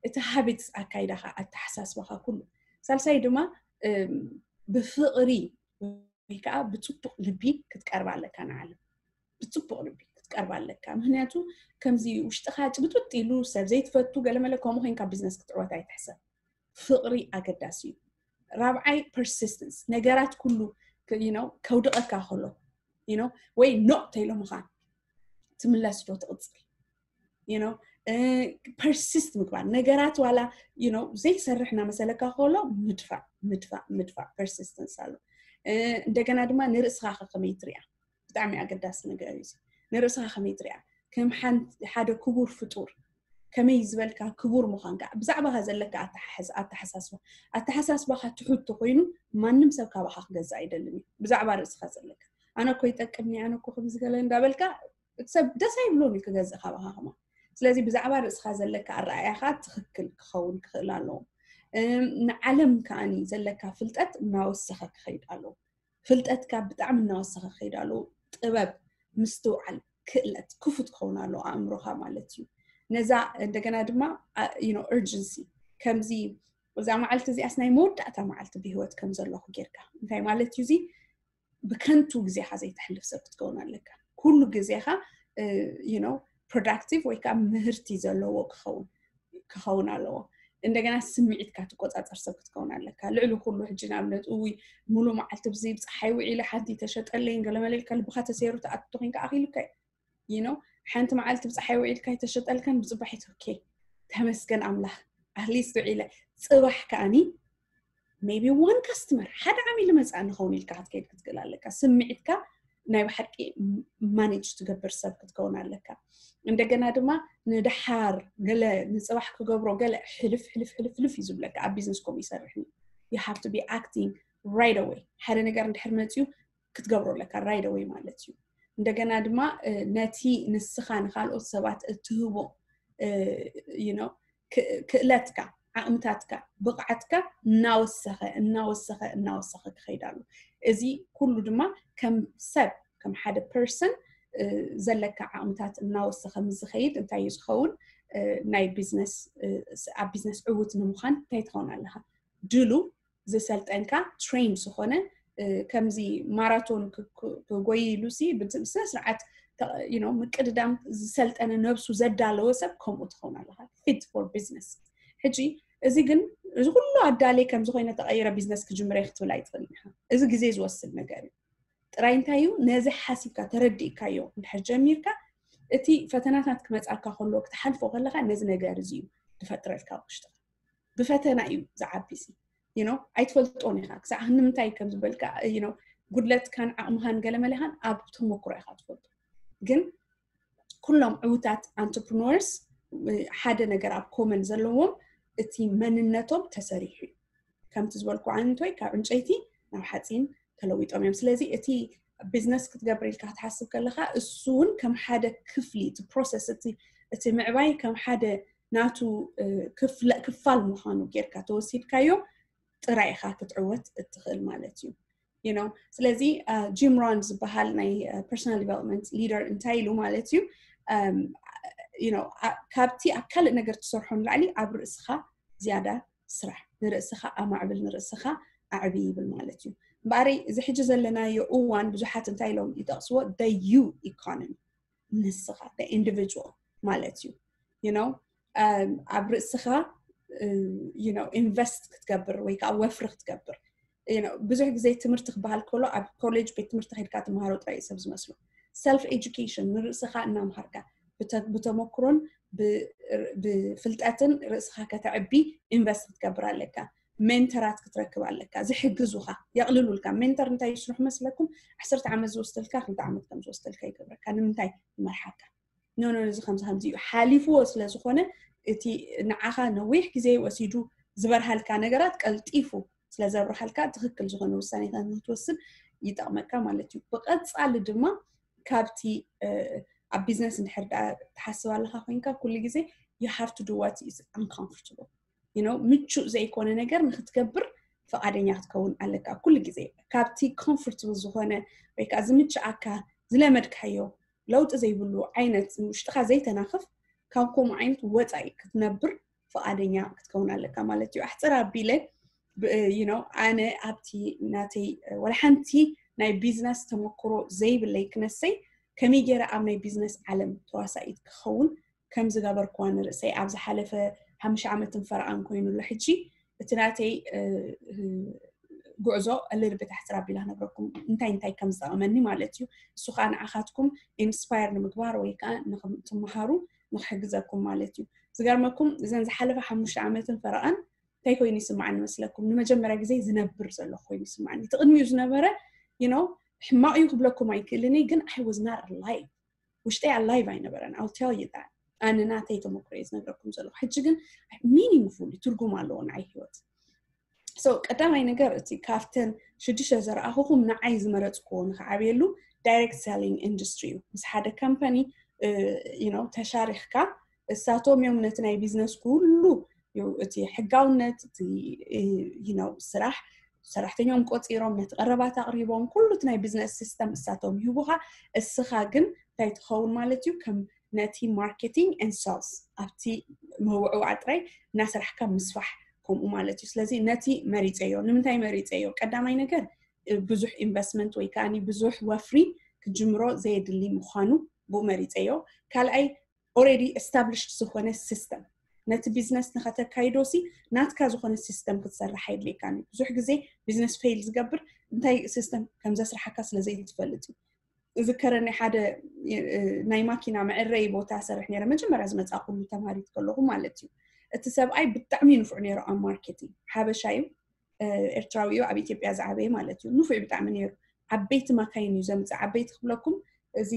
እቲ ሃቢትስ፣ ኣካይዳኻ፣ ኣተሓሳስባኻ፣ ኩሉ። ሳልሳይ ድማ ብፍቕሪ ወይ ከዓ ብፅቡቕ ልቢ ክትቀርባ ኣለካ ንዓለም። ብፅቡቕ ልቢ ክትቀርባ ኣለካ። ምክንያቱ ከምዚ ውሽጥኻ ጭብጥብጥ ኢሉ ሰብ ዘይትፈቱ ገለመለ ከምኡ ኮይንካ ቢዝነስ ክትዕወት ኣይትሕሰብ። ፍቕሪ ኣገዳሲ እዩ። ራብዓይ ፐርሲስተንስ፣ ነገራት ኩሉ ከውድቐካ ከሎ ወይ ኖ ተይሎ ምዃን፣ ትምለስ ዶ ትቕፅል? ፐርሲስት ምግባር፣ ነገራት ዋላ ዘይሰርሕ እናመሰለካ ከሎ ምድፋእ ምድፋእ ምድፋእ፣ ፐርሲስተንስ ኣሎ። እንደገና ድማ ንርእስኻ ከመይ ትሪኣ ብጣዕሚ ኣገዳሲ ነገር እዩ። ንርእስኻ ከመይ ትሪኣ? ከም ሓደ ክቡር ፍጡር ከመይ ዝበልካ ክቡር ምዃንካ፣ ብዛዕባኻ ዘለካ ኣተሓሳስባ፣ ኣተሓሳስባኻ ትሑት ተኮይኑ ማንም ሰብ ካባኻ ክገዝእ ኣይደልን እዩ። ብዛዕባ ርእስኻ ዘለካ ኣነ እኮ ይጠቅምኒ፣ ኣነ እኮ ከምዚ ገለ እንዳበልካ እቲ ሰብ ደስ ኣይብሎን እዩ ክገዝእ ካባኻ ከማ። ስለዚ ብዛዕባ ርእስኻ ዘለካ ኣረኣእያኻ ትኽክል ክኸውን ክኽእል ኣለዎ። ንዓለም ከኣኒ ዘለካ ፍልጠት እናወሰኸ ክኸይድ ኣለዎ። ፍልጠትካ ብጣዕሚ እናወሰኸ ክኸይድ ኣለዎ። ጥበብ፣ ምስትውዓል፣ ክእለት ክፉት ክኸውን ኣለዎ ኣእምሮኻ ማለት እዩ። ነዛ እንደገና ድማ ርጀንሲ፣ ከምዚ እዛ መዓልቲ እዚኣስ ናይ መወዳእታ መዓልቲ ብህይወት ከም ዘለኹ ጌርካ፣ እንታይ ማለት እዩ እዚ? ብከንቱ ግዜኻ ዘይተሕልፍ ሰብ ክትከውን ኣለካ። ኩሉ ግዜኻ ፕሮዳክቲቭ ወይ ከዓ ምህርቲ ዘለዎ ክኸውን ክኸውን ኣለዎ። እንደገና ስምዒትካ ትቆፃፀር ሰብ ክትከውን ኣለካ። ልዕሊ ኩሉ ሕጂ ንኣብነት እውይ ሙሉ መዓልቲ ብዚ ብፀሓይ ውዒለ ሓንቲ ተሸጠለይን ገለመለ ኢልካ ልብኻ ተሰይሩ ትኣቱ ኮይንካ ኣኺሉካ እዩ። ሓንቲ መዓልቲ ብፀሓይ ውዒልካ ይተሸጠልካን ብፅባሒት ኦኬ ተመስገን ኣምላኽ ኣትሊስት ውዒለ። ፅባሕ ከኣኒ maybe one customer ሓደ ዓሚል መፅኣ ንኸውን ኢልካ ክትከይድ ክትክእል ኣለካ። ስምዒትካ ናይ ብሓቂ ማኔጅ ትገብር ሰብ ክትከውን ኣለካ። እንደገና ድማ ንደሓር ገለ ንፅባሕ ክገብሮ ገለ ሕልፍ ሕልፍ ሕልፍ ሕልፍ እዩ ዝብለካ። ኣብ ቢዝነስ ከምኡ ይሰርሕ። You have to be acting right away። ሓደ ነገር እንድሕር መፅዩ ክትገብሮ ኣለካ right away ማለት እዩ። እንደገና ድማ ነቲ ንስኻ ንካልኦት ሰባት እትህቦ ክእለትካ፣ ዓቕምታትካ፣ ብቕዓትካ እናወሰኸ እናወሰኸ እናወሰኸ ክኸይድ ኣሎ። እዚ ኩሉ ድማ ከም ሰብ ከም ሓደ ፐርሰን ዘለካ ዓቕምታት እናወሰኸ ምስ ዝኸይድ እንታይ እዩ ዝኸውን? ናይ ቢዝነስ ኣብ ቢዝነስ ዕውት ንምዃን እንታይ ትኸውን ኣለኻ? ድሉ ዝሰልጠንካ ትሬን ዝኾነ ከምዚ ማራቶን ክጎይ ኢሉ ሲ ብስነ ስርዓት ምቅድዳም ዝሰልጠነ ነብሱ ዘዳለወ ሰብ ከምኡ ትኸውን ኣለኻ። ፊት ፎር ቢዝነስ። ሕጂ እዚ ግን እዚ ኩሉ ኣዳልየ ከም ዝኾይነ ተቐይረ ቢዝነስ ክጅምረ ክትብል ኣይትኽእልን ኢኻ። እዚ ግዜ ዝወስድ ነገር እዩ። ጥራይ እንታይ እዩ ነዚ ሓሲብካ ተረዲእካዮ እንድሕር ጀሚርካ እቲ ፈተናታት ክመፃካ ከሎ ክትሓልፎ ከለካ ነዚ ነገር እዚ እዩ ዝፈጥረልካ ውሽጥካ። ብፈተና እዩ ዝዓቢ ሲ you know ኣይትፈልጦን ኢኻ ክሳዕ ንምንታይ ከም ዝበልካ you know ጉድለትካን ዓቕምኻን ገለመለኻን ኣብ ተሞክሮ ኢኻ ትፈልጦ። ግን ኩሎም ዕውታት ኣንትርፕኖርስ ሓደ ነገር ኣብ ኮመን ዘለዎም እቲ መንነቶም ተሰሪሑ እዩ። ከምቲ ዝበልኩ ዓንቶይ ካብ ዕንጨይቲ ናብ ሓፂን ተለዊጦም እዮም። ስለዚ እቲ ቢዝነስ ክትገብር ኢልካ ክትሓስብ ከለካ እሱ እውን ከም ሓደ ክፍሊ እቲ ፕሮሰስ እቲ እቲ ምዕባይ ከም ሓደ ናቱ ክፋል ምዃኑ ጌርካ ተወሲድካዮ ጥራይ ኢኻ ክትዕወት እትኽእል ማለት እዩ። You know? ስለዚ ጂም ሮን ዝበሃል ናይ ፐርሶናል ዲቨሎፕመንት ሊደር እንታይ ኢሉ ማለት እዩ you know፣ ካብቲ ኣብ ካልእ ነገር ትሰርሖ ንላዕሊ ኣብ ርእስኻ ዝያዳ ስራሕ፣ ንርእስኻ ኣማዕብል፣ ንርእስኻ ኣዕቢ ይብል ማለት እዩ። እምበኣረይ እዚ ሕጂ ዘለናዮ እዋን ብዙሓት እንታይ ኢሎም ይጠቕስዎ the you economy፣ ንስኻ ኢንዲቪጁዋል ማለት እዩ። You know? ኣብ ርእስኻ you know ኢንቨስት ክትገብር ወይ ከዓ ወፍሪ ክትገብር። ብዙሕ ግዜ ትምህርቲ ክበሃል ከሎ ኣብ ኮሌጅ ቤት ትምህርቲ ከድካ ትምሃሮ ጥራይ ሰብ ዝመስሉ። ሰልፍ ኤጁኬሽን፣ ንርእስኻ እናምሃርካ ብተመክሮን ብፍልጠትን ርእስኻ ከተዕቢ ኢንቨስት ክትገብር ኣለካ። ሜንተራት ክትረክብ ኣለካ፣ ዝሕግዙኻ፣ የቕልሉልካ። ሜንተር እንታይ ይስርሑ መስለኩም? ዓሰርተ ዓመት ዝወስደልካ ክልተ ዓመት ከም ዝወስደልካ ይገብረካ። ንምንታይ? ይመርሓካ። ኖ ኖ፣ እዚ ከምዚ ከምዚ እዩ ሓሊፍዎ ስለ ዝኾነ እቲ ንዓኻ ነዊሕ ግዜ ወሲዱ ዝበርሃልካ ነገራት ቀልጢፉ ስለ ዘብርሃልካ ትኽክል ዝኾነ ውሳኔታት ንክትወስድ ይጠቕመካ ማለት እዩ። ብቐጻሊ ድማ ካብቲ ኣብ ቢዝነስ እንድሕር ደኣ ትሓስብ ኣለካ ኮይንካ ኩሉ ግዜ you have to do what is uncomfortable you know ምቹእ ዘይኮነ ነገር ንክትገብር ፈቓደኛ ክትከውን ኣለካ ኩሉ ግዜ። ካብቲ ኮምፎርታብል ዝኾነ ወይ ከዓ ዝምችኣካ ዝለመድካዮ ለውጢ ዘይብሉ ዓይነት ውሽጥኻ ዘይተናኽፍ ካብ ከምኡ ዓይነት ወፃኢ ክትነብር ፈቓደኛ ክትከውን ኣለካ ማለት እዩ። ኣሕፅር ኣቢለ you know ኣነ ኣብቲ ናተይ ወላ ሓንቲ ናይ ቢዝነስ ተመክሮ ዘይብለይ ክነሰይ ከመይ ገይረ ኣብ ናይ ቢዝነስ ዓለም ተዋሳኢት ክኸውን ከም ዝገበርኩዋ ንርእሰይ ኣብ ዝሓለፈ ሓሙሽተ ዓመትን ፈረቓን ኮይኑ ኣሎ። ሕጂ እቲ ናተይ ጉዕዞ ልርብት ኣሕፅር ኣቢላ ክነግረኩም እንታይ እንታይ ከም ዝጠቕመኒ ማለት እዩ። እሱ ከዓ ንዓኻትኩም ኢንስፓየር ንምግባር ወይ ከዓ ንትምሃሩ ንክሕግዘኩም ማለት እዩ። ዝገርመኩም እዘን ዝሓለፈ ሓሙሽተ ዓመትን ፈረቓን እንታይ ኮይኑ ይስማዓኒ መስለኩም? ንመጀመርያ ግዜ ዝነብር ዘለኹ ኮይኑ ይስማዓኒ። እቲ ቅድሚኡ ዝነበረ you know ሕማቕ እዩ ክብለኩም ኣይክእልን እየ፣ ግን I was not alive። ውሽጠይ ኣላይቭ ኣይነበረን። I'll tell you that። ኣነ ናተይ ተመክሮ እየ ዝነግረኩም ዘለኹ። ሕጂ ግን ሚኒንግፉል ትርጉም ኣለዎ ንዓይ ህይወት። So ቀዳማይ ነገር እቲ ካብተን ሽዱሽተ ዘረኣኹኹም ንዓይ ዝመረፅክዎ ንክዓብየሉ ዳይሬክት ሰሊንግ ኢንዱስትሪ እዩ። ምስ ሓደ ካምፓኒ you know ተሻሪኽካ እሳቶም እዮም ነቲ ናይ ቢዝነስ ኩሉ እቲ ሕጋውነት እቲ you know ስራሕ ሰራሕተኛኦም ቆፂሮም ነቲ ቀረባት ኣቕሪቦም ኩሉ እቲ ናይ ቢዝነስ ሲስተም እሳቶም ይህቡኻ። እስኻ ግን እንታይ ትኸውን ማለት እዩ? ከም ነቲ ማርኬቲንግ ኤንድ ሴልስ ኣብቲ መውዕዋዕ ጥራይ እናሰራሕካ ምስፋሕ ከምኡ ማለት እዩ። ስለዚ ነቲ መሪፀዮ። ንምንታይ መሪፀዮ? ቀዳማይ ነገር ብዙሕ ኢንቨስትመንት ወይ ከዓ ብዙሕ ወፍሪ ክጅምሮ ዘየድሊ ምዃኑ ብኡ መሪፀዮ። ካልኣይ ኦልሬዲ ኤስታብሊሽድ ዝኾነ ሲስተም ነቲ ቢዝነስ ንኸተካይዶ ሲ ናትካ ዝኾነ ሲስተም ክትሰርሕ ኣይድልየካን እዩ። ብዙሕ ግዜ ቢዝነስ ፌል ዝገብር እንታይ ሲስተም ከም ዘስርሓካ ስለ ዘይትፈልጥ እዩ። ዝከረኒ ሓደ ናይ ማኪና መዕረይ ቦታ ሰርሕ ነረ። መጀመርያ ዝመፃ ኩሉ ተማሪት ከለኹ ማለት እዩ። እቲ ሰብኣይ ብጣዕሚ ንፉዕ ነይሩ ኣብ ማርኬቲንግ። ሓበሻ እዩ፣ ኤርትራዊ እዩ፣ ኣብ ኢትዮጵያ ዝዓበየ ማለት እዩ። ንፉዕ ብጣዕሚ ነይሩ። ዓበይቲ ማካይን እዩ ዘምፅእ። ዓበይቲ ክብለኩም እዚ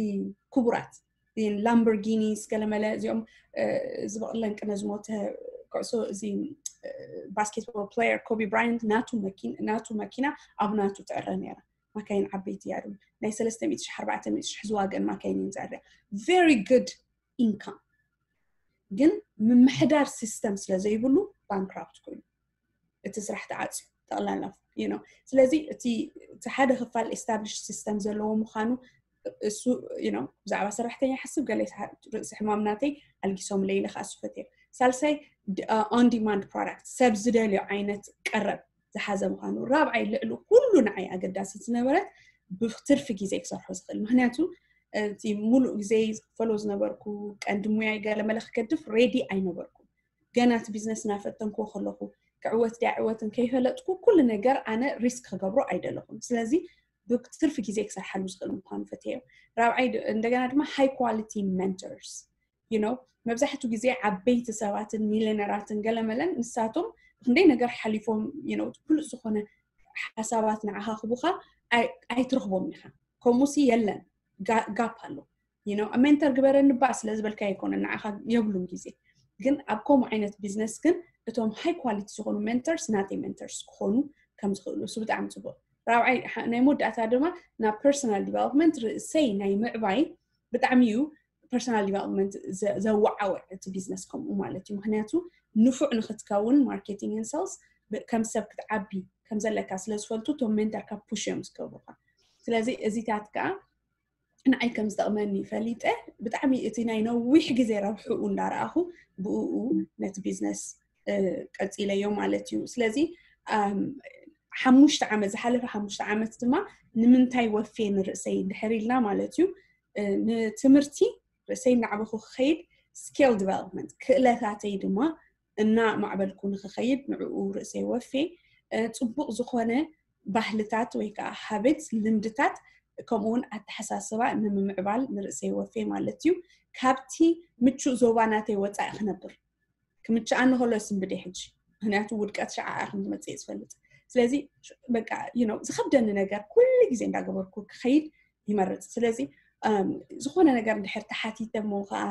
ክቡራት ላምበርጊኒስ ገለመለ እዚኦም ዝበቕለን ቅነ ዝሞተ ኩዕሶ እዚ ባስኬትቦል ፕሌየር ኮቢ ብራያንት ናቱ መኪና ኣብ ናቱ ትዕረ ነይራ። ማካይን ዓበይቲ እያ ድማ ናይ ሰለስተ ሚእቲ ሺሕ ኣርባዕተ ሚእቲ ሺሕ ዝዋገን ማካይን እየን ዘዕርያ። ቨሪ ጉድ ኢንካም። ግን ምምሕዳር ሲስተም ስለ ዘይብሉ ባንክራፕት ኮይኑ እቲ ስራሕ ተዓፅዩ ጠቕላላ you know። ስለዚ እቲ ሓደ ክፋል ኤስታብሊሽ ሲስተም ዘለዎ ምዃኑ እሱ you know ብዛዕባ ሰራሕተኛ ሓስብ ገለ ርእሲ ሕማም ናተይ ኣልጊሶም ለይለ ከዓ እሱ ፈትየ። ሳልሳይ ኦን ዲማንድ ፕሮዳክት ሰብ ዝደልዮ ዓይነት ቀረብ ዝሓዘ ምዃኑ። ራብዓይ ልዕሊ ኩሉ ንዓይ ኣገዳሲ ዝነበረት ብትርፊ ግዜ ክሰርሖ ዝኽእል። ምክንያቱ እቲ ሙሉእ ግዜ ዝክፈሎ ዝነበርኩ ቀንዲ ሙያይ ገለመለ ክገድፍ ሬዲ ኣይነበርኩ። ገና እቲ ቢዝነስ እናፈተንክዎ ከለኹ ክዕወት ድያ ዕወትን ከይፈለጥኩ ኩሉ ነገር ኣነ ሪስክ ክገብሮ ኣይደለኹን። ስለዚ ብትርፊ ግዜ ክሰርሓሉ ዝኽእል ምዃኑ ፈትየዮ። ራብዓይ እንደገና ድማ ሃይ ኳሊቲ ሜንተርስ you know መብዛሕትኡ ግዜ ዓበይቲ ሰባትን ሚሊነራትን ገለመለን ንሳቶም ብክንደይ ነገር ሓሊፎም you know ብሉፅ ዝኾነ ሓሳባት ንዓኻ ክቡኻ ኣይትረኽቦም ኢኻ። ከምኡ ሲ የለን፣ ጋፕ ኣሎ። ሜንተር ግበረኒ ባ ስለ ዝበልካ ኣይኮነ ንዓኻ የብሉን ግዜ። ግን ኣብ ከምኡ ዓይነት ቢዝነስ ግን እቶም ሃይ ኳሊቲ ዝኾኑ ሜንተርስ ናተይ ሜንተርስ ክኾኑ ከም ዝኽእሉ እሱ ብጣዕሚ ፅቡቅ። ራብዓይ ናይ መወዳእታ ድማ ናብ personal development ርእሰይ ናይ ምዕባይ ብጣዕሚ እዩ personal development ዘዋዓወ እቲ ቢዝነስ ከምኡ ማለት እዩ። ምክንያቱ ንፉዕ ንክትከውን marketing and sales ከም ሰብ ክትዓቢ ከም ዘለካ ስለዝፈልጡ እቶም ሜንተርካ push እዮም ዝገብሩካ። ስለዚ እዚታት ከዓ ንዓይ ከም ዝጠቕመኒ ፈሊጠ ብጣዕሚ እቲ ናይ ነዊሕ ግዜ ረብሕኡ እንዳረኣኹ ብኡ ነቲ ቢዝነስ ቀፂለዮ ማለት እዩ። ስለዚ ሓሙሽተ ዓመት ዝሓለፈ ሓሙሽተ ዓመት ድማ ንምንታይ ወፌ ንርእሰይ ድሕር ኢልና ማለት እዩ ንትምህርቲ ርእሰይ እናዕበኹ ክኸይድ skill development ክእለታተይ ድማ እናማዕበልኩ ንክኸይድ ንዕኡ ርእሰይ ወፌ ፅቡቕ ዝኾነ ባህልታት ወይ ከዓ ሃብት ልምድታት ከምኡውን ኣተሓሳስባ ንምምዕባል ንርእሰይ ወፌ ማለት እዩ። ካብቲ ምቹእ ዞባ ናተይ ወፃኢ ክነብር ክምችኣኒ ከሎ ስንብደ ሕጂ ምክንያቱ ውድቀት ሸዓኣ ከም ዝመፅእ ዝፈልጥ ስለዚ በቃ ዝኸብደኒ ነገር ኩሉ ግዜ እንዳገበርኩ ክኸይድ ይመርፅ። ስለዚ ዝኾነ ነገር እንድሕር ተሓቲተ ሞ ከዓ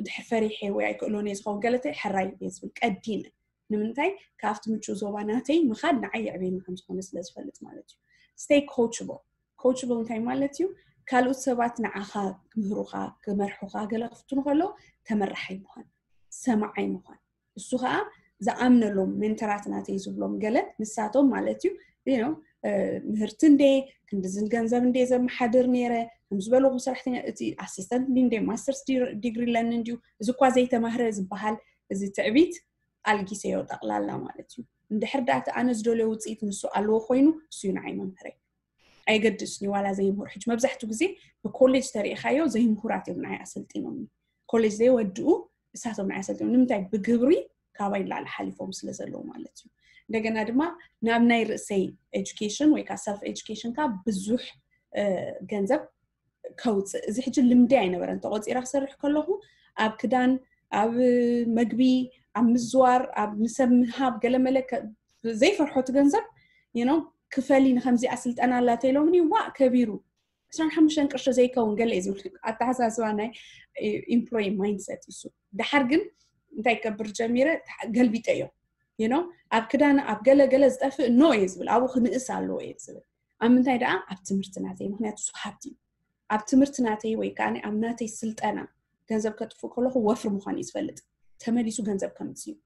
ድሕር ፈሪሐ ወይ ኣይክእሎን እየ ዝኸውን ገለተ ሕራይ እየ ዝብል ቀዲመ ንምንታይ ካብቲ ምቹ ዞባ ናተይ ምኻድ ንዓይ የዕብየኒ ከም ዝኾነ ስለ ዝፈልጥ ማለት እዩ። Stay coachable coachable እንታይ ማለት እዩ? ካልኦት ሰባት ንዓኻ ክምህሩኻ ክመርሑኻ ገለ ክፍትኑ ከለዉ ተመራሓይ ምዃን ሰማዓይ ምዃን እሱ ከዓ ዝኣምነሎም ሜንተራት ናተይ ዝብሎም ገለ ንሳቶም ማለት እዩ ምህርቲ እንደ ክንድዝን ገንዘብ እንደ ዘመሓድር ነይረ ከም ዝበለኹ ሰራሕተኛ እቲ ኣሲስተንት እንደ ማስተርስ ዲግሪ ኣለኒ እንዲዩ እዚ እኳ ዘይተማህረ ዝበሃል እዚ ትዕቢት ኣልጊሰዮ ጠቕላላ ማለት እዩ። እንድሕር ዳኣ እቲ ኣነ ዝደልዮ ውፅኢት ንሱ ኣለዎ ኮይኑ እሱ እዩ ንዓይ መምህረይ። ኣየገድስን እዩ ዋላ ዘይምህር ሕጂ መብዛሕትኡ ግዜ ብኮሌጅ ተሪኢኻዮ ዘይምሁራት እዮም ንዓይ ኣሰልጢኖም ኮሌጅ ዘይወድኡ እሳቶም ንዓይ ኣሰልጢኖም ንምንታይ ብግብሪ ካባይ ንላዕሊ ሓሊፎም ስለ ዘለዉ ማለት እዩ። እንደገና ድማ ናብ ናይ ርእሰይ ኤጁኬሽን ወይ ከዓ ሰልፍ ኤጁኬሽን ካ ብዙሕ ገንዘብ ከውፅእ እዚ ሕጂ ልምዲ ኣይነበረን ተቆፂራ ክሰርሕ ከለኹ ኣብ ክዳን ኣብ መግቢ ኣብ ምዝዋር ኣብ ንሰብ ምሃብ ገለመለ ዘይፈርሖ እቲ ገንዘብ you know ክፈሊ ንከምዚኣ ስልጠና ኣላ ተይሎምኒ ዋእ ከቢሩ ዕስራን ሓሙሽተን ቅርሺ ዘይከውን ገለ እዩ ዝብል ኣተሓሳስባ ናይ employee mindset እዩ። ድሓር ግን እንታይ ክገብር ጀሚረ ገልቢጠዮ you know ኣብ ክዳን ኣብ ገለ ገለ ዝጠፍእ no እየ ዝብል ኣብኡ ክንእስ ኣለዎ እየ ዝብል ኣብ ምንታይ ደኣ ኣብ ትምህርቲ ናተይ ምክንያቱ እሱ ሃብቲ እዩ ኣብ ትምህርቲ ናተይ ወይ ከዓ ኣብ ናተይ ስልጠና ገንዘብ ከጥፍእ ከለኹ ወፍሪ ምዃን እዩ ዝፈልጥ ተመሊሱ ገንዘብ ከምፅእ እዩ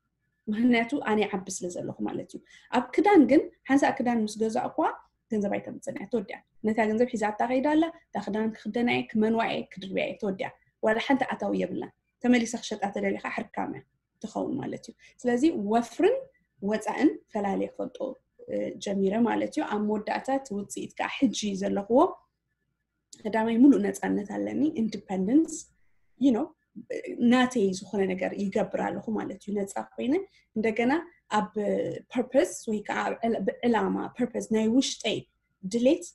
ምክንያቱ ኣነ ይዓቢ ስለ ዘለኹ ማለት እዩ ኣብ ክዳን ግን ሓንሳእ ክዳን ምስ ገዛእኳ ገንዘብ ኣይተምፅን እያ ተወዲያ ነታ ገንዘብ ሒዛታ ከይዳ ኣላ እታ ክዳን ክክደና እየ ክመንዋ እየ ክድርብያ እየ ተወዲያ ዋላ ሓንቲ ኣታዊ የብላን ተመሊሰ ክሸጣ ተደሊካ ሕርካም እያ ትኸውን ማለት እዩ ስለዚ ወፍርን ወፃእን ፈላልየ ክፈልጦ ጀሚረ ማለት እዩ ኣብ መወዳእታ እቲ ውፅኢት ከዓ ሕጂ ዘለኽዎ ቀዳማይ ሙሉእ ነፃነት ኣለኒ independence you know ናተይ ዝኾነ ነገር ይገብር ኣለኹ ማለት እዩ ነፃ ኮይነ እንደገና ኣብ purpose ወይ ከዓ ብዕላማ purpose ናይ ውሽጠይ ድሌት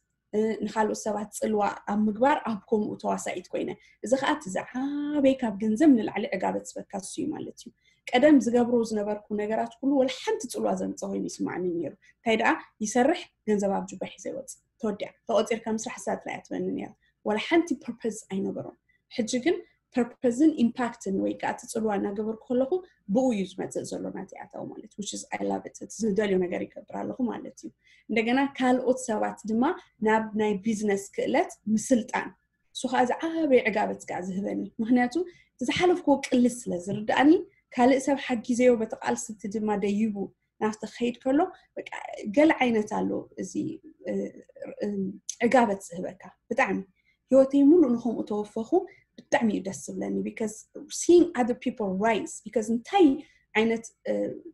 ንካልኦት ሰባት ፅልዋ ኣብ ምግባር ኣብ ከምኡ ተዋሳኢት ኮይነ እዚ ከዓ እቲ ዝዓበይ ካብ ገንዘብ ንላዕሊ ዕጋበት ዝበካ እሱ እዩ ማለት እዩ ቀደም ዝገብሮ ዝነበርኩ ነገራት ኩሉ ወላ ሓንቲ ፅልዋ ዘምፀ ኮይኑ ይስማዕኒ ነይሩ እንታይ ደኣ ይሰርሕ ገንዘብ ኣብ ጁባ ሒዘ ይወፅእ ተወዲኣ ተቆፂርካ ምስራሕ እሳ ጥራይ እያ ትበኒ ነይራ ወላ ሓንቲ purpose ኣይነበሮም ሕጂ ግን purpose ን impact ን ወይ ከዓ እቲ ፅልዋ እናገበርኩ ከለኹ ብኡ እዩ ዝመፅእ ዘሎ ናተይ ኣታዊ ማለት which is I love it ዝደልዮ ነገር ይገብር ኣለኹ ማለት እዩ እንደገና ካልኦት ሰባት ድማ ናብ ናይ ቢዝነስ ክእለት ምስልጣን እሱ ከዓ ዝዓበየ ዕጋበት ከዓ ዝህበኒ ምክንያቱ ዝሓለፍክዎ ቅልስ ስለ ዝርድኣኒ ካልእ ሰብ ሓጊዘዮ በቲ ቃልሲ እቲ ድማ ደይቡ ናብቲ ክኸይድ ከሎ ገለ ዓይነት ኣሎ እዚ ዕጋበት ዝህበካ ብጣዕሚ ህይወተይ ሙሉእ ንከምኡ ተወፈኹ ብጣዕሚ እዩ ደስ ዝብለኒ because seeing other people rise because እንታይ ዓይነት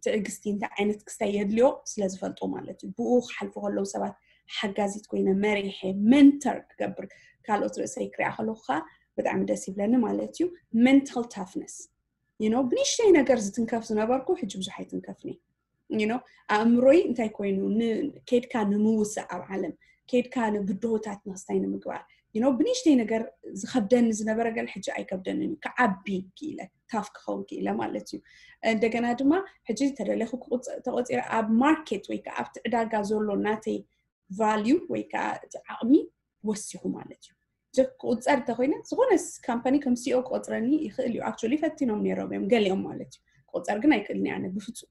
ትዕግስቲ እንታይ ዓይነት ክስታይ የድልዮ ስለ ዝፈልጦ ማለት እዩ ብኡ ክሓልፉ ከለዉ ሰባት ሓጋዚት ኮይነ መሪሐ መንተር ክገብር ካልኦት ርእሰይ ክሪኣ ከለኹ ከዓ ብጣዕሚ ደስ ይብለኒ ማለት እዩ mental toughness you know ብንሽተይ ነገር ዝትንከፍ ዝነበርኩ ሕጂ ብዙሕ ኣይትንከፍኒ you know ኣእምሮይ እንታይ ኮይኑ ኬድካ ንምውሳእ ኣብ ዓለም ኬድካ ንብድሆታት ንክስታይ ንምግባር you know ብንሽተይ ነገር ዝከብደኒ ዝነበረ ገለ ሕጂ ኣይከብደንን እዩ ክዓቢ ክኢለ ታፍ ክኸውን ክኢለ ማለት እዩ እንደገና ድማ ሕጂ ተደለኹ ተቆፂረ ኣብ ማርኬት ወይ ከዓ ኣብቲ ዕዳጋ ዘሎ ናተይ value ወይ ከዓ እቲ ዓቕሚ ወሲኹ ማለት እዩ ክቁፀር እንተኮይነ ዝኾነ company ከም CEO ክቆፅረኒ ይኽእል እዩ actually ፈቲኖም ነይሮም እዮም ገሊኦም ማለት እዩ ክቁፀር ግን ኣይክእልን ኣነ ብፍፁም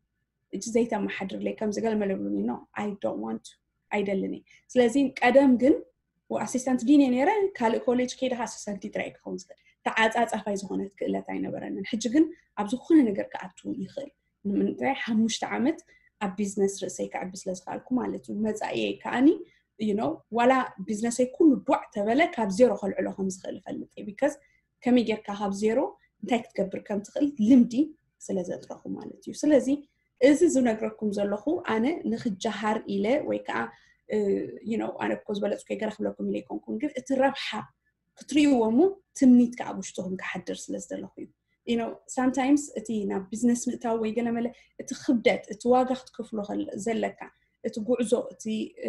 እጅ ዘይተመሓድርለይ ከምዚ ገለ መለብሉኒ no I don't want to ኣይደልን እየ። ስለዚ ቀደም ግን assistant dean እየ ነይረ፣ ካልእ ኮሌጅ ከይደ assistant teacher እየ ክኸውን ዝኽእል። ተዓጻጻፋይ ዝኾነት ክእለት ኣይነበረንን። ሕጂ ግን ኣብ ዝኾነ ነገር ክኣቱ ይኽእል። ንምንታይ ሓሙሽተ ዓመት ኣብ ቢዝነስ ርእሰይ ክዕቢ ስለ ዝኽኣልኩ ማለት እዩ። መጻኢየይ ከኣኒ you know ዋላ ቢዝነሰይ ኩሉ ዷዕ ተበለ ካብ ዜሮ ከልዕሎ ከም ዝኽእል እፈልጥ እየ። Because ከመይ ጌርካ ካብ ዜሮ እንታይ ክትገብር ከም ትኽእል ልምዲ ስለ ዘጥረኹ ማለት እዩ። ስለዚ እዚ ዝነግረኩም ዘለኹ ኣነ ንኽጀሃር ኢለ ወይ ከዓ you know ኣነ እኮ ዝበለፅኩ ገለ ክብለኩም ኢለ ኣይኮንኩን፣ ግን እቲ ረብሓ ክትርእይዎ እሞ ትምኒት ከዓ ኣብ ውሽጥኹም ክሓድር ስለ ዝደለኹ እዩ። You know sometimes እቲ ናብ ቢዝነስ ምእታው ወይ ገለ መለ እቲ ክብደት እቲ ዋጋ ክትከፍሎ ዘለካ እቲ ጉዕዞ እቲ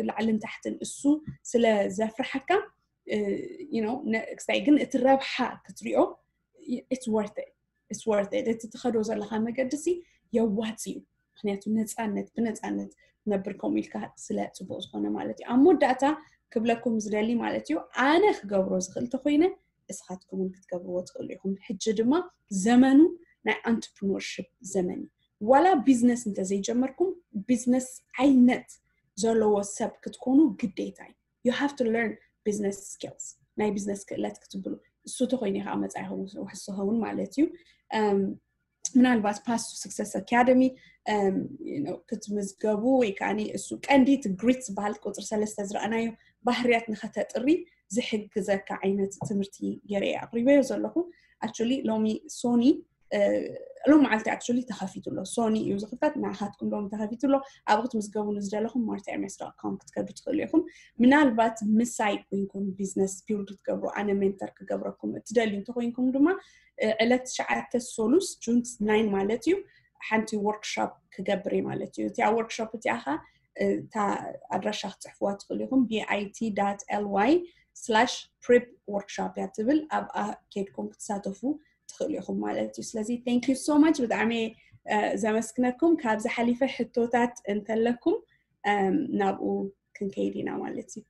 ላዕልን ታሕትን እሱ ስለ ዘፍርሓካ you know ክስታይ ግን እቲ ረብሓ ክትሪኦ it's worth it it's worth it እቲ ትኸዶ ዘለካ መገዲ ሲ የዋፅ እዩ። ምክንያቱ ነፃነት ብነፃነት ነብር ከምኡ ኢልካ ስለ ፅቡቅ ዝኾነ ማለት እዩ። ኣብ መወዳእታ ክብለኩም ዝደሊ ማለት እዩ ኣነ ክገብሮ ዝኽእል ተኮይነ እስኻትኩም እውን ክትገብርዎ ትኽእሉ ኢኹም። ሕጂ ድማ ዘመኑ ናይ entrepreneurship ዘመን እዩ። ዋላ ቢዝነስ እንተዘይጀመርኩም ቢዝነስ ዓይነት ዘለዎ ሰብ ክትኮኑ ግዴታ እዩ። You have to learn business skills ናይ ቢዝነስ ክእለት ክትብሉ እሱ ተኮይኑ ከዓ መፃኢኹም ውሕስ ኸውን ማለት እዩ። ምናልባት Path to Success Academy ክትምዝገቡ ወይ ከዓ እሱ ቀንዲ እቲ ግሪት ዝበሃል ቁፅሪ ሰለስተ ዝረኣናዮ ባህርያት ንኸተጥሪ ዝሕግዘካ ዓይነት ትምህርቲ ገይረ ኣቅሪበዮ ዘለኹ። Actually ሎሚ ሶኒ ሎም መዓልቲ actually ተኸፊቱ ኣሎ። ሶኒ እዩ ዝኽፈት። ንዓኻትኩም ሎም ተኸፊቱ ኣሎ። ኣብኡ ክትምዝገቡ ንዝደለኹም martaermes.com ክትከዱ ትኽእሉ ኢኹም። ምናልባት ምሳይ ኮይንኩም ቢዝነስ ቢልድ ክትገብሩ ኣነ ሜንተር ክገብረኩም እትደልዩ እንተኮይንኩም ድማ ዕለት ትሽዓተ ሶሉስ ጁን ናይን ማለት እዩ ሓንቲ ወርክሾፕ ክገብር ማለት እዩ። እቲኣ ወርክሾፕ እቲኣ ኸ እታ ኣድራሻ ክትፅሕፍዋ ትኽእሉ ኢኹም። bit.ly prep workshop እያ ትብል። ኣብኣ ኬድኩም ክትሳተፉ ትኽእሉ ኢኹም ማለት እዩ። ስለዚ thank you so much ብጣዕሚ ዘመስግነኩም። ካብዚ ሓሊፈ ሕቶታት እንተለኩም ናብኡ ክንከይድ ኢና ማለት እዩ።